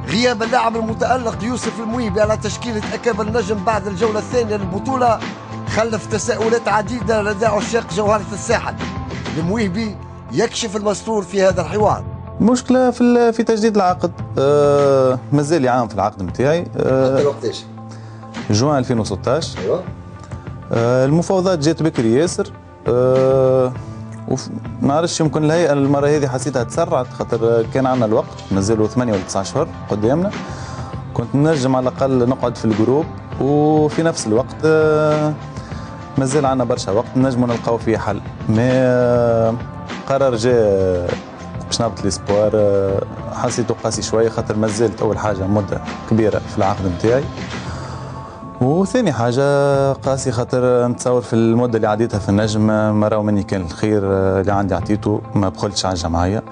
[SPEAKER 9] غياب اللاعب المتألق يوسف المويبي على تشكيلة أكابر النجم بعد الجولة الثانية للبطولة خلف تساؤلات عديدة لدى عشاق جوهرة الساحل. المويبي يكشف المستور في هذا الحوار.
[SPEAKER 10] مشكلة في في تجديد العقد، أه مازال عام في العقد نتاعي.
[SPEAKER 9] أه حتى وقتاش؟
[SPEAKER 10] جوان ألفين وستطاش.
[SPEAKER 9] ايوه.
[SPEAKER 10] المفاوضات جات بكري ياسر، أه ما نعرفش يمكن الهيئة المرة هذه حسيتها تسرعت خاطر كان عندنا الوقت، مازالوا ثمانية ولا تسعة اشهر قدامنا، كنت نجم على الاقل نقعد في ال groupe وفي نفس الوقت أه مازال عندنا برشا وقت نجموا نلقاو فيه حل. mais قرار جاء باش نهبط les espoirs، حسيته قاسي شوية خاطر مازالت اول حاجة مده كبيرة في العقد نتاعي، وثاني حاجة قاسي خاطر نتصور في المدة اللي عديتها في النجم ما راهو مني كان الخير اللي عندي عطيته، ما بخلتش على الجمعية.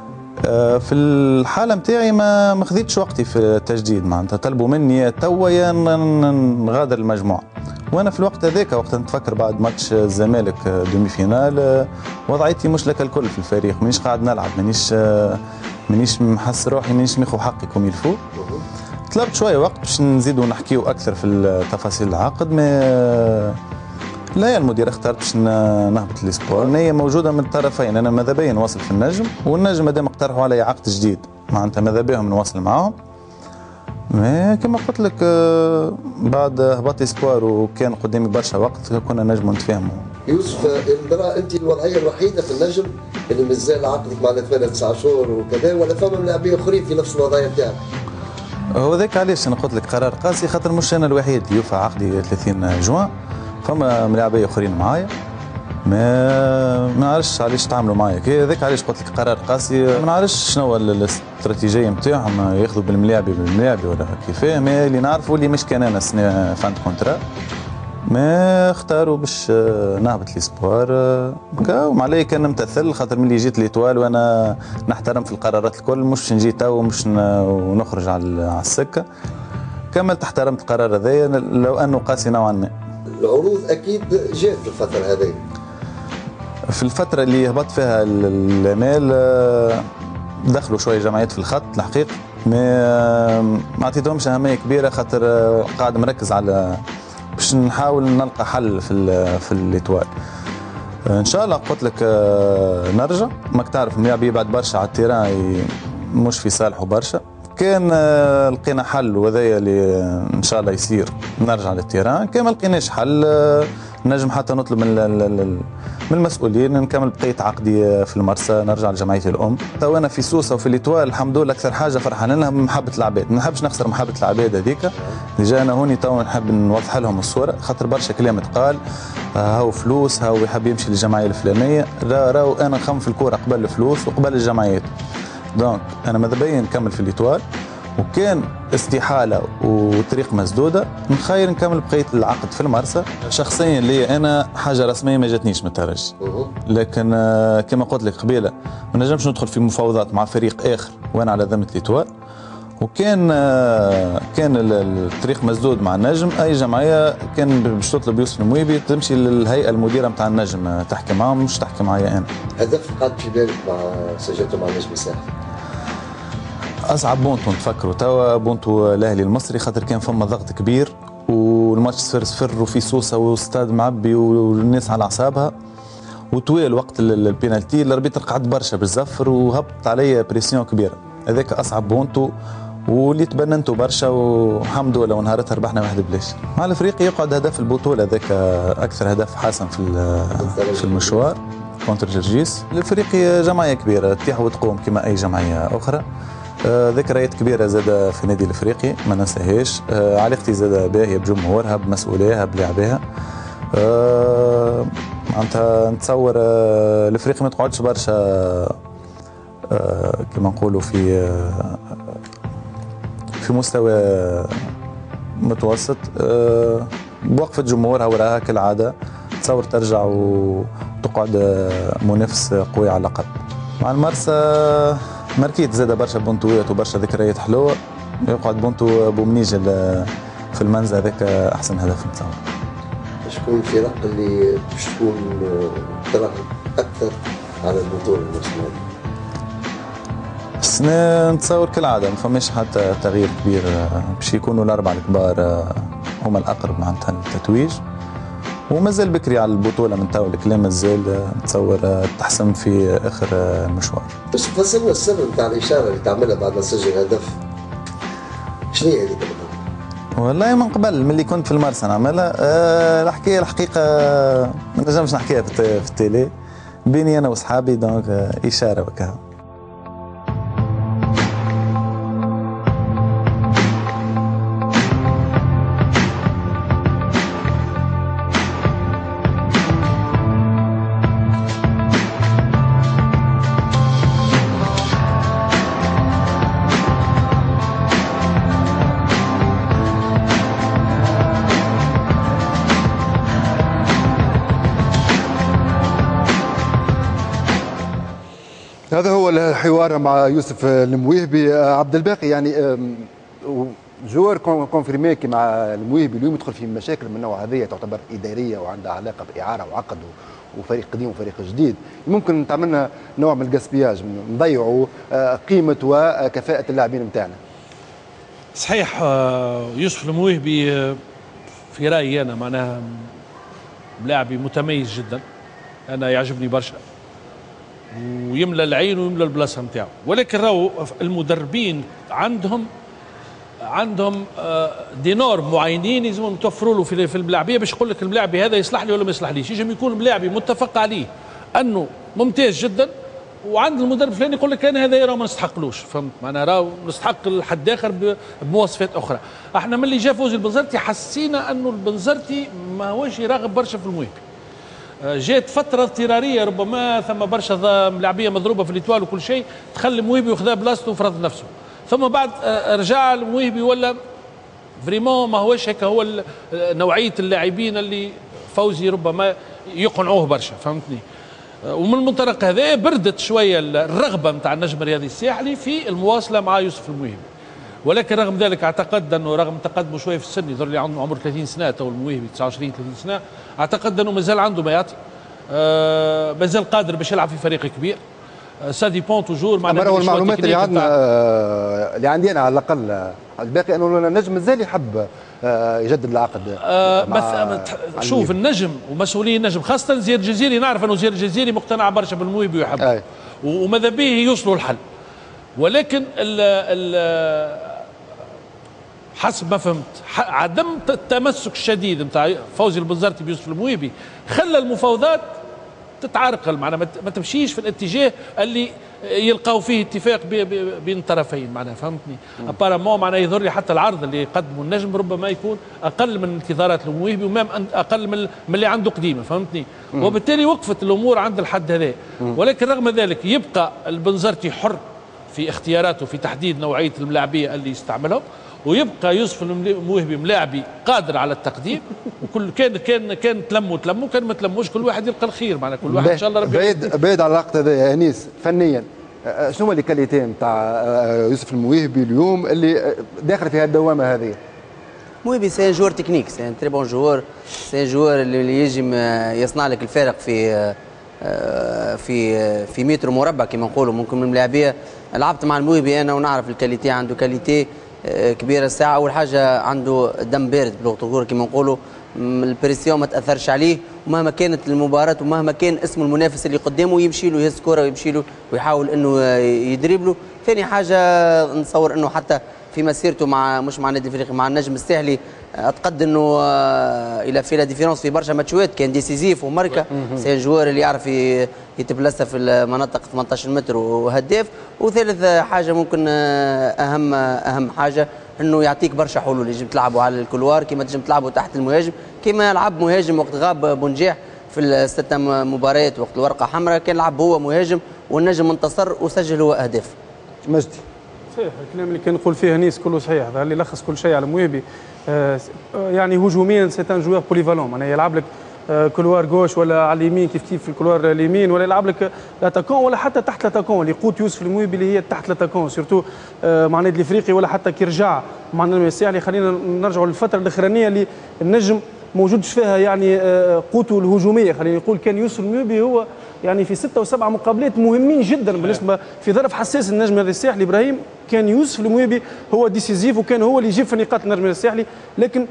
[SPEAKER 10] في الحالة نتاعي ما ما خذيتش وقتي في التجديد، معناتها طلبوا مني توا يا نغادر المجموعة، وانا في الوقت هذاك وقت نتفكر بعد ماتش الزمالك demi-finale وضعيتي مش لك الكل في الفريق، مانيش قاعد نلعب، مانيش مانيش محس روحي، مانيش ماخذ حقي comme il faut. طلبت شوية وقت باش نزيدوا نحكيو اكثر في تفاصيل العقد، mais لا المدير اختارت باش نهبط les espoirs. النية موجودة من الطرفين، انا ماذا بيا نواصل في النجم، والنجم مادام اقترحوا علي عقد جديد معناتها ماذا بيهم نواصل معاهم. mais كما قلت لك بعد هبط espoirs وكان قدامي برشا وقت كنا نجموا نتفاهموا.
[SPEAKER 9] يوسف المرأة انت الوضعية الوحيدة في النجم اللي مازال عقدك مع ثمانية تسعة شهور وكذا، ولا فما لاعبين اخرين في نفس الوضعية نتاعك؟
[SPEAKER 10] هو ذاك علاش انا قلت لك قرار قاسي، خاطر مش انا الوحيد اللي يوفى عقدي ثلاثين جوان، فما ملاعبيه اخرين معايا، ما ما نعرفش علاش تعاملوا معايا هذاك علاش قلت لك قرار قاسي. ما نعرفش شنو الاستراتيجية نتاعهم، ياخذوا بالملاعبي بالملاعبي ولا كيفاه، mais اللي نعرفوا اللي مش كان انا السنة fin de contrat، mais اختاروا باش نهبط les espoirs. وما علي كان نمتثل خاطر ملي جيت l'Étoile وانا نحترم في القرارات الكل، مش نجي تو ومش ونخرج على السكة. كملت احترمت القرار هذايا لو انه قاسي نوعا ما.
[SPEAKER 9] العروض اكيد جات في الفترة هذه.
[SPEAKER 10] في الفترة اللي هبط فيها الامال دخلوا شوية جمعيات في الخط الحقيقة، mais ما عطيتهمش اهمية كبيرة خاطر قاعد مركز على باش نحاول نلقى حل في في l'Étoile. ان شاء الله قلت لك نرجع، ماك تعرف الملاعب يبعد برشا على ال terrain مش في صالحه برشا، كان لقينا حل وهذايا اللي ان شاء الله يصير نرجع لل terrain، كان ما لقيناش حل نجم حتى نطلب من من المسؤولين نكمل بقية عقدي في المرسى، نرجع لجمعيتي الام. تو انا في سوسة وفي l'Étoile الحمد لله اكثر حاجة فرحان لها محبة العباد، ما نحبش نخسر محبة العباد هذيك. déjà انا هوني تو نحب نوضح لهم الصورة خاطر برشا كلام تقال، هاو فلوس هاو يحب يمشي للجمعية الفلانية، لا راهو انا نخمم في الكورة قبل الفلوس وقبل الجمعيات. donc انا ماذا بيا نكمل في l'Étoile، وكان استحالة وطريق مسدودة نخير نكمل بقية العقد في المرسى. شخصيا لي انا حاجة رسمية ما جاتنيش من الترجي، لكن كما قلت لك قبيلة ما نجمش ندخل في مفاوضات مع فريق اخر وانا على ذمه l'Étoile، وكان كان الطريق مسدود مع النجم. اي جمعية كان باش تطلب يوسف المويبي تمشي للهيئة المديرة نتاع النجم تحكي معاهم، مش تحكي معايا انا.
[SPEAKER 9] هدف قعد في بالك مع سجلته مع النجم الساحلي؟
[SPEAKER 10] اصعب بونتو نتفكروا توا بونتو الاهلي المصري، خاطر كان فما ضغط كبير والماتش صفر صفر وفي سوسة واستاد معبي والناس على اعصابها، وطويل وقت ال penalty ال arbitre قعد برشا بالزفر وهبط عليا pression كبيرة. هذاك اصعب بونتو واللي تبننتو برشا، والحمد لله ونهارتها ربحنا واحد بلاش. مع الافريقي يقعد هدف البطولة هذاك اكثر هدف حاسم في في المشوار contre جرجيس. الافريقي جمعية كبيرة تطيح وتقوم كما اي جمعية اخرى. ذكريات كبيرة زادة في النادي الافريقي ما ننساهاش، علاقتي زادة باهيه بجمهورها بمسؤوليها بلاعبيها. معناتها نتصور الافريقي ما تقعدش برشا كما نقولوا في في مستوى متوسط، بوقفة جمهورها وراها كالعادة تصور ترجع وتقعد منافس قوي على الأقل. مع المرسى ماركيت زاد برشا بونتوات وبرشا ذكريات حلوة، يقعد بونتو بومنيجل في المنزل هذاك أحسن هدف نتصور.
[SPEAKER 9] شكون الفرق اللي باش تكون تراهن أكثر على البطولة الموسم هذا؟
[SPEAKER 10] السنة نتصور كالعادة ما فماش حتى تغيير كبير، باش يكونوا الأربعة الكبار هما الأقرب معناتها للتتويج، ومازال بكري على البطولة من تو الكلام مازال نتصور تحسم في آخر المشوار.
[SPEAKER 9] بس فسرنا السر نتاع الإشارة اللي تعملها بعد ما تسجل هدف، شنو هي هذيك بالضبط؟
[SPEAKER 10] والله من قبل من اللي كنت في المرسى نعملها. أه الحكاية الحقيقة ما نجمش نحكيها في ال télé، بيني انا وصحابي، donc اشارة وكا.
[SPEAKER 1] هذا هو الحوار مع يوسف المويهبي. عبد الباقي، يعني joueur confirmé كيما المويهبي اليوم يدخل في مشاكل من النوع هذه تعتبر ادارية وعندها علاقة باعاره وعقد وفريق قديم وفريق جديد، ممكن تعملنا نوع من ال gaspillage، نضيعوا قيمة وكفاءة اللاعبين نتاعنا.
[SPEAKER 5] صحيح، يوسف المويهبي في رايي انا معناها لاعبي متميز جدا، انا يعجبني برشا ويملى العين ويملى البلاصة نتاعو، ولكن راهو المدربين عندهم عندهم des normes معينين لازم يتوفروا له في الملاعبيه باش يقول لك الملاعبي هذا يصلح لي ولا ما يصلحليش. يجم يكون ملاعبي متفق عليه انه ممتاز جدا، وعند المدرب الفلاني يقول لك انا هذا راه ما نستحقلوش، فهمت؟ معناها راه نستحق لحد اخر بمواصفات اخرى. احنا من اللي جا فوزي البنزرتي حسينا انه البنزرتي ماهوش يراغب برشا في المويهبي. جات فترة اضطراريه ربما ثم برشا ملاعبيه مضروبة في l'Étoile وكل شيء، دخل المويهبي وخذا بلاصته وفرض نفسه، ثم بعد رجع المويهبي ولا vraiment ما هوش هيك هو نوعية اللاعبين اللي فوزي ربما يقنعوه برشا، فهمتني؟ ومن المنطلق هذا بردت شوية الرغبة نتاع النجم الرياضي الساحلي في المواصلة مع يوسف المويهبي، ولكن رغم ذلك اعتقد انه رغم تقدمه شوية في السن، يظهر لي عنده عمر ثلاثين سنة تو المويهبي تسعة وعشرين ثلاثين سنة، اعتقد انه مازال عنده ما يعطي، آه مازال قادر باش يلعب في فريق كبير. ça dépend toujours
[SPEAKER 1] معناها المعلومات اللي عندنا اللي عندي انا على الاقل الباقي انه النجم مازال يحب يجدد العقد.
[SPEAKER 5] آه بس شوف النجم ومسؤولي النجم خاصة زياد الجزيري، نعرف انه زياد الجزيري مقتنع برشا بالمويهبي ويحبه وماذا به يوصلوا الحل، ولكن ال ال حسب ما فهمت عدم التمسك الشديد نتاع فوزي البنزرتي بيوسف المويهبي خلى المفاوضات تتعرقل، معناها ما تمشيش في الاتجاه اللي يلقاو فيه اتفاق بين الطرفين، معناها فهمتني؟ apparemment معناها يظهر لي حتى العرض اللي يقدمه النجم ربما يكون اقل من انتظارات المويهبي و même اقل من اللي عنده قديمة، فهمتني؟ مم. وبالتالي وقفت الامور عند الحد هذا، ولكن رغم ذلك يبقى البنزرتي حر في اختياراته في تحديد نوعية الملاعبيه اللي يستعملهم، ويبقى يوسف المويهبي ملاعبي قادر على التقديم، وكل كان كان كان تلموا تلموا كان ما تلموش كل واحد يلقى الخير، معناها كل واحد ان شاء الله ربي.
[SPEAKER 1] بعيد بعيد على اللقطة هذه يا انيس، فنيا شنو هما les qualités نتاع يوسف المويهبي اليوم اللي داخل في هالدوامه هذه؟
[SPEAKER 2] مويهبي c'est un joueur technique، c'est un très bon joueur، c'est un joueur اللي يجم يصنع لك الفارق في في في متر مربع كما نقولوا. ممكن من الملاعبيه لعبت مع المويهبي انا ونعرف ال qualité، عنده qualité كبيرة. الساعة اول حاجة عنده دم بارد بلغه الكورة كما نقولوا، ال pression ما تاثرش عليه، ومهما كانت المباراة ومهما كان اسم المنافس اللي قدامه يمشي له يهز كورة ويمشي له ويحاول انه يدريب له. ثاني حاجة نتصور انه حتى في مسيرته مع مش مع النادي الافريقي مع النجم الساحلي اعتقد انه il a fait la différence في برشا ماتشات، كان décisif وماركه. c'est joueur اللي يعرف يتبلسى في المناطق ثمانية عشر متر وهداف. وثالث حاجة ممكن اهم اهم حاجة انه يعطيك برشا حلول، يجب تلعبوا على ال couloir كما تنجم تلعبوا تحت المهاجم، كما لعب مهاجم وقت غاب بونجاح في الست مباريات وقت الورقة حمراء كان لعب هو مهاجم والنجم انتصر وسجل هو اهداف.
[SPEAKER 1] مجدي،
[SPEAKER 3] صحيح الكلام اللي كان نقول فيه انيس كله صحيح، هذا اللي لخص كل شيء على مويهبي. آه يعني هجوميا c'est un joueur polyvalent، معناها يلعب لك آه couloir gauche ولا على اليمين كيف كيف في ال couloir اليمين، ولا يلعب لك l'attaquant ولا حتى تحت l'attaquant اللي قوت يوسف المويهبي اللي هي تحت l'attaquant surtout آه مع النادي الافريقي ولا حتى كي رجع مع النجم الساحلي. خلينا نرجعوا للفترة الاخرانية اللي النجم موجودش فيها يعني آه قوته الهجومية، خلينا نقول كان يوسف المويهبي هو يعني في ستة وسبعة مقابلات مهمين جدا بالنسبة في ظرف حساس النجم الساحلي ابراهيم، كان يوسف المويهبي هو décisif وكان هو اللي يجيب في نقاط النجم الساحلي. لكن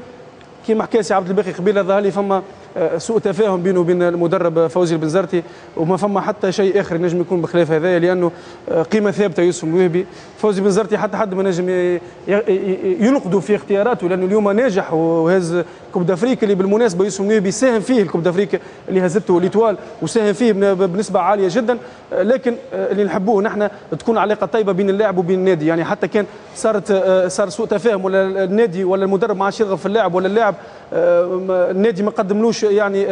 [SPEAKER 3] كما حكى سي عبد الباقي قبيلة ظهر لي فما سوء تفاهم بينه وبين المدرب فوزي البنزرتي، وما فما حتى شيء اخر نجم يكون بخلاف هذايا، لانه قيمة ثابتة يوسف المويهبي. فوزي بنزرتي حتى حد ما نجم ينقده في اختياراته، لانه اليوم ناجح وهز Coupe d'Afrique اللي بالمناسبة يوسف المويهبي ساهم فيه ال Coupe d'Afrique اللي هزته l'Étoile، وساهم فيه بنسبة عالية جدا. لكن اللي نحبوه نحن تكون علاقة طيبة بين اللاعب وبين النادي، يعني حتى كان صارت صار سوء تفاهم ولا النادي ولا المدرب ما عادش يرغب في اللاعب، ولا اللاعب النادي ما قدملوش يعني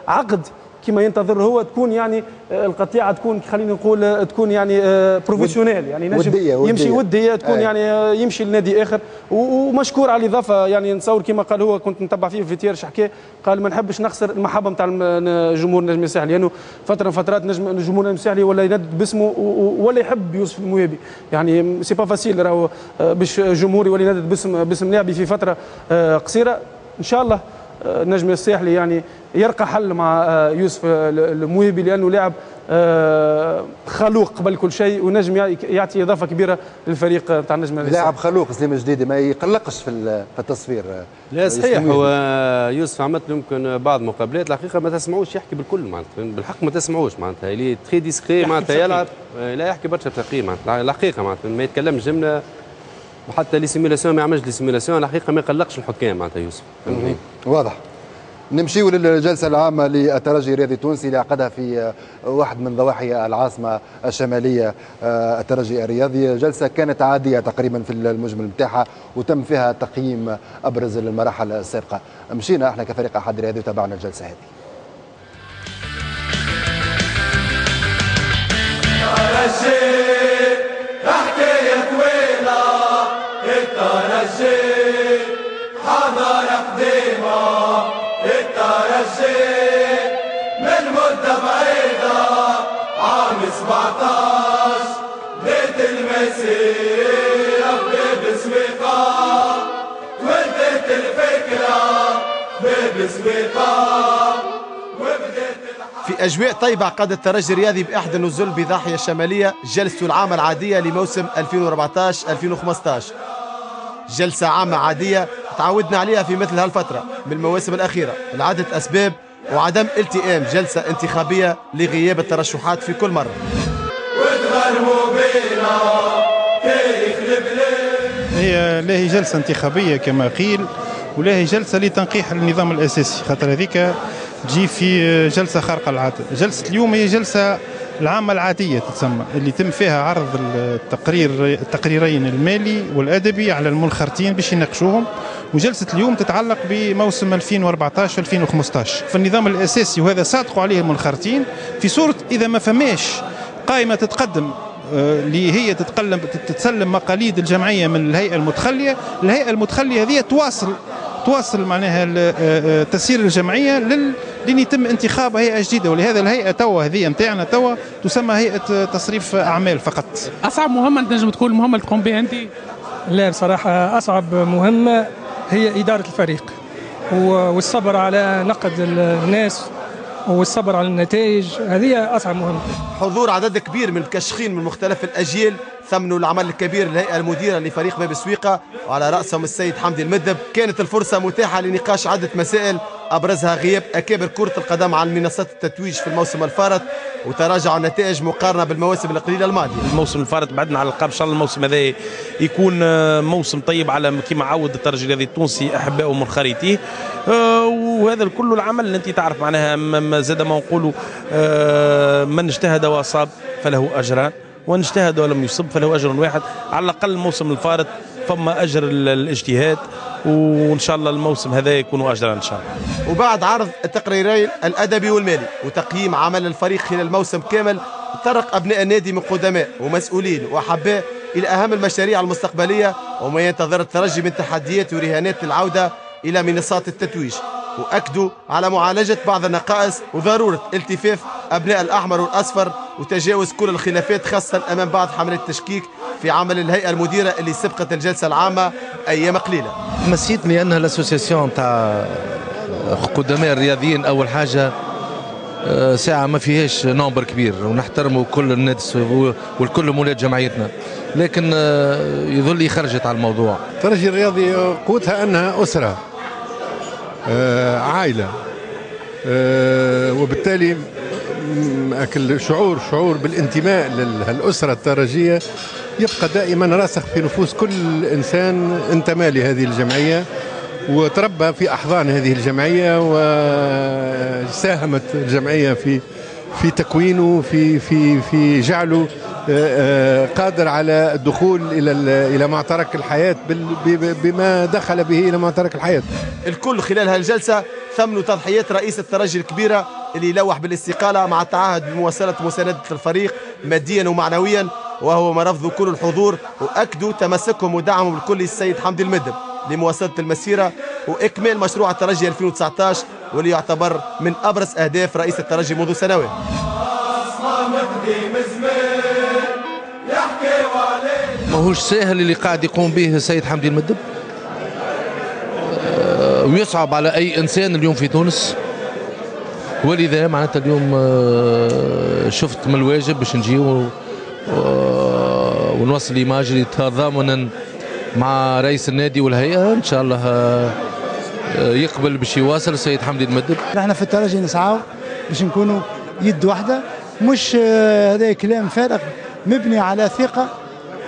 [SPEAKER 3] عقد كما ينتظر هو، تكون يعني القطيعة تكون خلينا نقول تكون يعني professionnelle، يعني نجم
[SPEAKER 1] ودية ودية.
[SPEAKER 3] يمشي وديه تكون
[SPEAKER 1] آه.
[SPEAKER 3] يعني يمشي لنادي اخر، ومشكور على الاضافة. يعني نتصور كما قال هو، كنت نتبع فيه في تيرش حكى، قال ما نحبش نخسر المحبة نتاع جمهور النجم الساحلي، لانه فترة من فترات نجم جمهور النجم الساحلي ولا يندد باسمه ولا يحب يوسف المويهبي، يعني c'est pas facile راهو باش جمهور يولي يندد باسم باسم لاعبي في فترة قصيرة. ان شاء الله النجم الساحلي يعني يرقى حل مع يوسف المويهبي، لانه لاعب خلوق قبل كل شيء، ونجم يعطي اضافه كبيرة للفريق تاع النجم الساحلي.
[SPEAKER 1] لاعب خلوق سليم الجديدي، ما يقلقش في التصفير.
[SPEAKER 17] لا صحيح، هو يوسف عملت له يمكن بعض مقابلات الحقيقة ما تسمعوش يحكي بالكل، معناتها بالحق ما تسمعوش، معناتها il est très discret، معناتها يلعب لا يحكي برشا بتقي، معناتها الحقيقة معناتها ما يتكلمش جملة، وحتى les simulations ما يعملش les simulations، الحقيقة ما يقلقش الحكام معناتها يوسف.
[SPEAKER 1] واضح. نمشيو للجلسة العامة للترجي الرياضي التونسي اللي عقدها في واحد من ضواحي العاصمة الشمالية الترجي الرياضي. جلسة كانت عادية تقريبا في المجمل نتاعها، وتم فيها تقييم أبرز المراحل السابقة. مشينا احنا كفريق أحد الرياضي وتابعنا الجلسة هذه.
[SPEAKER 7] حكاية طويلة الترجي، حضارة قديمة الترجي، من مدة بعيدة عام سبعطاش بيت المسيرة باب سويقة، تولدت الفكرة باب سويقة.
[SPEAKER 11] في أجواء طيبة عقد الترجي الرياضي بإحدى النزل بضاحية الشمالية جلسته العامة العادية لموسم ألفين وأربعطاش ألفين وخمسطاش. جلسة عامة عادية تعودنا عليها في مثل هالفترة من المواسم الأخيرة لعدة أسباب، وعدم التئام جلسة انتخابية لغياب الترشحات في كل مرة.
[SPEAKER 12] هي لا هي جلسة انتخابية كما قيل، ولا هي جلسة لتنقيح النظام الأساسي، خاطر هذيك تجي في جلسة خارقة للعادة. جلسة اليوم هي جلسة العامة العادية تتسمى، اللي تم فيها عرض التقرير التقريرين المالي والأدبي على المنخرطين باش يناقشوهم. وجلسة اليوم تتعلق بموسم ألفين وأربعطاش ألفين وخمسطاش في النظام الأساسي، وهذا صادقوا عليه المنخرطين في صورة إذا ما فماش قائمة تتقدم اللي هي تتقلم تتسلم مقاليد الجمعية من الهيئة المتخلية. الهيئة المتخلية هذه تواصل تواصل معناها تسيير الجمعية لل لين يتم انتخاب هيئة جديدة، ولهذا الهيئة توا هذه نتاعنا توا تسمى هيئة تصريف اعمال فقط.
[SPEAKER 13] اصعب مهمة تنجم تكون المهمة اللي تقوم بها انت؟
[SPEAKER 14] لا بصراحة اصعب مهمة هي ادارة الفريق والصبر على نقد الناس والصبر على النتائج، هذه اصعب مهمة.
[SPEAKER 11] حضور عدد كبير من المكشخين من مختلف الاجيال ثمنوا العمل الكبير للهيئة المديرة لفريق باب سويقه، وعلى راسهم السيد حمدي المدب. كانت الفرصة متاحة لنقاش عده مسائل ابرزها غياب اكابر كره القدم عن منصات التتويج في الموسم الفارط وتراجع النتائج مقارنة بالمواسم القليلة الماضية.
[SPEAKER 26] الموسم الفارط بعدنا على القاب، ان شاء الله الموسم هذا يكون موسم طيب على كما عود الترجي الرياضي التونسي احبائه ومنخرطيه، وهذا الكل العمل اللي انت تعرف معناها زاد ما نقولوا من اجتهد واصاب فله اجران، وان اجتهد ولم يصب فله اجر واحد. على الاقل الموسم الفارط فما اجر الاجتهاد، وان شاء الله الموسم هذا يكون اجرا ان شاء الله.
[SPEAKER 11] وبعد عرض التقريرين الادبي والمالي وتقييم عمل الفريق خلال الموسم كامل، تطرق ابناء النادي من قدماء ومسؤولين واحباء الى اهم المشاريع المستقبلية وما ينتظر الترجي من تحديات ورهانات للعودة الى منصات التتويج، واكدوا على معالجة بعض النقائص وضرورة التفاف ابناء الاحمر والاصفر وتجاوز كل الخلافات، خاصة امام بعض حملات التشكيك في عمل الهيئة المديرة اللي سبقت الجلسة العامة ايام قليله.
[SPEAKER 27] مسيتني انها l'association تاع قدماء الرياضيين اول حاجة ساعة ما فيهاش nombre كبير، ونحترموا كل الناس والكل مولات جمعيتنا، لكن يظل خرجت على الموضوع.
[SPEAKER 21] الترجي الرياضي قوتها انها اسره، عائلة،
[SPEAKER 4] وبالتالي الشعور شعور بالانتماء للأسرة الترجية يبقى دائما راسخ في نفوس كل إنسان انتمى لهذه الجمعية وتربى في أحضان هذه الجمعية، وساهمت الجمعية في في تكوينه، في في في جعله قادر على الدخول الى الى معترك الحياة بما دخل به الى معترك الحياة.
[SPEAKER 11] الكل خلال هالجلسه ثمنوا تضحيات رئيس الترجي الكبيرة اللي لوح بالاستقاله مع التعهد بمواصله مساندة الفريق ماديا ومعنويا، وهو ما رفضوا كل الحضور واكدوا تمسكهم ودعمهم الكل السيد حمدي المدب لمواصلة المسيرة واكمال مشروع الترجي ألفين وتسعطاش واللي يعتبر من ابرز اهداف رئيس الترجي منذ سنوات.
[SPEAKER 27] ماهوش ساهل اللي قاعد يقوم به السيد حمدي المدب، ويصعب على اي انسان اليوم في تونس، ولذا معناتها اليوم شفت من الواجب باش نجيو ونوصل l'image اللي تضامنا مع رئيس النادي والهيئة، ان شاء الله يقبل باش يواصل السيد حمدي المدب.
[SPEAKER 15] نحن في الترجي نسعاو باش نكونوا يد واحدة، مش هذا كلام فارغ مبني على ثقة،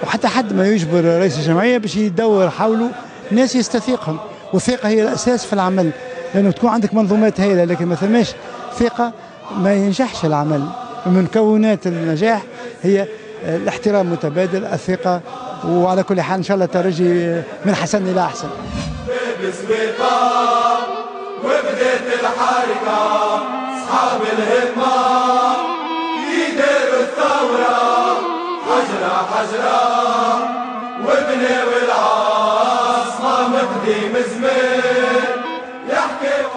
[SPEAKER 15] وحتى حد ما يجبر رئيس الجمعية باش يدور حوله ناس يستثيقهم، والثقة هي الاساس في العمل، لانه تكون عندك منظومات هائلة لكن ما ثماش ثقة ما ينجحش العمل. من مكونات النجاح هي الاحترام المتبادل، الثقة، وعلى كل حال ان شاء الله الترجي من حسن الى احسن.
[SPEAKER 7] وبدات الحركة اصحاب الهمه يديروا الثورة حجره حجره وبناو العاصمة مقدم زمان يحكي.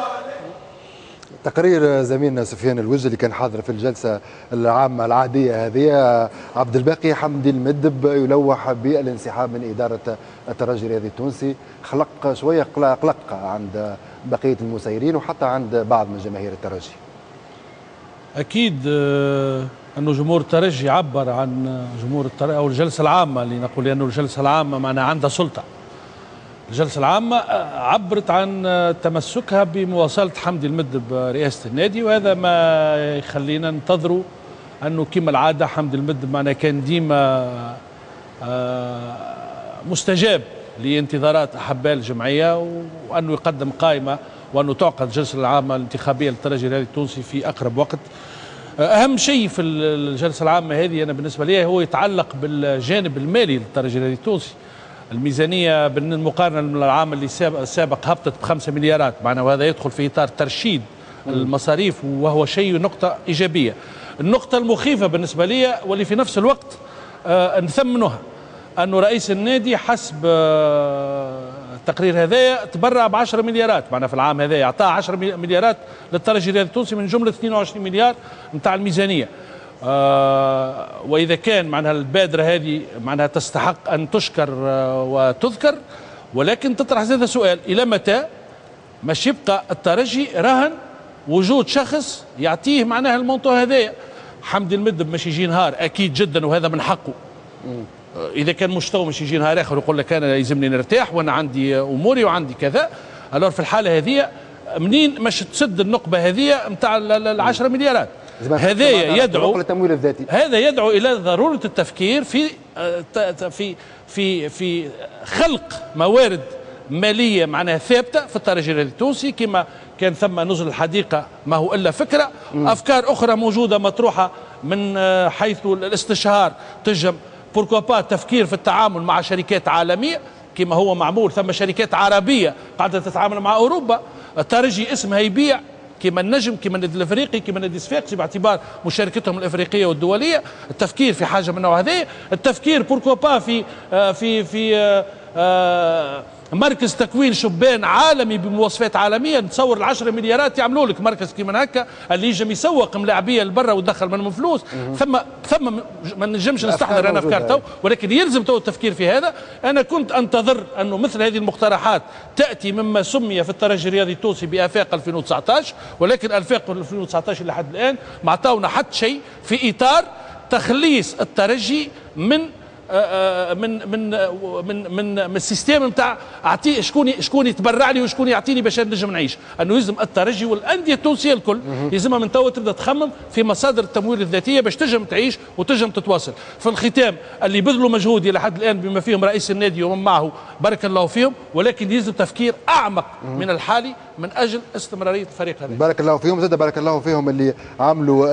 [SPEAKER 1] تقرير زميلنا سفيان الوجه اللي كان حاضر في الجلسة العامة العادية هذه. عبد الباقي حمدي المدب يلوح بالانسحاب من إدارة الترجي الرياضي التونسي، خلق شوية قلق عند بقية المسيرين وحتى عند بعض من جماهير الترجي.
[SPEAKER 5] أكيد أنه جمهور الترجي عبر عن جمهور الترجي أو الجلسة العامة، اللي نقول لأنه الجلسة العامة معناها عندها سلطة. الجلسة العامة عبرت عن تمسكها بمواصلة حمدي المدب رئاسة النادي، وهذا ما يخلينا ننتظروا أنه كما العادة حمدي المدب معنا كان ديما مستجاب لانتظارات أحباء الجمعية، وأنه يقدم قائمة وأنه تعقد الجلسة العامة الانتخابية للترجي الرياضي التونسي في أقرب وقت. أهم شيء في الجلسة العامة هذه أنا بالنسبة لي هو يتعلق بالجانب المالي للترجي الرياضي التونسي. الميزانية بالمقارنة من العام اللي السابق هبطت بخمسة مليارات معنا، وهذا يدخل في إطار ترشيد المصاريف وهو شيء نقطة إيجابية. النقطة المخيفة بالنسبة لي واللي في نفس الوقت آه نثمنها، أنه رئيس النادي حسب آه التقرير هذايا تبرع ب عشرة مليارات معنا في العام هذايا، أعطاه عشرة مليارات للترجي الرياضي التونسي من جملة اثنين وعشرين مليار نتاع الميزانية. آه وإذا كان معناها البادرة هذه معناها تستحق أن تشكر آه وتذكر، ولكن تطرح هذا سؤال: إلى متى مش يبقى الترجي رهن وجود شخص يعطيه معناها ال montant هذايا؟ حمدي المدب مش يجي نهار أكيد جدا وهذا من حقه، إذا كان مش تو مش يجي نهار آخر ويقول لك أنا يلزمني نرتاح وأنا عندي أموري وعندي كذا. alors في الحالة هذه منين مش تسد النقبة هذه نتاع العشرة مليارات؟ هذا يدعو
[SPEAKER 1] التمويل الذاتي،
[SPEAKER 5] هذا يدعو الى ضرورة التفكير في في في في خلق موارد ماليه معناها ثابتة في الترجي الرياضي التونسي، كما كان ثم نزل الحديقة ما هو الا فكرة. مم. افكار اخرى موجودة مطروحة من حيث الاستشهار، تجم pourquoi pas تفكير في التعامل مع شركات عالمية كما هو معمول، ثم شركات عربية قاعدة تتعامل مع اوروبا. الترجي اسمها يبيع كما النجم، كما النادي الافريقي، كما النادي الصفاقسي باعتبار مشاركتهم الافريقية والدولية. التفكير في حاجة من النوع هذا، التفكير pourquoi pas في في في مركز تكوين شبان عالمي بمواصفات عالمية. نتصور العشرة مليارات يعملوا لك مركز كيما هكا اللي يجم يسوق ملاعبيه لبرا ويدخل منهم فلوس. ثم ثم ما نجمش نستحضر انا افكار تو، ولكن يلزم تو التفكير في هذا. انا كنت انتظر انه مثل هذه المقترحات تاتي مما سمي في الترجي الرياضي التونسي بافاق ألفين وتسعطاش، ولكن افاق ألفين وتسعطاش لحد الان ما عطاونا حتى شيء في اطار تخليص الترجي من من من من من من ال système نتاع اعطي شكون شكون يتبرع لي وشكون يعطيني باش نجم نعيش. انه يلزم الترجي والاندية التونسية الكل يلزمها من توا تبدا تخمم في مصادر التمويل الذاتية باش تنجم تعيش وتنجم تتواصل. في الختام اللي بذلوا مجهود الى حد الان بما فيهم رئيس النادي ومن معه بارك الله فيهم، ولكن يلزم تفكير اعمق من الحالي من اجل استمرارية الفريق هذا.
[SPEAKER 1] بارك الله فيهم، زاد بارك الله فيهم اللي عملوا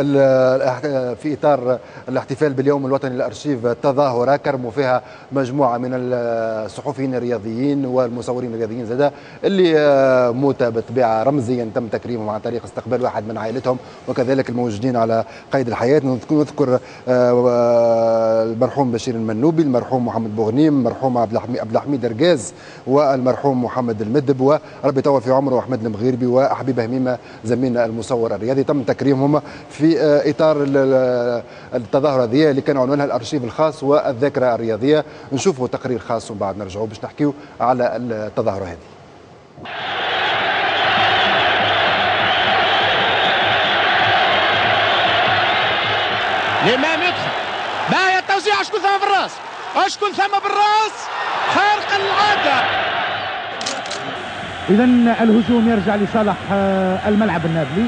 [SPEAKER 1] في اطار الاحتفال باليوم الوطني للارشيف تظاهرة كرموا فيها مجموعة من الصحفيين الرياضيين والمصورين الرياضيين زاد اللي موتى بالطبيعة رمزيا تم تكريمهم عن طريق استقبال واحد من عائلتهم، وكذلك الموجودين على قيد الحياة. نذكر المرحوم بشير المنوبي، المرحوم محمد بوغنيم، المرحوم عبد الحميد رقاز، والمرحوم محمد المدب، وربي يطول في عمره احمد المغيربي وحبيب هميمه زميلنا المصور الرياضي. تم تكريمهم في اطار التظاهرة هذه اللي كان عنوانها الارشيف الخاص والذاكرة الرياضية. نشوفوا تقرير خاص ومن بعد نرجعوا باش نحكيو على التظاهرة هذه.
[SPEAKER 16] الامام يدخل، باهي التوزيع، شكون ثم بالراس؟ شكون ثم بالراس؟ خارق العادة.
[SPEAKER 18] إذا الهجوم يرجع لصالح الملعب النابلي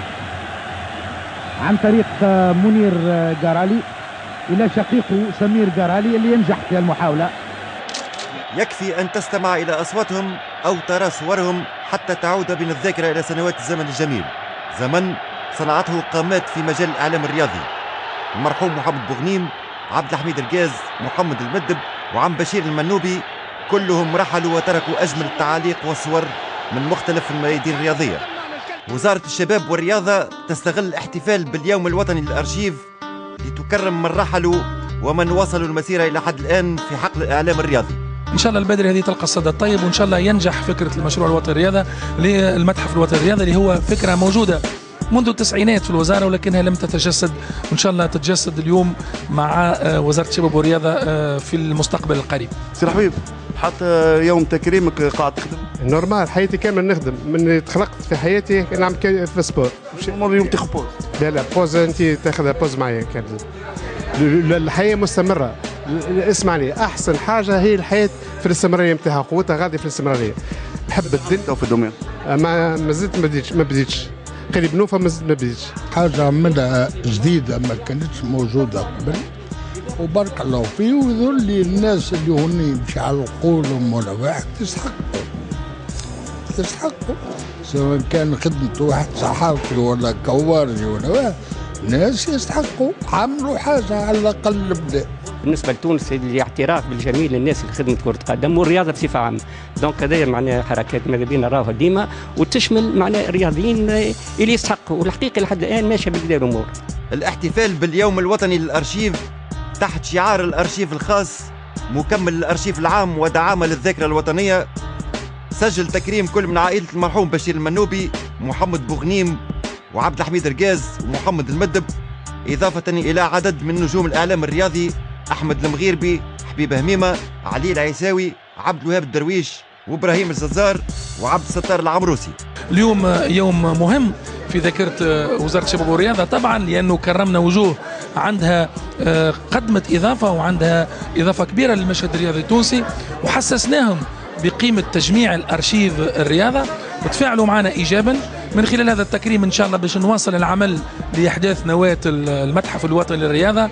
[SPEAKER 18] عن طريق منير جارالي إلى شقيقه سمير جارالي اللي ينجح في المحاولة.
[SPEAKER 19] يكفي أن تستمع إلى أصواتهم أو ترى صورهم حتى تعود بنا الذاكرة إلى سنوات الزمن الجميل، زمن صنعته قامات في مجال الإعلام الرياضي، المرحوم محمد بوغنيم، عبد الحميد الجاز، محمد المدب، وعم بشير المنوبي، كلهم رحلوا وتركوا أجمل التعاليق والصور من مختلف الميادين الرياضية. وزارة الشباب والرياضة تستغل الاحتفال باليوم الوطني للأرشيف لتكرم من رحلوا ومن وصلوا المسيرة إلى حد الآن في حقل الإعلام الرياضي.
[SPEAKER 21] إن شاء الله البدري هذه تلقى الصدى الطيب، وإن شاء الله ينجح فكرة المشروع الوطني للرياضة للمتحف الوطني للرياضة اللي هو فكرة موجودة منذ التسعينات في الوزارة ولكنها لم تتجسد، وإن شاء الله تتجسد اليوم مع وزارة الشباب والرياضة في المستقبل القريب.
[SPEAKER 20] سي الحبيب، حتى يوم تكريمك قاعد تخدم؟
[SPEAKER 4] normal حياتي كامل نخدم، من تخلقت في حياتي نعمل في sport.
[SPEAKER 20] مش اليوم تاخذ pause؟
[SPEAKER 4] لا لا pause انت تاخذ pause معايا كامل. الحياة مستمرة، اسمعني، احسن حاجة هي الحياة في الاستمرارية نتاعها، قوتها غادي في الاستمرارية. نحب الدنيا
[SPEAKER 20] في ال domaine.
[SPEAKER 4] ما مازلت ما بديتش ما بديتش قريب نوفا مازلت ما بديتش.
[SPEAKER 22] حاجة عملها جديدة ما كانتش موجودة قبل، وبارك الله فيه، ويظل لي الناس اللي هوني باش يعلقوا لهم ولا واحد يستحقوا يستحقوا، سواء كان خدمة واحد صحافي ولا كوارجي ولا واحد، ناس يستحقوا، عملوا حاجة على الأقل بدا.
[SPEAKER 23] بالنسبة لتونس الاعتراف بالجميل للناس اللي خدمت كره قدم والرياضة بصفة عامة، donc هذايا معناها حركات ماذا بينا نراوها ديما وتشمل معناها الرياضيين اللي يستحقوا، والحقيقة لحد الان ماشية بالكدا الامور.
[SPEAKER 19] الاحتفال باليوم الوطني للارشيف تحت شعار الارشيف الخاص مكمل للارشيف العام ودعامه للذاكرة الوطنية، سجل تكريم كل من عائلة المرحوم بشير المنوبي، محمد بوغنيم، وعبد الحميد رقاز، ومحمد المدب، اضافه الى عدد من نجوم الاعلام الرياضي احمد المغيربي، حبيب هميمه، علي العيساوي، عبد الوهاب الدرويش، وابراهيم الززار، وعبد الستار العمروسي.
[SPEAKER 21] اليوم يوم مهم في ذاكره وزارة الشباب والرياضة طبعا، لانه كرمنا وجوه عندها قدمت اضافه وعندها اضافه كبيرة للمشهد الرياضي التونسي، وحسسناهم بقيمة تجميع الارشيف الرياضة وتفاعلوا معنا ايجابا. من خلال هذا التكريم ان شاء الله باش نواصل العمل لاحداث نواه المتحف الوطني للرياضة.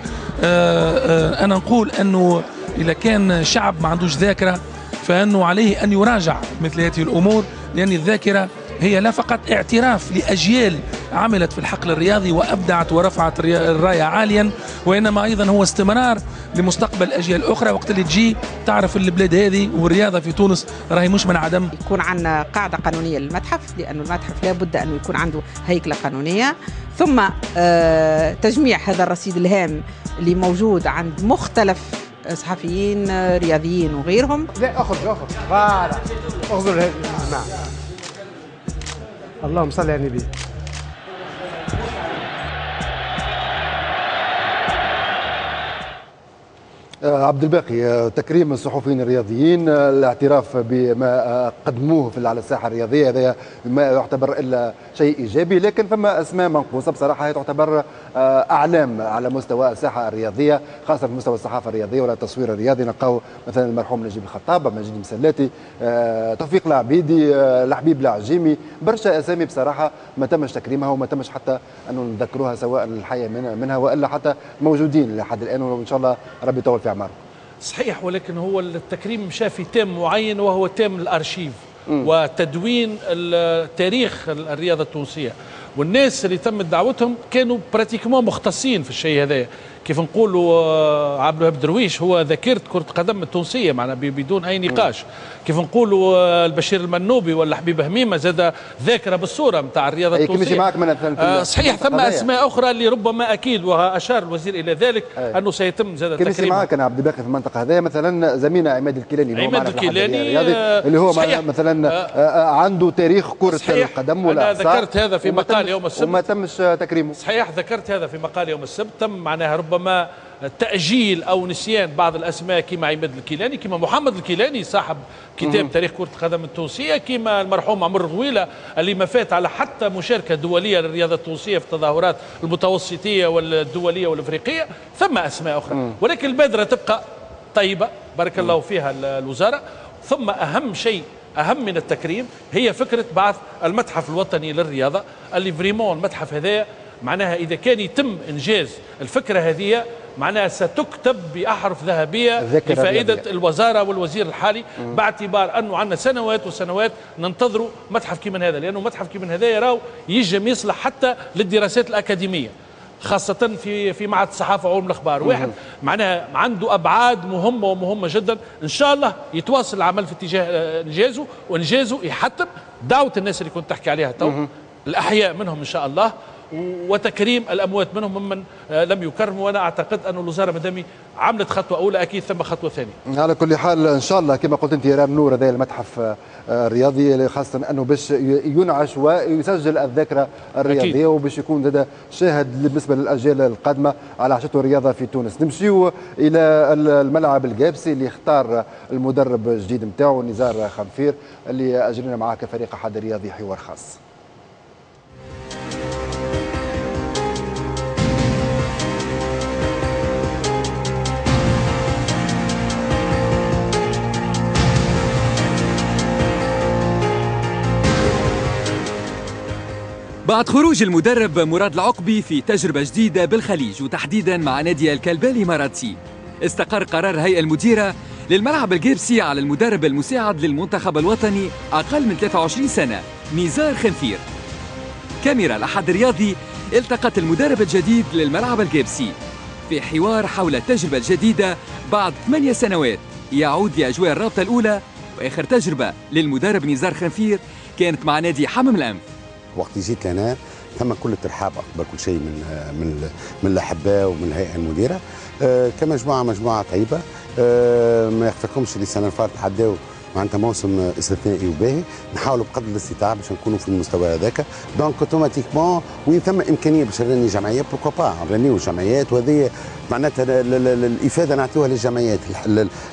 [SPEAKER 21] انا نقول انه اذا كان شعب ما عندوش ذاكره فانه عليه ان يراجع مثل هذه الامور، لان الذاكرة هي لا فقط اعتراف لاجيال عملت في الحقل الرياضي وابدعت ورفعت الراية عاليا، وانما ايضا هو استمرار لمستقبل اجيال اخرى. وقت اللي تجي تعرف البلاد هذه والرياضة في تونس راهي مش من عدم.
[SPEAKER 25] يكون عندنا قاعدة قانونية للمتحف، لانه المتحف لابد انه يكون عنده هيكله قانونية، ثم تجميع هذا الرصيد الهام اللي موجود عند مختلف صحفيين رياضيين وغيرهم.
[SPEAKER 4] لا اخرج اخرج voilà اخرج هذه الجماعة. اللهم صل على النبي.
[SPEAKER 1] عبد الباقي، تكريم الصحفيين الرياضيين، الاعتراف بما قدموه في على الساحة الرياضية، هذا ما يعتبر الا شيء ايجابي، لكن فما اسماء منقوصه بصراحة هي تعتبر اعلام على مستوى الساحة الرياضية، خاصة في مستوى الصحافة الرياضية ولا التصوير الرياضي. نلقاو مثلا المرحوم نجيب الخطاب، مجيد مسلاتي، توفيق العبيدي، الحبيب العجيمي، برشا اسامي بصراحة ما تمش تكريمها وما تمش حتى انه نذكروها سواء الحية منها والا حتى موجودين لحد الان، وان شاء الله ربي يطول في أعمارهم.
[SPEAKER 5] صحيح، ولكن هو التكريم مشى في thème معين وهو thème الارشيف م. وتدوين تاريخ الرياضة التونسية، والناس اللي تمت دعوتهم كانوا pratiquement مختصين في الشيء هذا. كيف نقولوا عبد الوهاب درويش هو ذاكره كره القدم التونسية معنا بدون اي نقاش. كيف نقولوا البشير المنوبي ولا حبيب هميمه زاد ذاكره بالصورة نتاع الرياضة التونسية.
[SPEAKER 1] معك من
[SPEAKER 5] آه صحيح، ثم اسماء اخرى اللي ربما اكيد واشار الوزير الى ذلك أي. انه سيتم زاد تكريمها.
[SPEAKER 1] معك انا عبد الباقي في المنطقة هذه، مثلا زميلنا عماد الكيلاني،
[SPEAKER 5] عماد الكيلاني
[SPEAKER 1] اللي هو مثلا آه عنده تاريخ كره القدم ولا
[SPEAKER 5] انا ذكرت هذا في مقال يوم السبت
[SPEAKER 1] وما تمش تكريمه.
[SPEAKER 5] صحيح، ذكرت هذا في مقال يوم السبت، تم معناها ربما تأجيل أو نسيان بعض الأسماء كما عماد الكيلاني، كما محمد الكيلاني صاحب كتاب تاريخ كرة القدم التونسية، كما المرحوم عمر غويلة اللي ما فات على حتى مشاركة دولية للرياضة التونسية في التظاهرات المتوسطية والدولية والإفريقية. ثم أسماء أخرى، ولكن البادرة تبقى طيبة بارك الله فيها الوزارة. ثم أهم شيء، أهم من التكريم، هي فكرة بعث المتحف الوطني للرياضة اللي vraiment المتحف هذا معناها إذا كان يتم إنجاز الفكرة هذه معناها ستكتب بأحرف ذهبية لفائدة الوزارة والوزير الحالي، باعتبار أنه عندنا سنوات وسنوات ننتظروا متحف كيما هذا، لأنه متحف كيما هذا يراو يجم يصلح حتى للدراسات الأكاديمية، خاصة في في معهد الصحافة وعلوم الأخبار. واحد معناها عنده أبعاد مهمة ومهمة جدا. إن شاء الله يتواصل العمل في اتجاه إنجازه، وإنجازه يحتم دعوة الناس اللي كنت تحكي عليها تو، الأحياء منهم إن شاء الله، وتكريم الأموات منهم ممن لم يكرموا. وأنا أعتقد أن الوزارة مدامي عملت خطوة أولى أكيد ثم خطوة ثانية.
[SPEAKER 1] على كل حال إن شاء الله كما قلت أنت رام نور هذا المتحف الرياضي، خاصة أنه باش ينعش ويسجل الذاكرة الرياضية، وباش يكون هذا شاهد بالنسبة للأجيال القادمة على عشته الرياضة في تونس. نمشيو إلى الملعب القابسي اللي اختار المدرب الجديد نتاعو نزار خنفير، اللي أجرينا معاه كفريق أحد الرياضي حوار خاص.
[SPEAKER 2] بعد خروج المدرب مراد العقبي في تجربة جديدة بالخليج وتحديدا مع نادي الكلبة الإماراتي، استقر قرار الهيئة المديرة للملعب الجيبسي على المدرب المساعد للمنتخب الوطني أقل من ثلاثة وعشرين سنة نزار خنفير. كاميرا الأحد الرياضي التقت المدرب الجديد للملعب الجيبسي في حوار حول التجربة الجديدة بعد ثمانية سنوات يعود لأجواء الرابطة الأولى، وآخر تجربة للمدرب نزار خنفير كانت مع نادي حمام الأنف.
[SPEAKER 3] وقت جيت لنا ثم كل الترحاب قبل كل شيء من من من الاحباء ومن الهيئة المديرة، أه كمجموعة مجموعة طيبة، أه ما يخفاكمش اللي السنة اللي فاتت عداو معناتها موسم استثنائي وباهي، نحاولوا بقدر الاستطاعة باش نكونوا في المستوى هذاك، donc automatiquement وين ثم امكانية باش نرني جمعية pourquoi pas نرنيو جمعيات، وهذه معناتها الافادة نعطيوها للجمعيات،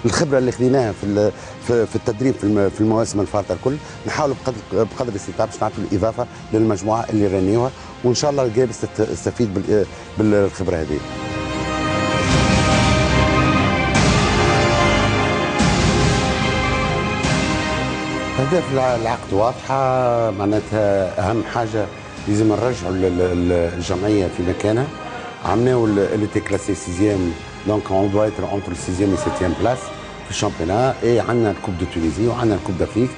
[SPEAKER 3] الخبرة اللي خذيناها في في التدريب في المواسم الفارطه الكل، نحاولوا بقدر بقدر الاستطاعة باش نعطيو الاضافة للمجموعة اللي رنيوها، وان شاء الله الجابس تستفيد بالخبرة هذه. أهداف العقد واضحة، معناتها أهم حاجة لازم نرجعوا الجمعية في مكانها. عملناو elle était classée sixième، donc on doit être entre sixième et septième place في ال championnat، et عندنا ال coupe de Tunisie وعندنا ال coupe d'Afrique،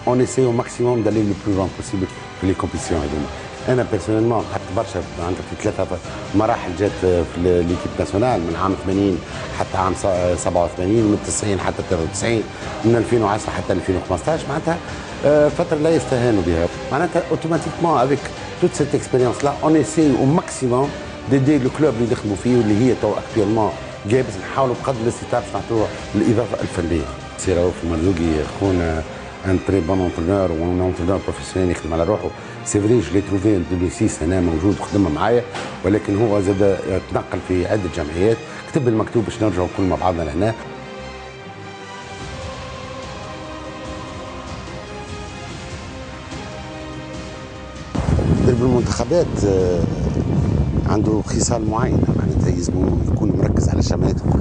[SPEAKER 3] on essaie au maximum d'aller le plus loin possible في les compétitions هذوما. انا personnellement قعدت برشا معناتها في ثلاثة مراحل جات في l'équipe nationale، من عام ثمانين حتى عام سبعة وثمانين، من تسعين حتى ثلاثة وتسعين، من ألفين وعشرة حتى ألفين وخمسطاش، معناتها فترة لا يستهان بها. معناتها automatiquement avec toute cette expérience-là on essaie au maximum d'aider le club اللي نخدموا فيه واللي هي تو actuellement جابس، نحاولوا بقدر الاستطاعة باش نعطوه الاضافة الفنية. سي رؤوف المرزوقي خونا un très bon entraîneur و un entraîneur professionnel يخدم على روحه، c'est vrai je l'ai trouvé en ألفين وستة هنا موجود وخدم معايا، ولكن هو زاد تنقل في عده جمعيات، كتب المكتوب باش نرجعوا كل مع بعضنا لهنا. مدرب المنتخبات عنده خصال معينة، معناتها يلزم يكون مركز على الجمعيات الكل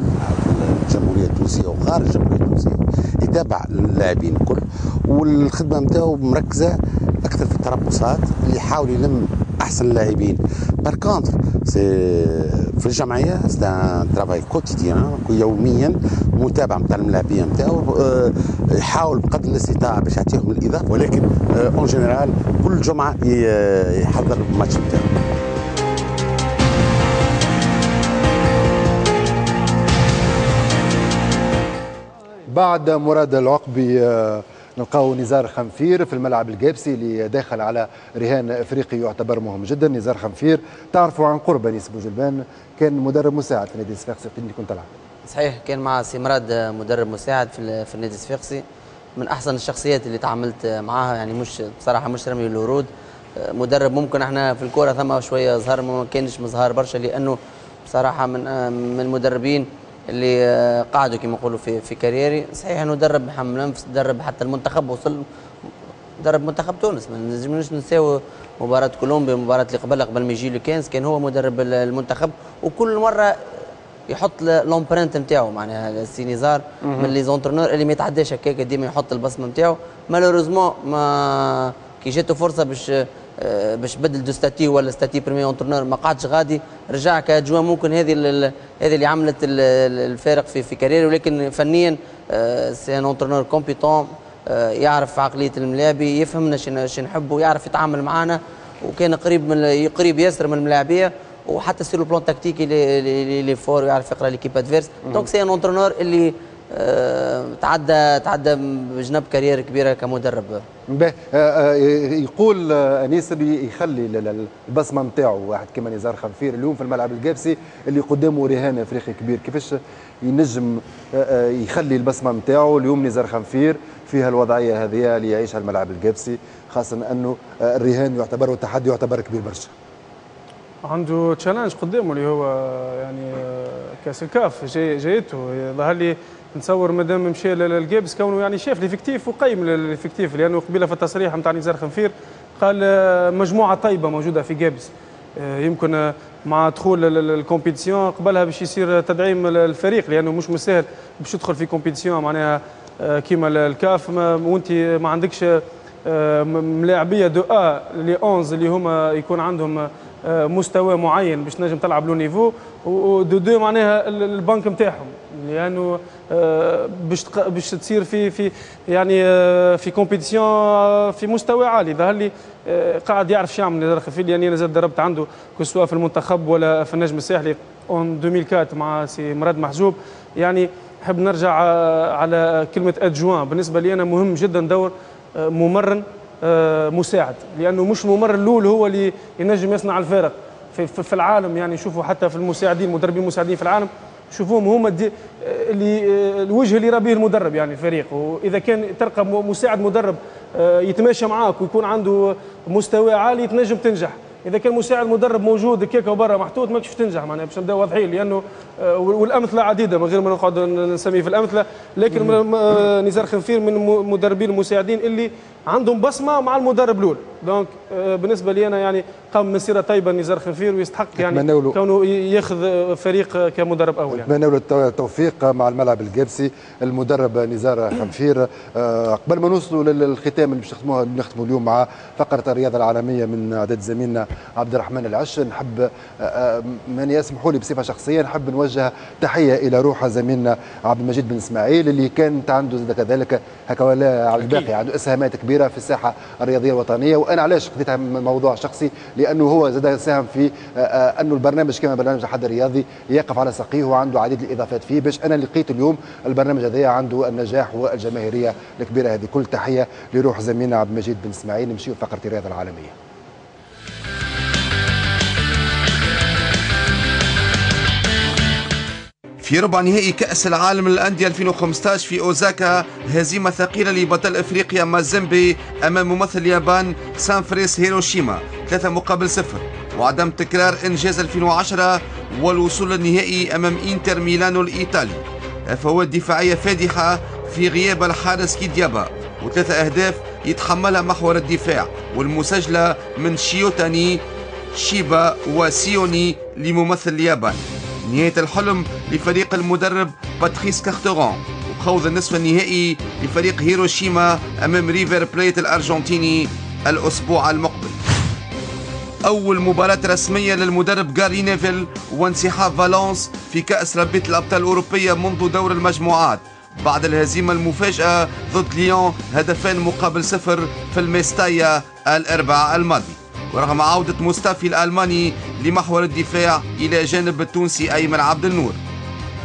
[SPEAKER 3] في الجمهورية التونسية وخارج الجمهورية التونسية، يتابع اللاعبين الكل، والخدمة نتاعو مركزه اكثر في التربصات اللي يحاول يلم احسن اللاعبين. par contre c'est في الجمعية c'est un travail quotidien، يوميا متابعه نتاع الملاعبيه نتاعو، يحاول بقدر الاستطاعة باش يعطيهم الاضافة، ولكن en général كل جمعه يحضر الماتش نتاعو.
[SPEAKER 1] بعد مراد العقبي نلقاو نزار خنفير في الملعب القابسي اللي داخل على رهان افريقي يعتبر مهم جدا. نزار خنفير تعرفوا عن قرب انيس بوجلبان، كان مدرب مساعد في نادي الصفاقسي اللي كنت تلعب.
[SPEAKER 6] صحيح، كان مع سي مراد مدرب مساعد في في النادي الصفاقسي، من احسن الشخصيات اللي تعاملت معاها، يعني مش بصراحة مش رمي الورود، مدرب ممكن احنا في الكورة ثم شوية زهر، ما كانش مزهار برشا، لانه بصراحة من من المدربين اللي قعدوا كما نقولوا في في carrière ي. صحيح انه درب محمد لنفس، درب حتى المنتخب، وصل درب منتخب تونس، ما نجموش ننساو مباراة كولومبيا، المباراة اللي قبلها قبل ما يجي le quinze كان هو مدرب المنتخب، وكل مرة يحط l'empreinte نتاعو، معناها السي نزار من les entraîneurs اللي ما يتعداش هكاك، ديما يحط البصمة نتاعو. malheureusement ما كي جاته فرصة باش باش بدل de statut ولا statut premier entraîneur ما قعدش غادي، رجع ك adjoint. ممكن هذه هذه اللي عملت الفارق في في carrière، ولكن فنيا c'est un entraîneur compétent، يعرف عقلية الملاعبي، يفهمنا شنو نحبوا، يعرف يتعامل معنا، وكان قريب من قريب ياسر من الملاعبيه، وحتى sur le plan tactique il est fort، ويعرف يقرا l'équipe adverse. donc c'est un entraîneur اللي أه تعدى تعدى بجنب carrière كبيرة كمدرب.
[SPEAKER 1] باهي، يقول انيس اللي يخلي البصمة نتاعو واحد كما نزار خنفير اليوم في الملعب القابسي اللي قدامه رهان افريقي كبير، كيفاش ينجم يخلي البصمة نتاعو اليوم نزار خنفير في هالوضعيه هذه اللي يعيشها الملعب القابسي، خاصة انه الرهان يعتبر والتحدي يعتبر كبير برشا.
[SPEAKER 8] عنده challenge قدامه اللي هو يعني كاس الكاف جاي جايته، ظهر لي نتصور مادام مشى للجابس كونه يعني شاف l'effectif وقيم l'effectif، لانه قبيلة في التصريح نتاع نزار خنفير قال مجموعة طيبة موجودة في جابس، يمكن مع دخول ال compétition قبلها باش يصير تدعيم الفريق، لانه مش مسهل باش تدخل في compétition معناها كيما الكاف وانت ما عندكش ملاعبيه de A les onze اللي هما يكون عندهم مستوى معين باش تنجم تلعب le niveau، و de deux معناها البنك نتاعهم، لانه باش باش تصير في في يعني في compétition في مستوى عالي. ظهر لي قاعد يعرف شو يعمل نزار خنفير، لاني انا زاد دربت عنده que ce soit في المنتخب ولا في النجم الساحلي en ألفين وأربعة مع سي مراد محجوب. يعني نحب نرجع على كلمة adjoint، بالنسبة لي انا مهم جدا دور ممرن مساعد، لانه مش الممرن الاول هو اللي ينجم يصنع الفارق في, في العالم. يعني شوفوا حتى في المساعدين، المدربين المساعدين في العالم شوفوهم هما اللي الوجه اللي يرى به المدرب يعني الفريق. واذا كان تلقى مساعد مدرب يتماشى معاك ويكون عنده مستوى عالي تنجم تنجح. اذا كان مساعد مدرب موجود كيكة وبرا محطوط ماكش تنجح، معناها باش نبداو واضحين، لانه والامثلة عديدة من غير ما نقعد نسمي في الامثلة، لكن نزار خنفير من المدربين المساعدين اللي عندهم بصمة مع المدرب الاول. donc بالنسبة لي انا يعني قام مسيره طيبة نزار خنفير، ويستحق يعني كونه ياخذ فريق كمدرب اول.
[SPEAKER 1] يعني نتمنى له التوفيق مع الملعب القابسي المدرب نزار خنفير. قبل ما نوصلوا للختام اللي باش نختموها نختموا اليوم مع فقره الرياضة العالمية من اعداد زميلنا عبد الرحمن العش، نحب من يسمحوا لي بصفة شخصية نحب نوجه تحية الى روح زميلنا عبد المجيد بن اسماعيل اللي كانت عنده زاد كذلك هكا ولا على الباقي عنده اسهامات كبيرة في الساحة الرياضية الوطنية. وانا علاش خديتها من موضوع شخصي؟ لانه هو زاد ساهم في انه البرنامج كما برنامج الحد الرياضي يقف على ساقيه وعنده عديد الاضافات فيه، باش انا لقيت اليوم البرنامج هذا عنده النجاح والجماهيريه الكبيرة هذه. كل تحية لروح زميلنا عبد المجيد بن اسماعيل. نمشيو فقره الرياضة العالمية.
[SPEAKER 3] في
[SPEAKER 9] في ربع نهائي كأس العالم للأندية ألفين وخمسة عشر في أوزاكا، هزيمة ثقيلة لبطل إفريقيا مازيمبي أمام ممثل اليابان سانفريس هيروشيما ثلاثة مقابل صفر، وعدم تكرار إنجاز ألفين وعشرة والوصول للنهائي أمام إنتر ميلانو الإيطالي. فوات دفاعية فادحة في غياب الحارس كيديابا، وثلاثة أهداف يتحملها محور الدفاع والمسجلة من شيوتاني شيبا وسيوني لممثل اليابان. نهاية الحلم لفريق المدرب باتريس كارتورون، وخوض النصف النهائي لفريق هيروشيما أمام ريفر بليت الأرجنتيني الأسبوع المقبل. أول مباراة رسمية للمدرب غاري نيفيل وانسحاب فالونس في كأس رابطة الأبطال الأوروبية منذ دور المجموعات بعد الهزيمة المفاجئة ضد ليون هدفين مقابل صفر في الميستايا الأربعاء الماضي، ورغم عودة مصطفي الألماني لمحور الدفاع إلى جانب التونسي أيمن عبد النور.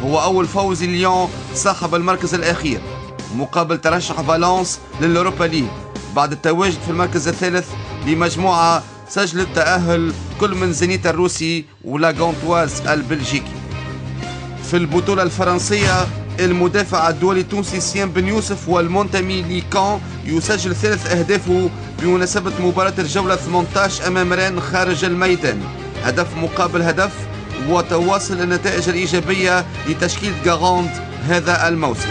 [SPEAKER 9] هو أول فوز ليون صاحب المركز الأخير مقابل ترشح فالونس للأوروبا ليج بعد التواجد في المركز الثالث لمجموعة سجلت تأهل كل من زينيت الروسي ولاغونتواز البلجيكي. في البطولة الفرنسية المدافع الدولي التونسي سيان بن يوسف والمنتمي لكان يسجل ثلاث أهدافه بمناسبة مباراة الجولة ثمانية عشر أمام رين خارج الميدان، هدف مقابل هدف، وتواصل النتائج الإيجابية لتشكيل غاراند هذا الموسم.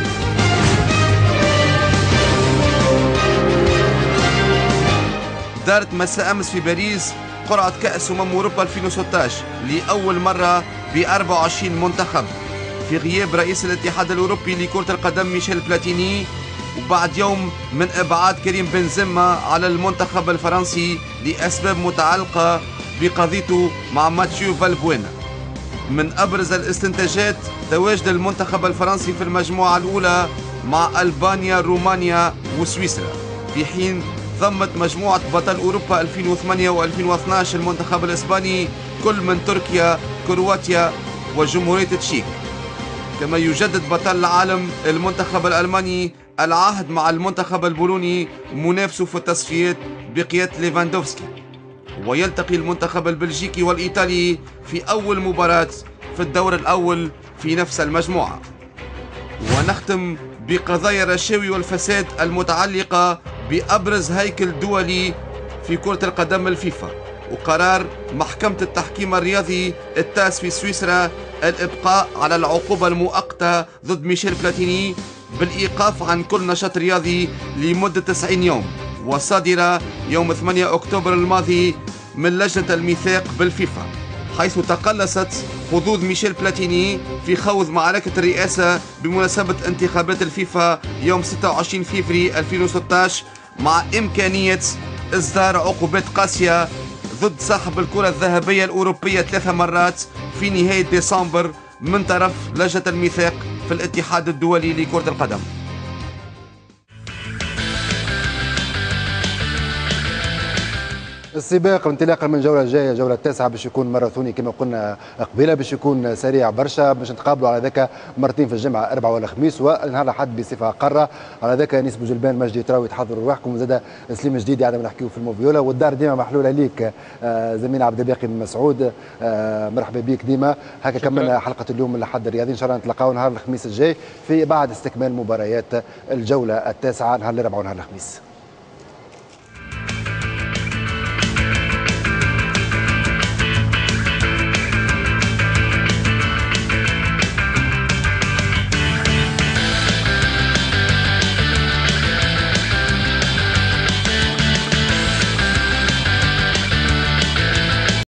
[SPEAKER 9] دارت مساء أمس في باريس قرعة كأس أمم أوروبا ألفين وستة عشر لأول مرة ب أربعة وعشرين منتخب في غياب رئيس الاتحاد الأوروبي لكرة القدم ميشيل بلاتيني، وبعد يوم من إبعاد كريم بنزيما على المنتخب الفرنسي لأسباب متعلقة بقضيته مع ماتيو فالبوينا. من أبرز الاستنتاجات تواجد المنتخب الفرنسي في المجموعة الأولى مع ألبانيا، رومانيا وسويسرا، في حين ضمت مجموعة بطل أوروبا ألفين وثمانية وألفين واثني عشر المنتخب الإسباني كل من تركيا، كرواتيا وجمهورية تشيك. كما يجدد بطل العالم المنتخب الألماني العهد مع المنتخب البولوني منافسه في التصفيات بقيادة ليفاندوفسكي، ويلتقي المنتخب البلجيكي والإيطالي في أول مباراة في الدور الأول في نفس المجموعة. ونختم بقضايا الرشاوي والفساد المتعلقة بأبرز هيكل دولي في كرة القدم الفيفا، وقرار محكمة التحكيم الرياضي التاس في سويسرا الإبقاء على العقوبة المؤقتة ضد ميشيل بلاتيني بالإيقاف عن كل نشاط رياضي لمدة تسعين يوم، وصادرة يوم ثمانية أكتوبر الماضي من لجنة الميثاق بالفيفا، حيث تقلصت حظوظ ميشيل بلاتيني في خوض معركة الرئاسة بمناسبة انتخابات الفيفا يوم ستة وعشرين فبراير ألفين وستة عشر، مع إمكانية إصدار عقوبات قاسية ضد صاحب الكرة الذهبية الأوروبية ثلاث مرات في نهاية ديسمبر من طرف لجنة الميثاق في الاتحاد الدولي لكرة القدم.
[SPEAKER 1] السباق انطلاقا من الجولة الجاية، الجولة التاسعة، باش يكون ماراثوني كما قلنا قبيلة، باش يكون سريع برشا، باش نتقابلوا على ذاك مرتين في الجمعة، اربعة ولا خميس، ونهار الاحد بصفة قارة. على ذاك انيس بوجلبان، مجدي تراوي، تحضروا رواحكم، وزاد سليم جديد عندما نحكيو في الموفيولا، والدار ديما محلولة ليك زميلنا عبد الباقي بن مسعود، مرحبا بك ديما. هكا كملنا حلقة اليوم من الأحد الرياضي، ان شاء الله نتلاقاو نهار الخميس الجاي في بعد استكمال مباريات الجولة التاسعة، نهار الاربعاء ونهار الخميس.